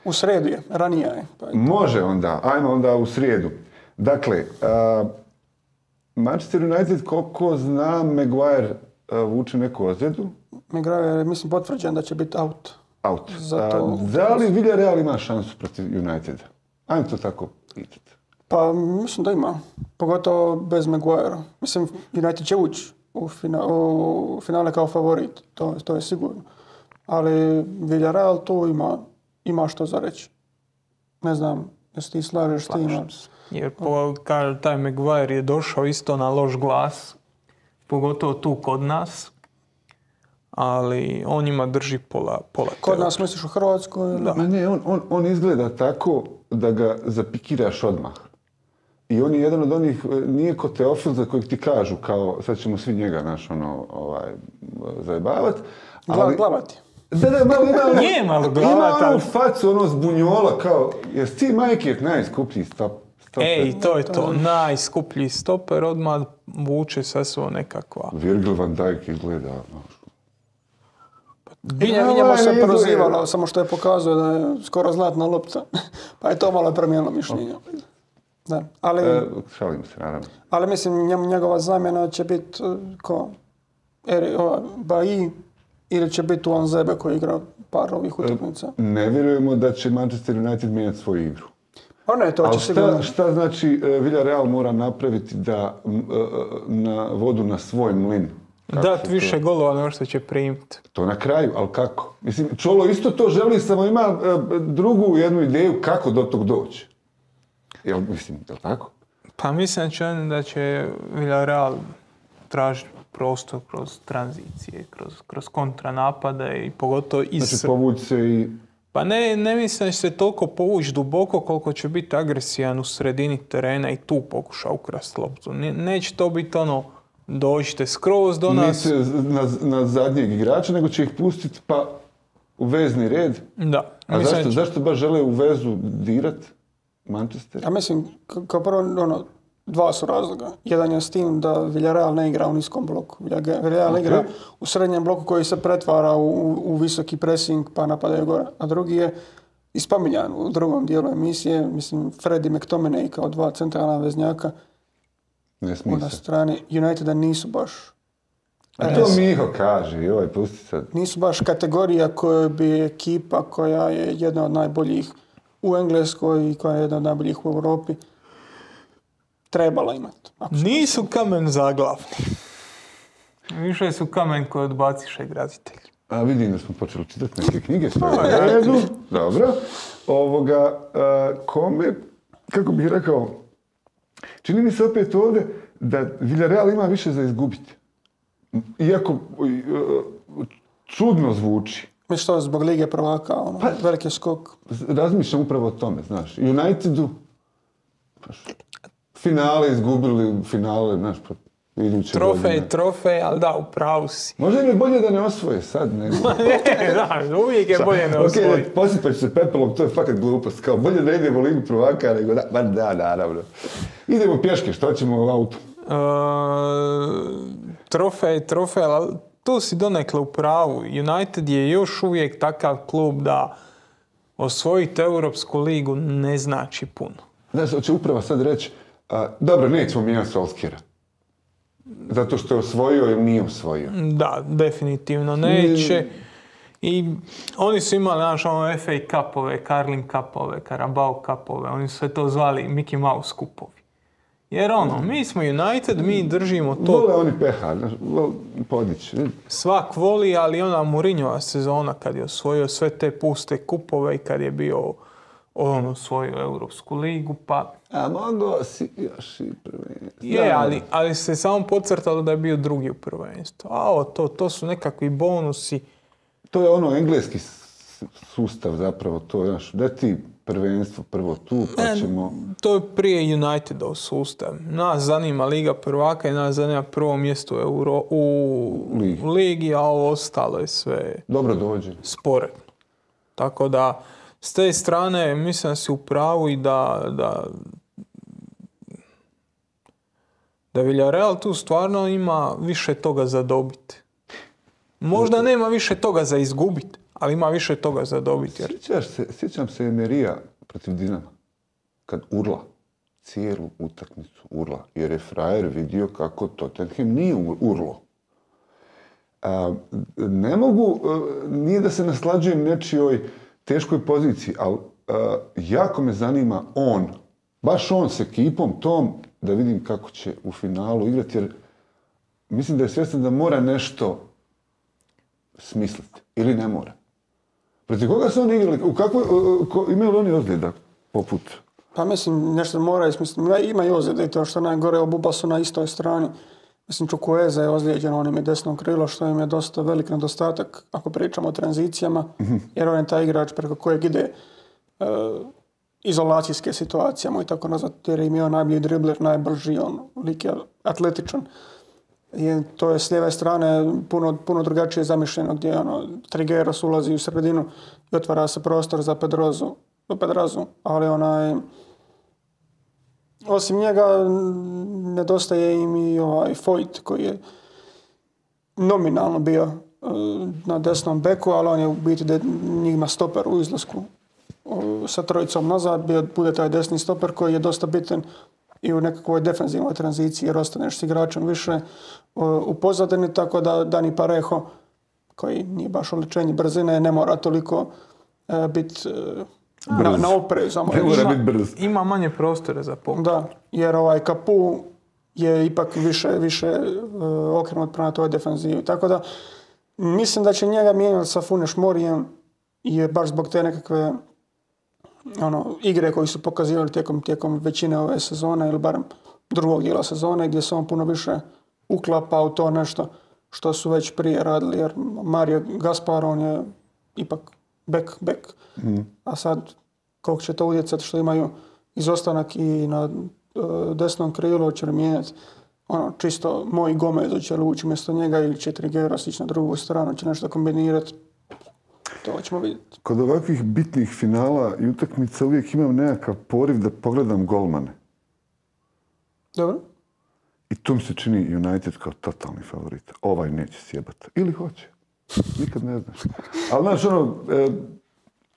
U srijedu je, ranije je. Može onda, ajmo onda u srijedu. Dakle, Manchester United, koliko znam, Maguire vuče neku ozljedu. Maguire je, mislim, potvrđen da će biti out. Da li Villarreal ima šansu protiv Uniteda? Ajmo to tako pitati. Pa mislim da ima. Pogotovo bez Maguirea. Mislim, United će ući u finale kao favorit. To je sigurno. Ali Villarreal tu ima što za reći. Ne znam, Jesi ti slažeš s tim? Jer kaže, taj Maguire je došao isto na loš glas, pogotovo tu kod nas, ali on njima drži pola Kod nas misliš u Hrvatskoj? Da. Ma ne, on izgleda tako da ga zapikiraš odmah. I on je jedan od onih, nije ko Teofil za kojeg ti kažu kao sad ćemo svi njega zajebavat. Glavati. Da, malo ima Nije malo glavat, ima ali... onu facu, zbunjola kao, jes ti majke najskuplji stoper? Ej, to je to, najskuplji stoper, odmah vuče sa svo nekakva. Virgil van Dijk izgleda, I njemu se prozivalo, samo što je pokazao da je skoro zlatna lopta. Pa je to malo promijenilo mišljenje. Da, ali... Šalim se, naravno. Ali mislim, njegova zamjena će biti ko? Bailly ili će biti Tuanzebe koji igra par ovih utakmica? Ne vjerujemo da će Manchester United mijenjati svoju igru. Pa ne, to će sigurno. Šta znači Villarreal mora napraviti da na vodu na svoj mlin? Dat više golova nego što će primiti. To na kraju, ali kako? Mislim, Čolo isto to želi, samo ima drugu jednu ideju kako do tog doći. Jel tako? Pa mislim da će Villarreal tražiti prostor kroz tranzicije, kroz kontranapade i pogotovo Znači povući se i... Pa ne mislim da će se toliko povući duboko koliko će biti agresijan u sredini terena i tu pokuša ukrasti loptu. Neće to biti dođite skroz do nas. Neće na zadnjeg igrača, nego će ih pustiti pa u vezni red. Da. A zašto baš žele u vezu dirat Manchester? Ja mislim, kao prvo, dva su razloga. Jedan je s tim da Villarreal ne igra u niskom bloku. Villarreal igra u srednjem bloku koji se pretvara u visoki pressing pa napadaju gore. A drugi je ispominjan u drugom dijelu emisije, mislim, Fred i McTominay kao dva centralna veznjaka. Ne smije na strani Uniteda nisu baš... A to Miho kaže, pusti sad. Nisu baš kategorija koja bi ekipa koja je jedna od najboljih u Engleskoj i koja je jedna od najboljih u Europi trebala imati. Nisu kamen zaglavni. Više su kamen koji odbaciše graditelj. A vidim da smo počeli čitati neke knjige. Dobro. Kome, kako bih rekao, čini mi se opet ovdje da Villarreal ima više za izgubiti. Iako čudno zvuči. Mi što zbog Lige prvaka, veliki skok. Razmišljam upravo o tome, znaš. Unitedu finale izgubili, znaš, iduće godine. Trofej, ali da, u pravu si. Možda im je bolje da ne osvoje sad, nego... Da, uvijek je bolje ne osvoje. Ok, posipać se pepelom, to je fakat glupost. Kao, bolje da idemo u Ligu prvaka, nego da, naravno. Idemo pješke, što ćemo u autu? Trofej, ali tu si donekle u pravu. United je još uvijek takav klub da osvojiti Europsku ligu ne znači puno. Znaš, hoće upravo sad reći, dobro, nećemo mijenjati Solskjera. Zato što je osvojio ili nije osvojio. Da, definitivno neće. I oni su imali FA Cupove, Carling Cupove, Carabao Cupove, oni su sve to zvali Mickey Mouse kupovi. Jer mi smo United, mi držimo to... Vole oni peha, podići. Svak voli, ali ona Mourinhova sezona kad je osvojio sve te puste kupove i kad je bio osvojio Europsku ligu, pa... A mogao si još i prvenstvo. Je, ali se samo podcrtalo da je bio drugi u prvenstvu. A to su nekakvi bonusi. To je engleski sustav zapravo, to je da ti prvenstvo prvo tu, pa ćemo... To je prije Unitedov sustav. Nas zanima Liga prvaka i nas zanima prvo mjesto u ligi, a ovo ostalo je sve... Dobro dođe. Sporedno. Tako da, s te strane, mislim da si u pravu i da Villarreal tu stvarno ima više toga za dobiti. Možda nema više toga za izgubiti, ali ima više toga za dobiti. Sjećam se Emerija protiv Dinama, kad urla, cijelu utakmicu urla, jer je frajer vidio kako Tottenham nije urlo. Ne mogu, nije da se naslađujem nečijoj teškoj poziciji, ali jako me zanima baš on s ekipom tom, da vidim kako će u finalu igrati, jer mislim da je svjestan da mora nešto smisliti, ili ne mora. Protiv koga su oni igrali? Imaju li oni ozljeda poput Pa mislim, nešto moraju smisliti. Ima i ozljede i to što najgore, obuba su na istoj strani. Mislim, Chukwueze je ozlijeđen, on im je desno krilo, što im je dosta velik nedostatak ako pričamo o tranzicijama, jer on je taj igrač preko kojeg ide izolacijske situacijama i tako nazad, jer im je on najbolji dribler, najbrži, on lik je atletičan. I to je s lijeve strane puno drugačije zamišljeno, gdje Trigueros ulazi u sredinu i otvara se prostor za Pedrazu, ali osim njega nedostaje im i Foyt koji je nominalno bio na desnom beku, ali on je u biti njima stoper u izlasku sa trojicom nazad, bude taj desni stoper koji je dosta bitan i u nekakvoj defenzivnoj tranziciji jer ostaneš s igračem više u pozadini, tako da Dani Parejo, koji nije baš oličenje brzine, ne mora toliko biti na oprezu. Ima manje prostore za pokret. Da, jer Capu je ipak više okrenut prema toj defenzivi. Tako da mislim da će njega mijenjati sa Funes Morijem i baš zbog te nekakve igre koje su pokazivali tijekom većine ove sezone ili barem drugog dijela sezone gdje se on puno više uklapa u to nešto što su već prije radili, jer Mario Gaspar, on je ipak back. A sad koliko će to utjecati što imaju izostanak i na desnom krilu, će li mijenjati čisto moj Gomez, će li ući umjesto njega ili će Trigueros ići na drugu stranu, će nešto kombinirati. To ćemo vidjeti. Kod ovakvih bitnih finala i utakmica uvijek imam nekakav poriv da pogledam golmane. Dobro. I tu mi se čini United kao totalni favorit. Ovaj neće sjebati. Ili hoće. Nikad ne znaš. Ali znaš,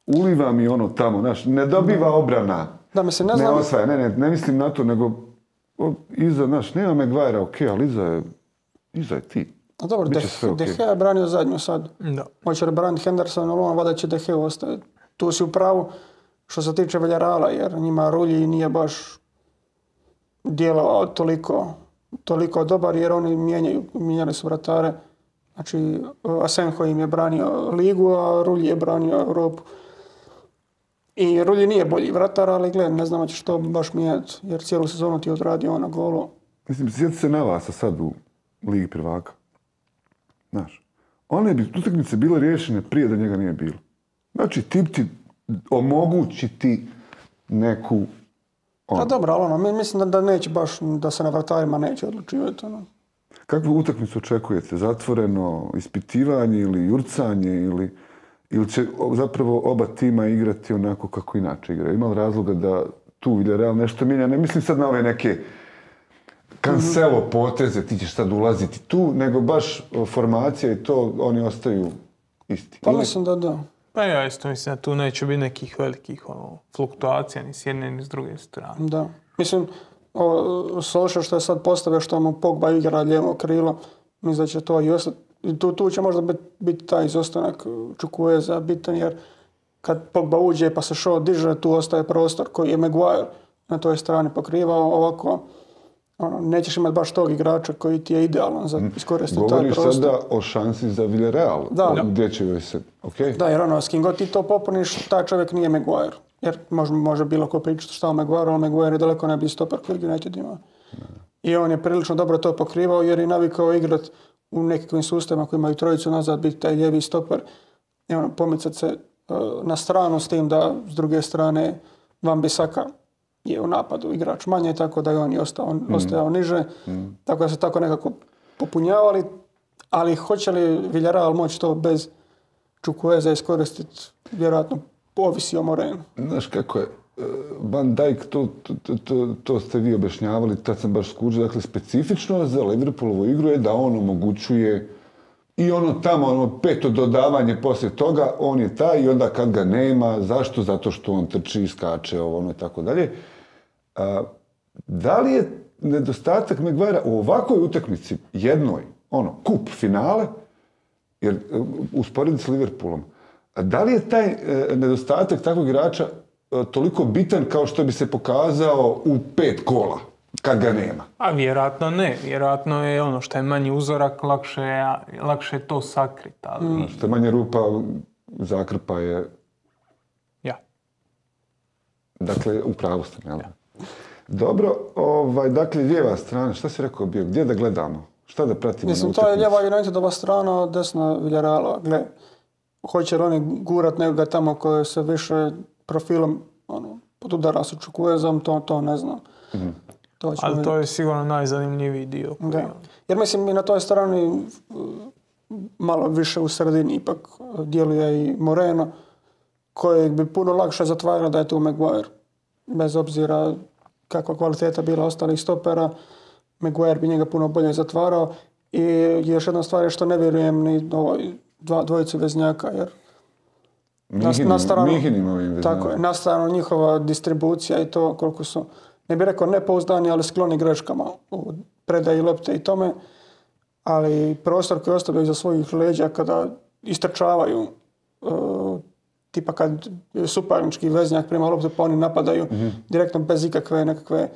uliva mi tamo, znaš, ne dobiva obrana. Da, mislim, ne znam. Ne osvaja, ne mislim na to, nego iza, znaš, nema Maguire, okej, ali iza je ti. A dobro, De Gea je branio zadnju sad. Da. Hoće li braniti Henderson, ali vada će De Gea ostaviti. Tu si u pravu što se tiče Villarreala, jer njima Rulji nije baš djelovao toliko dobar, jer oni mijenjali su vratare. Znači, Asenjo im je branio ligu, a Rulji je branio Europu. I Rulji nije bolji vratar, ali gled, ne znam će što baš mijenjati, jer cijelu sezonu ti je odradio na golu. Mislim, sjeti se na vas sad u Ligi prvaka. Znaš, one bi utakmice bile riješene prije da njega nije bilo. Znači, tip ti omogući ti neku... A dobro, ali mislim da neće baš, da se na vratarima neće odlučivati. Kakvu utakmicu očekujete? Zatvoreno ispitivanje ili jurcanje ili će zapravo oba tima igrati onako kako inače igraju? Ima li razloga da tu Villarreal nešto mijenja? Ne mislim sad na ove neke Cancelo poteze, ti ćeš sad ulaziti tu, nego baš formacija i to, oni ostaju isti. Pa mislim da da. Pa ja isto mislim da tu neće biti nekih velikih fluktuacija ni s jedne ni s druge strane. Da. Mislim, Solskjaer što je sad postavio što mu Pogba igra lijevo krilo, mislim da će to i ostati. Tu će možda biti taj izostanak Chukwueze bitan, jer kad Pogba uđe pa se Shaw diže, tu ostaje prostor koji je Maguire na toj strani pokrivao. Ovako nećeš imati baš tog igrača koji ti je idealan za iskoristiti taj prostor. Govoriš sada o šansi za Villarreal, gdje će joj se... Okay. Da, jer s kim god ti to popuniš, taj čovjek nije Maguire. Jer može bilo ko pričati šta o Maguire, ali Maguire je daleko najbolji stoper koji United ima. I on je prilično dobro to pokrivao jer je navikao igrati u nekakvim sustavima koji imaju trojicu nazad, biti taj lijevi stoper i pomicati se na stranu s tim da s druge strane Wan-Bissaka je u napadu igrač manje, tako da je on ostajao niže. Tako da se tako nekako popunjavali. Ali hoće li Villarreal moći to bez Chukwueze iskoristiti? Vjerojatno ovisi o Morenu. Znaš kako je, Van Dijk, to ste vi objašnjavali, tad sam baš skužio, dakle specifično za Liverpoolovu igru je da on omogućuje i tamo, peto dodavanje poslije toga, on je taj i onda kad ga nema, zašto? Zato što on trči, skače, i tako dalje. Da li je nedostatak Maguirea u ovakvoj utakmici, jednoj, kup finale, jer usporediti s Liverpoolom, da li je taj nedostatak takvog igrača toliko bitan kao što bi se pokazao u 5 kola, kad ga nema? A vjerojatno ne. Vjerojatno je što je manji uzorak, lakše to sakriti. Ali... Što je manje rupa, zakrpa je... Ja. Dakle, u pravu ste, jel? Dobro, dakle, lijeva strana, šta si rekao bio? Gdje da gledamo? Šta da pratimo? Mislim, to je lijeva Unitedova strana, desna Villarreala. Gle, hoće li oni gurat nekoga tamo koje se više profilom pod udara se Čukuezom, to ne znam. Ali to je sigurno najzanimljiviji dio. Da. Jer mislim i na toj strani malo više u sredini ipak djeluje i Moreno, kojeg bi puno lakše zatvarao da je tu Maguire. Bez obzira kakva kvaliteta bila ostalih stopera, Maguire bi njega puno bolje zatvarao. I još jedna stvar je što ne vjerujem ni dvojicu veznjaka, jer na stranu njihova distribucija i to koliko su, ne bih rekao nepouzdani, ali skloni greškama u predaji lopte i tome, ali prostor koji ostavljaju za svojih leđa kada istrčavaju, tipa kad suparnički veznjak prima loptu pa oni napadaju direktno bez ikakve nekakve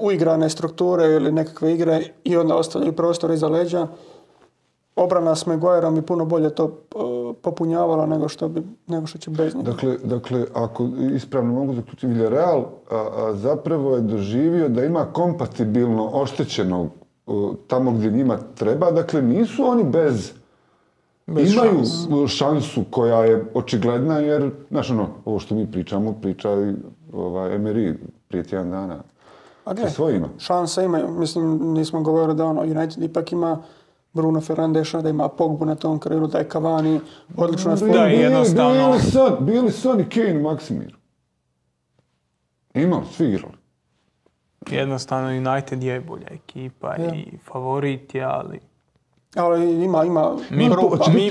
uigrane strukture ili nekakve igre i onda ostavljaju prostor iza leđa. Obrana s Maguireom bi puno bolje to popunjavala nego što će bez njega. Dakle, ako ispravno mogu zaključiti, Villarreal zapravo je doživio da ima kompatibilno oštećenog tamo gdje njima treba. Dakle, nisu oni bez imaju šansu koja je očigledna jer, znaš ovo što mi pričamo, priča Emery prije tjedan dana. Sa svojima. Šanse imaju. Mislim, nismo govorili da United ipak ima Bruno Fernandeša, da ima Pogbu na tom krilu, da je Cavani odlično na da, jednostavno. Bili Son i Kane u Maksimiru. Imali, svi igrali. Jednostavno United je bolja ekipa i favorit je, ali ima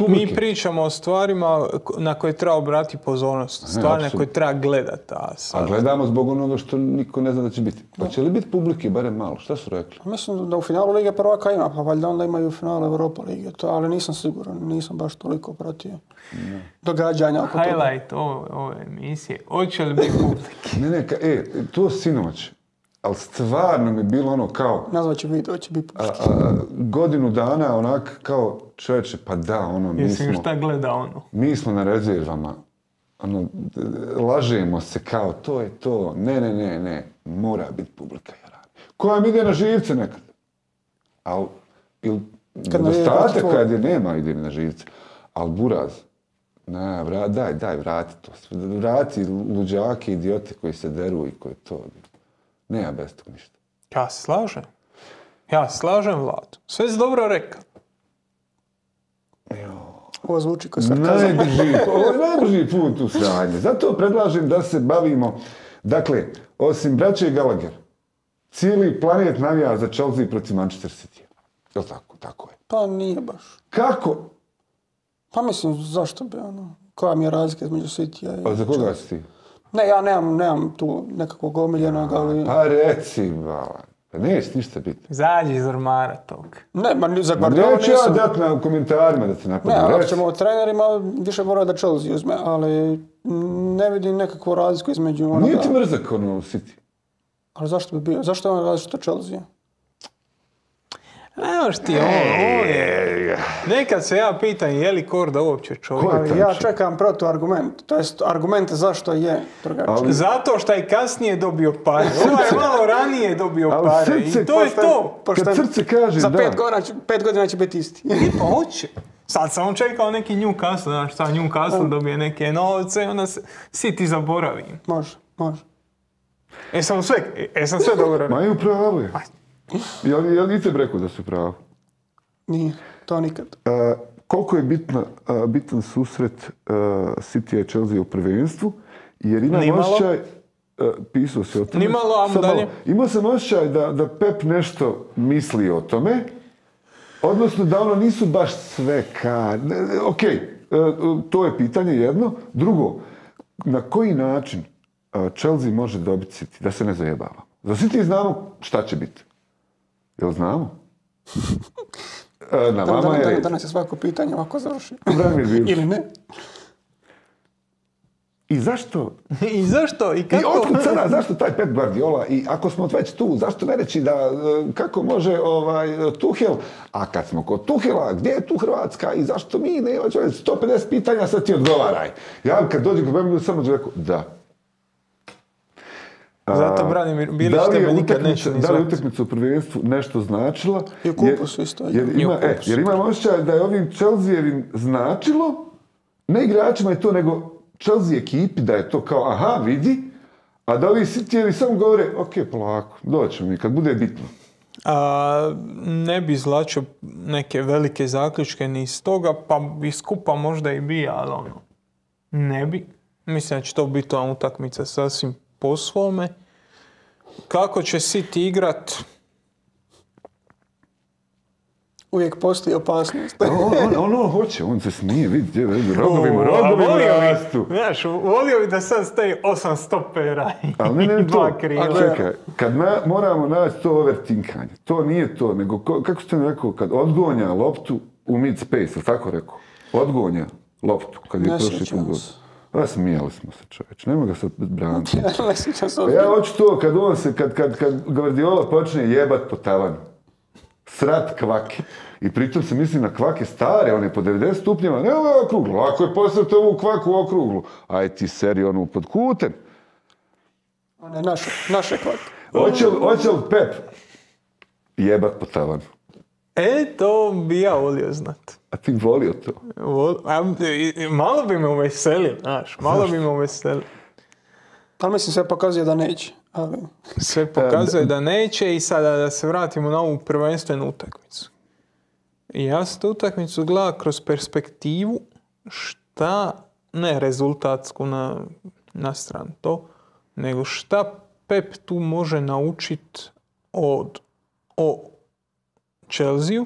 mi pričamo o stvarima na koje treba obratiti pozornost. Stvari na koje treba gledati. A gledamo zbog onoga što niko ne zna da će biti. Pa će li biti publike, barem malo? Šta su rekli? Mislim da u finalu Lige prvaka ima, pa valjda onda imaju u finalu Europa Lige. Ali nisam siguran, nisam baš toliko pratio događanja oko toga. Highlight ove emisije. Hoće li biti publike? To sinoć. Ali stvarno mi je bilo ono kao... Nazvat će video, će biti pušti. Godinu dana onak kao čovječe, pa da, Mislim šta gleda mi smo na rezervama. Lažemo se kao, to je to. Ne. Mora biti publika. Koja mi ide na živce nekad. Ali, nedostatak kad je nema ide mi na živce. Ali buraz. Daj, vrati to. Vrati luđake, idiote koji se deru i koji to... Nema bez tog ništa. Ja se slažem, Vlado. Sve si dobro rekao. Ovo zvuči kao sarkazam. Ovo je najbrži put u sranje. Zato predlažem da se bavimo... Dakle, osim braće Gallagher, cijeli planet navija za Chelsea protiv Manchester City. Je li tako? Tako je. Pa nije baš. Kako? Pa mislim, zašto bi koja mi je razlika između City-a i... A za koga si ti? Ne, ja nemam tu nekakvog omiljenog, ali... Pa reci, Vala. Pa neće ništa biti. Zađi iz ormara tog. Ne, za Guardiola neću ja dati na komentarima da te napadam. Ne, ako ćemo o trenerima, više mora da Chelsea uzme, ali ne vidim nekakvu razliku između onoga... Nije ti mrzak City? Ali zašto bi bio? Zašto je on različit od Chelsea? Nemaš ti nekad se ja pitam je li Korda uopće čovjek. Ja čekam protuargument, to jest argument zašto je drugačije. Zato što je kasnije dobio pare. Ovaj je malo ranije dobio pare i to je to. Kad srce kaže za 5 godina će biti isti. I pa hoće. Sad sam čekao neki Newcastle, znaš šta, Newcastle dobije neke novce i onda se City zaboravi. Može. Jesam sve dobro. Ma i pravo je. Jel i te rekao da su pravo? Nije, to nikad. Koliko je bitan susret City i Chelsea u prvenstvu, jer imam osjećaj, pisao se o tome, imao sam osjećaj da Pep nešto misli o tome, odnosno da nisu baš sve to je pitanje jedno. Drugo, na koji način Chelsea može dobiti City, da se ne zajebava? Za City znamo šta će biti. Jel znamo? Na vama je... Danas je svako pitanje ovako završi. Ili ne. I zašto? I kako? I otkud sada, zašto taj Pep Guardiola? I ako smo već tu, zašto ne reći da kako može Tuchel? A kad smo kod Tuchela, gdje je tu Hrvatska? I zašto mi ne? 150 pitanja, sad ti odgovaraj. Ja kad dođem kod Pep, samo ću rekao, da. Zato Branimir Bilić tebe nikad neće ni Da li je zvati. utakmica u prvenstvu nešto značila? I u kupusu isto. Jer imam osjećaj da je ovim Chelsea-evim značilo, ne igračima je to, nego Chelsea ekipi da je to kao aha, vidi, a da ovi City-evi samo govore, ok, polako, doćemo mi kad bude bitno. Ne bi izvlačio neke velike zaključke ni iz toga, pa bi skupa možda i bi, ali ono, ne bi. Mislim da će to biti ona utakmica sasvim po svome. Kako će City igrat? Uvijek postoji opasnost. On hoće, on se smije, vidi, rogovima rastu. Znaš, volio bi da sad stoji 8 stopera Ali ne i to. 2 krila. Čekaj, kad moramo naći to overtinkanje, to nije to, nego kako ste mi rekao, kad odgonja loptu u mid space, ili tako rekao? Odgonja loptu, kad je prošli put. Smijali smo se, čovječ, nema ga sad braniti. Ja hoću to kad Guardiola počne jebat po tavanu. Srat kvake. I pritom se misli na kvake stare, one po 90 stupnjeva, ne ovo je okruglo. Ako je postavite ovu kvaku okruglu, aj ti seri onu pod kutem. One naše kvake. Hoće li Pep jebat po tavanu? To bi ja volio znat. A ti volio to? Malo bi me uveselio, znaš, malo bi me uveselio. Ali mislim sve pokazuje da neće. Ali... Sve pokazuje da neće i sada da se vratimo na ovu prvenstvenu utakmicu. Ja sam tu utakmicu gledao kroz perspektivu šta, ne rezultatsku na stranu to, nego šta Pep tu može naučiti o Chelsea-u,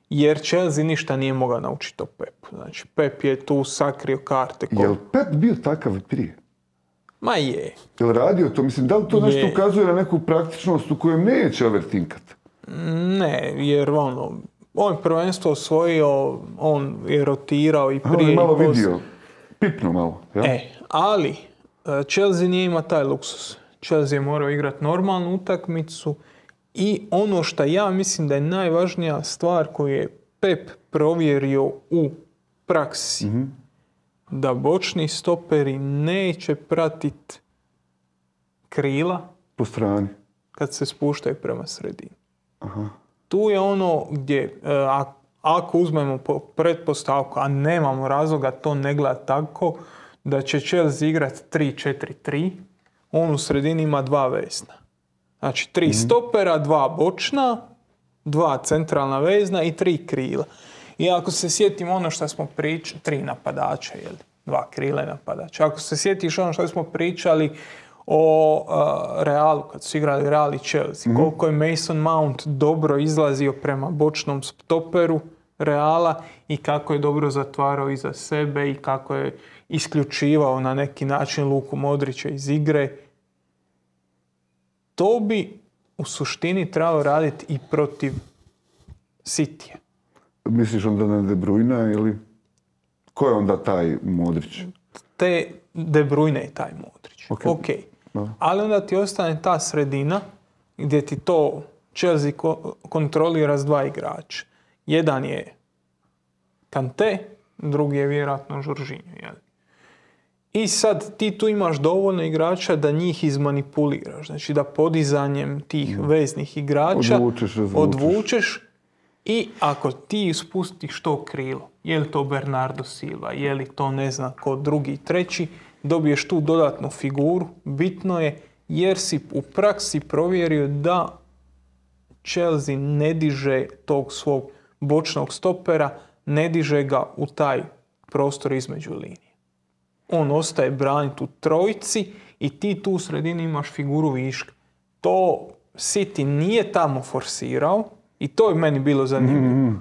jer Chelsea ništa nije mogao naučiti o Pepu. Znači, Pep je tu sakrio karte. Je li Pep bio takav prije? Ma je. Je li radio to? Mislim, da li to nešto ukazuje na neku praktičnost u kojem neće overtinkat? Ne, jer on je prvenstvo osvojio, on je rotirao i prije. On je malo vidio, pipno malo. Ja? Ali Chelsea nije ima taj luksus. Chelsea je morao igrati normalnu utakmicu i ono što ja mislim da je najvažnija stvar koju je Pep provjerio u praksi, da bočni stoperi neće pratiti krila po strani kad se spuštaju prema sredini. Aha. Tu je ono gdje, ako uzmemo pretpostavku, a nemamo razloga to ne gleda tako, da će Chelsea igrati 3-4-3, on u sredini ima 2 vezna. Znači 3 stopera, 2 bočna, 2 centralna vezna i 3 krila. I ako se sjetimo ono što smo pričali, 3 napadača, 2 krila i napadača. Ako se sjetiš ono što smo pričali o Realu, kad su igrali Real i Chelsea, koliko je Mason Mount dobro izlazio prema bočnom stoperu Reala i kako je dobro zatvarao iza sebe i kako je isključivao na neki način Luku Modrića iz igre. To bi u suštini trebalo raditi i protiv City-a. Misliš onda na De Bruyne ili ko je onda taj Modrić? De Bruyne je taj Modrić. Ok. No. Ali onda ti ostane ta sredina gdje ti to Chelsea kontrolira s 2 igrača. Jedan je Kanté, drugi je vjerojatno Jorginho. I sad ti tu imaš dovoljno igrača da njih izmanipuliraš. Znači da podizanjem tih veznih igrača odvučeš i ako ti spustiš to krilo, je li to Bernardo Silva, je li to ne znam ko drugi, treći, dobiješ tu dodatnu figuru. Bitno je jer si u praksi provjerio da Chelsea ne diže tog svog bočnog stopera, ne diže ga u taj prostor između linije. On ostaje braniti u trojici i ti tu u sredini imaš figuru viška. To City nije tamo forsirao i to je meni bilo zanimljivo.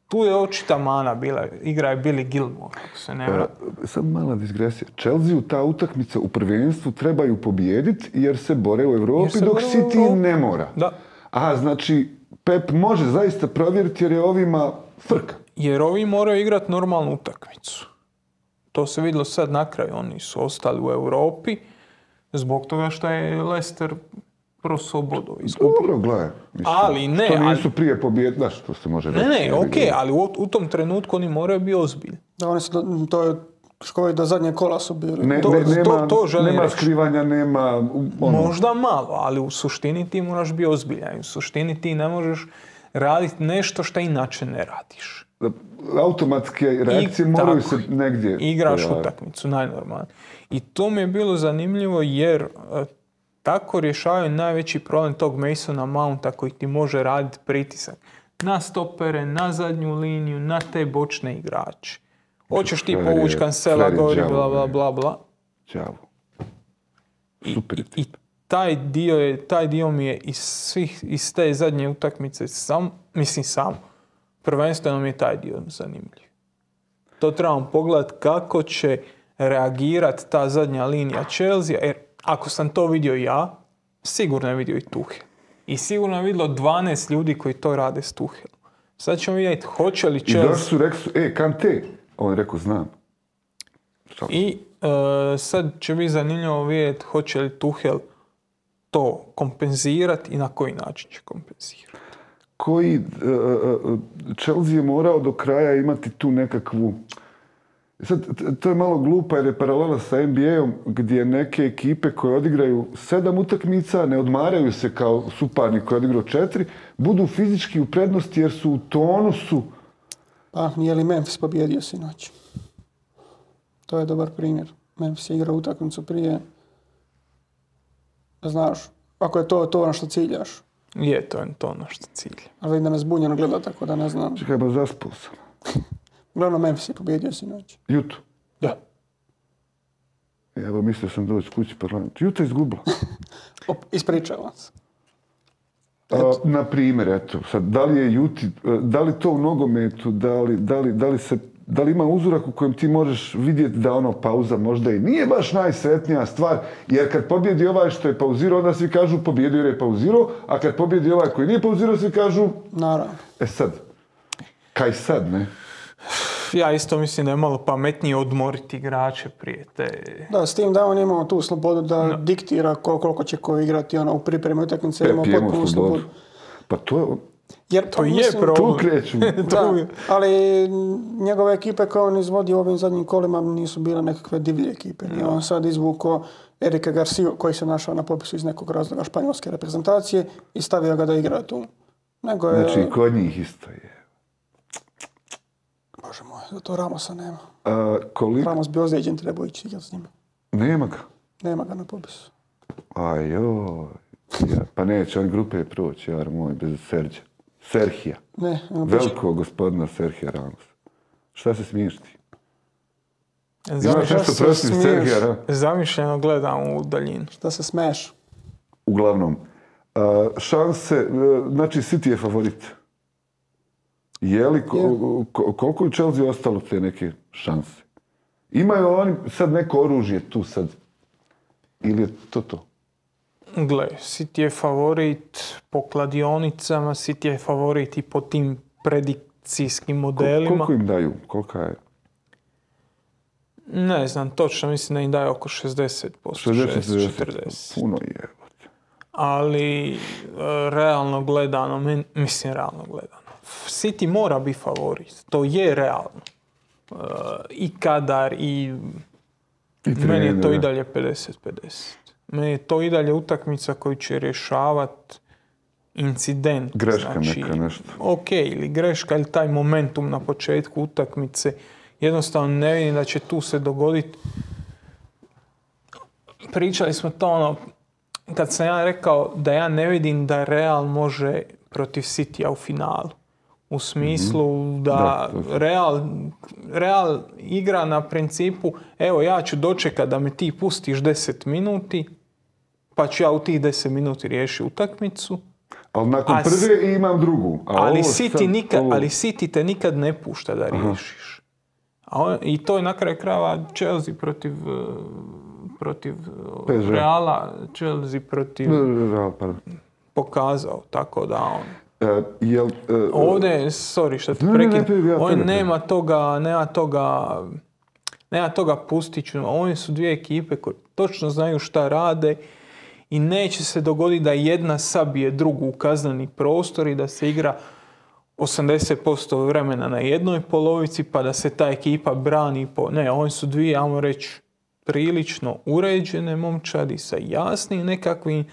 Tu je očita mana bila, igra je Billy Gilmore, ako se ne vrati. Sad mala digresija. Chelsea ta utakmica u prvenstvu trebaju pobijediti jer se bore u Europi dok City ne mora. Da. Aha, znači Pep može zaista provjeriti jer je ovima frka. Jer ovi moraju igrati normalnu utakmicu. To se vidjelo sad na kraju. Oni su ostali u Europi zbog toga što je Leicester prosuo bodove izgubio. Dobro, gledaj. Ali ne. To nisu prije pobjede, znaš, to se može reći. Ne, okej, ali u tom trenutku oni moraju biti ozbiljni. Da, to je Škoji do zadnje kola su bili. Nema skrivanja, nema... Možda malo, ali u suštini ti moraš biti ozbiljan. U suštini ti ne možeš raditi nešto što inače ne radiš. Automatske reakcije moraju se negdje... Igraš utakmicu, najnormalno. I to mi je bilo zanimljivo jer tako rješavaju najveći problem tog Masona Mounta koji ti može raditi pritisak na stopere, na zadnju liniju, na te bočne igrače. Hoćeš ti povući Cancela gori, bla, bla, bla, bla. Đavo. Super I taj dio mi je iz te zadnje utakmice prvenstveno mi je taj dio zanimljiv. To trebamo pogledati kako će reagirati ta zadnja linija Chelsea, jer ako sam to vidio ja, sigurno je vidio i Tuchel. I sigurno je vidjelo 12 ljudi koji to rade s Tuchelom. Sad ćemo vidjeti hoće li Chelsea... I došli su rekli, Kante, on je rekao, znam. I sad će biti zanimljivo vidjeti hoće li Tuchel to kompenzirati i na koji način će kompenzirati. Chelsea je morao do kraja imati tu nekakvu... Sad, to je malo glupa jer je paralela sa NBA-om gdje neke ekipe koje odigraju 7 utakmica, ne odmaraju se kao suparnik koji je odigrao 4, budu fizički u prednosti jer su u tonusu. Pa, nije li Memphis pobjedio sinoć? To je dobar primjer. Memphis je igrao utakmicu prije. Znaš, ako je to na što ciljaš. Je to na što cilja. Ali vidim da me zbunjeno gleda, tako da ne znam. Čekaj, ba zaspao sam. Uglavnom, Memphis je pobjedio sinoć. Juto? Da. Evo, mislio sam doći kući parlament. Juto je izgubila. Ispričavam se. Na primjer, eto, sad, da li to u nogometu, da li ima uzorak u kojem ti možeš vidjeti da pauza možda i nije baš najsretnija stvar, jer kad pobjedi ovaj što je pauzirao, onda svi kažu pobjedio jer je pauzirao, a kad pobjedi ovaj koji nije pauzirao, svi kažu... Naravno. Sad, kaj sad, ne? Ja isto mislim da je malo pametnije odmoriti igrače prije te... Da, s tim da on imao tu slobodu da diktira koliko će ko igrati u pripremi utakmice, imao potpunu slobodu. Pa to jer to je problem. Tu kreću. Da, ali njegove ekipe koje on izvodi u ovim zadnjim kolima nisu bile nekakve divlje ekipe. I on sad izvukao Erika Garcia koji se našao na popisu iz nekog razloga španjolske reprezentacije i stavio ga da igra tu. Znači, kod njih isto je. Bože moj, zato Ramosa nema. Ramos bi ozlijeđen, treba ići s njima. Nema ga? Nema ga na popisu. Ajoj. Pa neće on grupe proći, jar moj, bez Serhija. Ne. Velikog gospodina Serhija Ramosa. Šta se smiješ ti? Imaš nešto protiv Serhija Ramosa? Zamišljeno gledam u daljinu. Šta se smiješ? Uglavnom, šanse, znači City je favorit. Je li, koliko je Chelsea ostalo te neke šanse? Imaju oni sad neko oružje tu sad? Ili je to? Gle, City je favorit po kladionicama, City je favorit i po tim predikcijskim modelima. Koliko im daju? Kolika je? Ne znam, točno mislim da im daju oko 60%, 60-40%. Puno je. Ali realno gledano, City mora biti favorit. To je realno. I kadar, i meni je to i dalje 50-50. Meni je to i dalje utakmica koju će rješavati incident. Greška znači, neka nešto. Ok, ili greška ili taj momentum na početku utakmice. Jednostavno ne vidim da će tu se dogoditi. Pričali smo to kad sam ja rekao da ja ne vidim da Real može protiv Citya u finalu. U smislu da Real igra na principu evo ja ću dočekati da me ti pustiš 10 minuti pa ću ja u tih 10 minuti riješiti utakmicu. Ali nakon prve imam drugu. Ali City te nikad ne pušta da riješiš. I to je na kraju krajeva Chelsea protiv Reala, Chelsea protiv pokazao, tako da on... Ovdje, sorry što te prekidam, ovdje nema toga pustiću. Ovdje su dvije ekipe koje točno znaju šta rade i neće se dogoditi da jedna sabije drugu u kazneni prostor i da se igra 80% vremena na jednoj polovici, pa da se ta ekipa brani Ne, oni su dvije, ajmo reći, prilično uređene momčadi sa jasnim nekakvim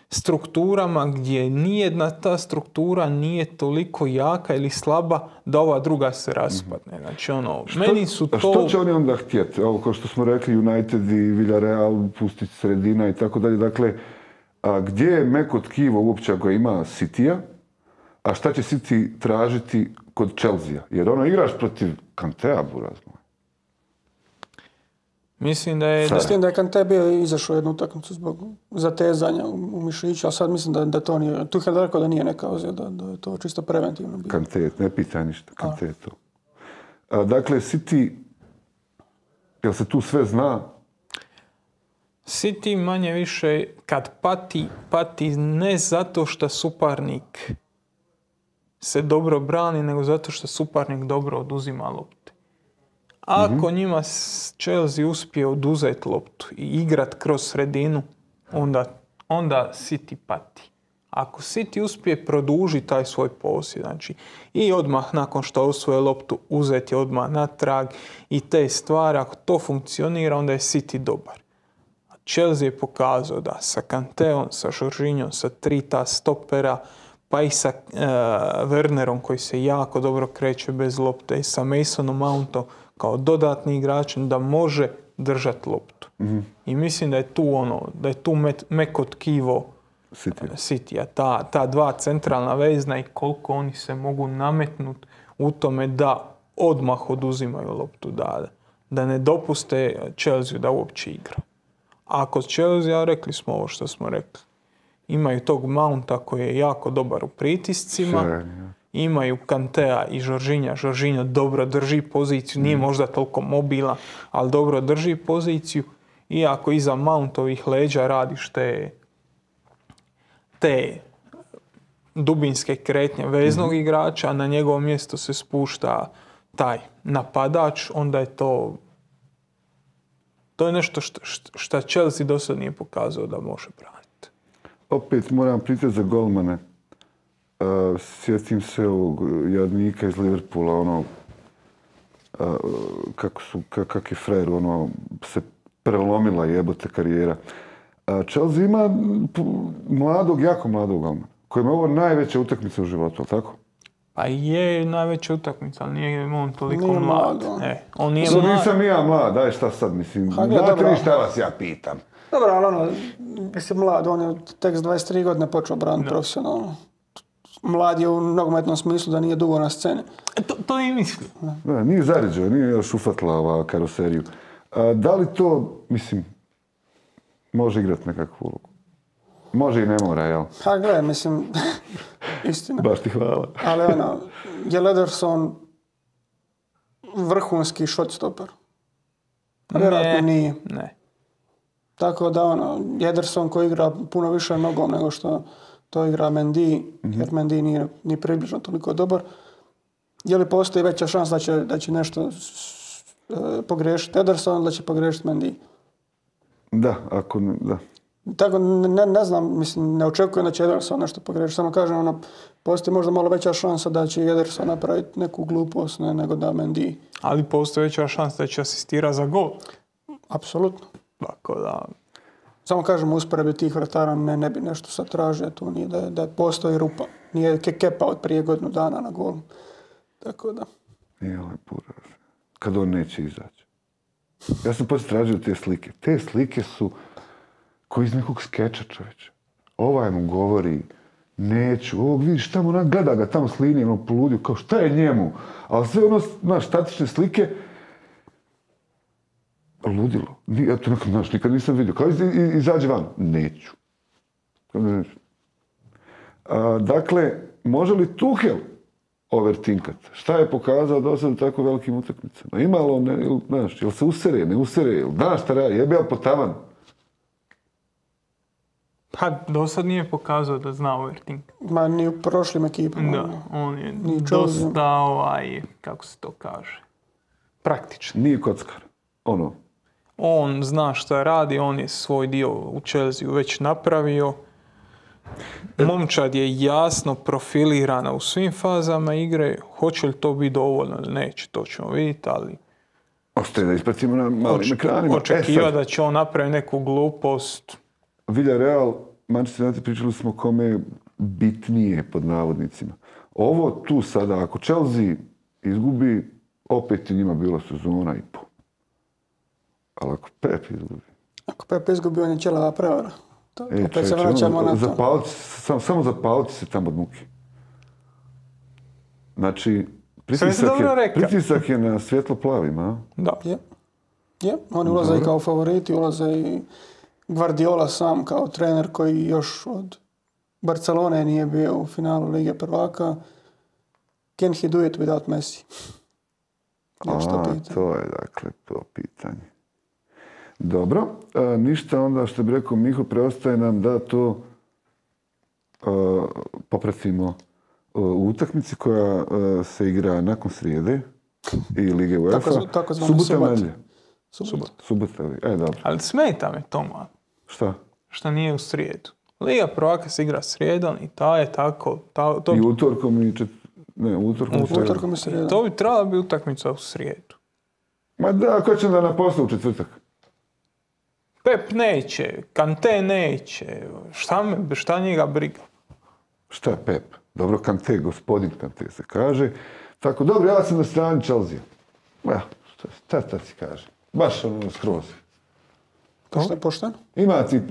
strukturama gdje nijedna ta struktura nije toliko jaka ili slaba da ova druga se raspadne. Znači, meni su to... Što će oni onda htjeti? Ovo, kao što smo rekli, United i Villarreal, pustiti sredina i tako dalje. Dakle, gdje je meko tkivo uopće ako ima Citya, a šta će City tražiti kod Chelsea? Jer igraš protiv Kantea, buraz moj. Mislim da je... S tim da je Kante bio izašao jednu utakmicu zbog zatezanja u mišiću, a sad mislim da to nije... Tuchel rekao da nije neka ozljeda, da je to čisto preventivno bilo. Kante, ne pitaj ništa, Kante je to. Dakle, City, jel se tu sve zna? City manje više kad pati ne zato što suparnik se dobro brani, nego zato što suparnik dobro oduzima lopte. Ako njima Chelsea uspije oduzeti loptu i igrat kroz sredinu, onda City pati. Ako City uspije produžiti taj svoj posjed, znači i odmah nakon što osvoje loptu uzeti odmah natrag i te stvari, ako to funkcionira, onda je City dobar. Chelsea je pokazao da sa Kanteom, sa Jorginhom, sa 3 ta stopera, pa i sa Wernerom koji se jako dobro kreće bez lopte i sa Masonom Mountom kao dodatni igrač da može držati loptu. I mislim da je tu meko tkivo Citya. Ta dva centralna vezna i koliko oni se mogu nametnuti u tome da odmah oduzimaju loptu, da ne dopuste Chelsea da uopće igra. A kod Chelsea, rekli smo ovo što smo rekli, imaju tog Mounta koji je jako dobar u pritiscima, imaju Kantea i Jorginha. Jorginho dobro drži poziciju, nije možda toliko mobilan, ali dobro drži poziciju. Iako iza Mountovih leđa radiš te dubinske kretnje veznog igrača, a na njegovo mjesto se spušta taj napadač, onda je to je nešto što Chelsea do sad nije pokazao da može braniti. Opet moram pitati za golmane. Sjetim se ovog jadnika iz Liverpoola, kak je frajer, se prelomila jebote karijera. Chelsea ima jako mladog golmana, kojima je ovo najveća utakmica u životu, ali tako? Pa je najveća utakmica, ali nije on toliko mlad. On nije mlad. Nisam ja mlad, daj šta sad, mislim. Znate vi šta vas ja pitam? Dobro, ali mislim mlad, on je tek s 23 godine počeo braniti profesionalno. Mlad je u nogometnom smislu da nije dugo na sceni. To i mislim. Nije zaređao, nije još ufatila ova karoseriju. Da li to, mislim, može igrati nekakvu ulogu? Može i ne mora, jel? Gledaj, mislim, istina. Baš ti hvala. Ali je Ederson vrhunski shotstopper? Vjerojatno nije. Ne. Tako da Ederson koji igra puno više nogom nego što to igra Mendy, jer Mendy nije ni približno toliko dobar. Je li postoji veća šansa da će nešto pogriješiti Ederson, da će pogriješiti Mendy? Da. Tako, ne znam, mislim, ne očekujem da će Ederson nešto pogriješiti. Samo kažem, postoji možda malo veća šansa da će Ederson napraviti neku glupost nego da Mendy. Ali postoji veća šansa da će asistirati za gol. Apsolutno. Tako da... Samo kažem, usporedbi tih vratara ne bi nešto sad tražio, tu nije da postoji rupa. Nije Kepa od prije godinu dana na golu. Tako da... Nije lepo, kad on neće izaći. Ja sam poslije tražio te slike. Te slike su koji iz nekog skeča, čovječe. Ovaj mu govori, neću, ovog vidiš tamo, gleda ga tamo s linijom, poludio, kao šta je njemu? Ali sve statične slike, ludilo. Ja to nikad nisam vidio. Kao izađe van. Neću. Dakle, može li Tuchel overtinkat? Šta je pokazao do sada u tako velikim utakmicama? Ima li on, jel se usere, ne usere, jel znaš šta radi, jebe li po tavan? Pa do sad nije pokazao da zna overtinkat. Ma ni u prošlim ekipama. Da, on je dosta kako se to kaže, praktičan. Nije kockar. On zna šta radi, on je svoj dio u Chelsea već napravio Momčad je jasno profilirana u svim fazama igre. Hoće li to biti dovoljno ili neće, to ćemo vidjeti, ali Ostaje da ispratimo na malim ekranima. očekiva da će on napraviti neku glupost. Villarreal, Manchester United, pričali smo kome je bitnije pod navodnicima. Ovo tu sada, ako Chelsea izgubi, opet je njima bila sezona i po. Ali ako Pep izgubi... Ako Pep izgubi, on je ćelava prevara. Opet se vraćamo na to. Samo zapaliti se tamo od muke. Znači, pritisak je na svjetlo plavima, a? Da. Je. Oni ulaze i kao favoriti, ulaze i Guardiola sam kao trener koji još od Barcelone nije bio u finalu Lige prvaka. Can he do it without Messi? To je dakle to pitanje. Dobro, ništa onda što bi rekao Miho, preostaje nam da to popratimo u utakmici koja se igra nakon srijede i Lige UEFA. Subota, nedjelja. Subota. Dobro. Ali smeta me to, man. Šta? Šta nije u srijedu. Liga prvaka se igra srijedom i ta je tako... I utorkom i utorkom i srijedom. To bi trebala biti utakmica u srijedu. Ma da, ko će da naposle u četvrtak? Pep neće, Kante neće, šta njega briga? Šta je Pep? Dobro, Kante, gospodin Kante se kaže. Tako, dobro, ja sam na strani Chelsea. Šta si kaže? Baš ono skroz. Pošteno?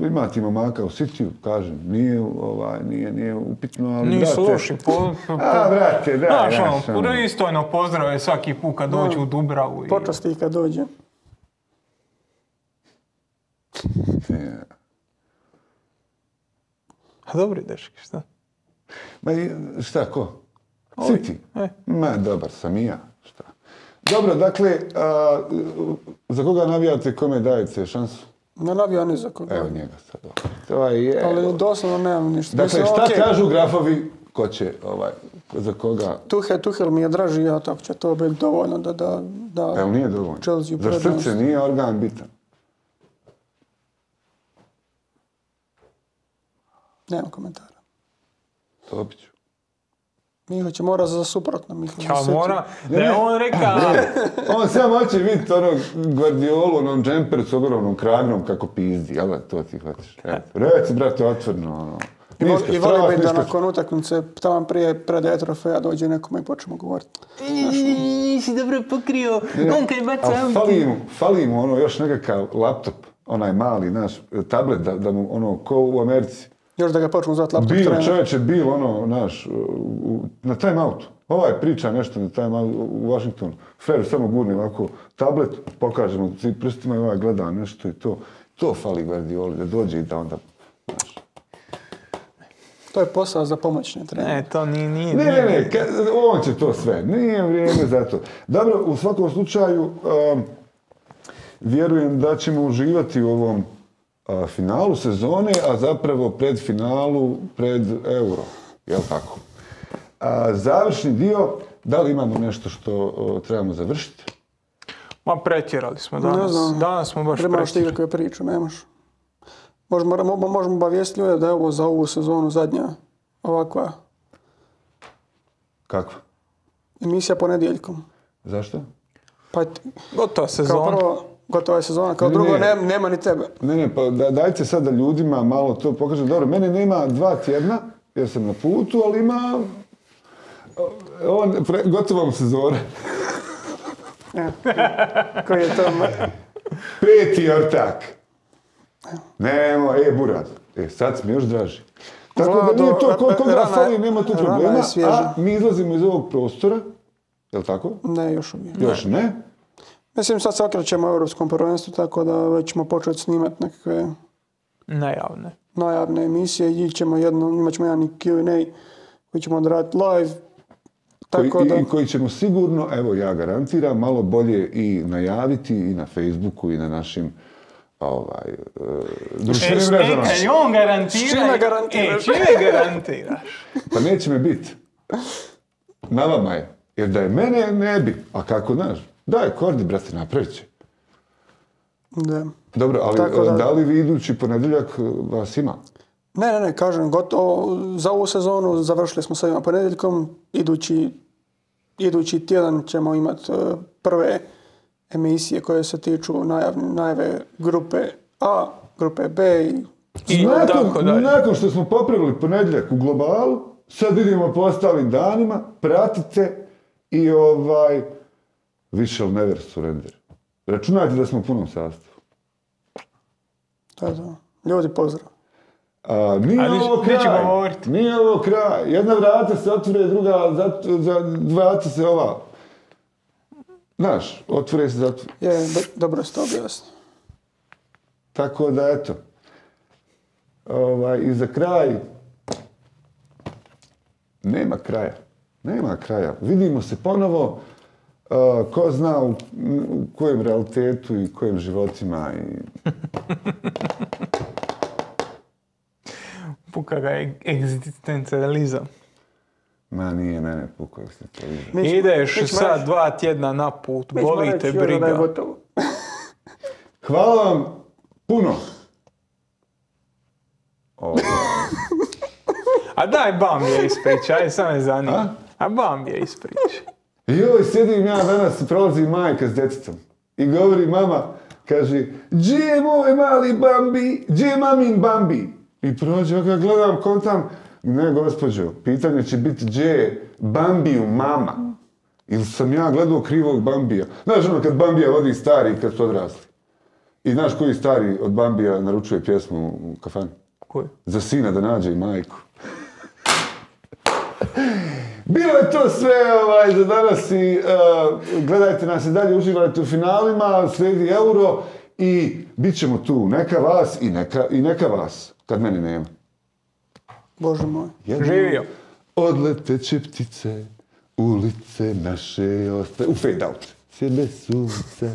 Ima ti momaka u Cityu, kažem, nije upitno, ali nisu loši. Brate, daj. Pristojno pozdrave svaki put kad dođu u Dubravu. Počasti i kad dođe. A dobri dečki, šta? Ma šta, ko? City? Ma, dobar sam i ja. Šta? Dobro, dakle, za koga navijate, kome dajete šansu? Ne navija ni za koga. Evo njega sad. Ali doslovno nemam ništa. Dakle, šta kažu grafovi, ko će, za koga? Tuhel mi je draži, ja tako će to biti dovoljno da Evo nije dovoljno. Chelsea za srce nije organ bitan. Nemam komentara. Dobit ću. Miho će mora za suprotno. On rekao. On samo hoće vidjeti onog Guardiolu, onom džemperu s ogromnom kragnom kako pizdi. Jel' to ti hoćeš? Reci, brate, otvorno. I voli bi da nakon utakmice, tamo pred trofeja dođe nekome i počnemo govoriti. Nisi dobro pokrio. On kad je baca fali mu ono još nekakav laptop, onaj mali naš tablet, da mu ono, ko u Americi. Još da ga počnu zvati laptop trener. Čovječe, na time outu. Priča nešto na time outu u Washingtonu. Fer samo gurni ovako tablet, pokaže mu prstima i gleda nešto i to. To fali Guardioli, da dođe i da onda... To je posao za pomoćne trenere. Ne, to nije. Ne, on će to sve. Nije vrijeme za to. Dobro, u svakom slučaju, vjerujem da ćemo uživati u ovom finalu sezone, a zapravo pred Euro. Jel' tako? Završni dio, da li imamo nešto što trebamo završiti? Ma pretjerali smo danas. Danas smo baš pretjerali. Nemaš ti kakve priču, nemaš. Možemo obavijestiti ljude da je ovo za ovu sezonu zadnja ovakva. Kakva? Emisija ponedjeljkom. Zašto? Pa gotova sezona. Kao prvo, gotova je sezona, kao drugo nema ni tebe. Ne, pa dajte sad da ljudima malo to pokažem. Dobro, mene nema 2 tjedna, jer sam na putu, ali ima... Gotovom sezone. Koji je to? 5. ortak. Nemo, Buraz. Sad si mi još draži. Tako da nije to, koga fali, nema tu problema, a mi izlazimo iz ovog prostora. Je li tako? Ne, još uvijek. Još ne? Mislim, sad se okrećemo u Europskom prvenstvu, tako da već ćemo početi snimati nekakve... Najavne emisije i imat ćemo jedan Q&A koji ćemo odraditi live. I koji ćemo sigurno, evo ja garantiram, malo bolje i najaviti i na Facebooku i na našim društvenim mrežama. On garantira. Čime garantiraš? Pa neće me biti. Na vama je. Jer da je mene, ne bi. A kako znaš? Daj, Kordi, brate, napravit će. Da. Dobro, ali da li vi idući ponedjeljak vas ima? Ne, kažem, gotovo za ovu sezonu završili smo s ovim ponedjeljkom. Idući tjedan ćemo imati prve emisije koje se tiču najave grupe A, grupe B i tako dalje. Nakon što smo popravili ponedjeljak u globalu, sad vidimo po ostalim danima, pratite i we shall never surrender. Računajte da smo u punom sastavu. To. Ljudi, pozdrav. Nije ovo kraj. Jedna vrata se otvore, druga vrata se ova. Znaš, otvore se zatvore. Dobro ste objasni. Tako da, eto. I za kraj, nema kraja. Vidimo se ponovo, ko zna u kojem realitetu i kojim životima. Puka ga egzistencializam. Ma nije mene puka egzistencializam. Ideš sad 2 tjedna na put, boli te briga. Hvala vam puno. A daj Bambija ispriča, aj sam me zanima. A Bambija ispriča. Joj, sjedim ja danas i prolazi majka s djetetom. I govori mama, kaže, gdje je moj mali Bambi, gdje je mamin Bambi? I prođe, ja gledam, kontam, ne gospođo, pitanje će biti gdje je Bambiju mama. Ili sam ja gledao krivog Bambija. Znaš ono kad Bambija vodi stari i kad su odrasli. I znaš koji stari od Bambija naručuje pjesmu u kafani? Koji? Za sina da nađe i majku. Bilo je to sve za danas i gledajte nas i dalje, uživajte u finalima, slijedi Euro i bit ćemo tu. Neka vas i neka vas, kad mene nema. Bože moj. Živio. Odleteće ptice, ulice naše ostaje. U fade out. Sjebe sunce.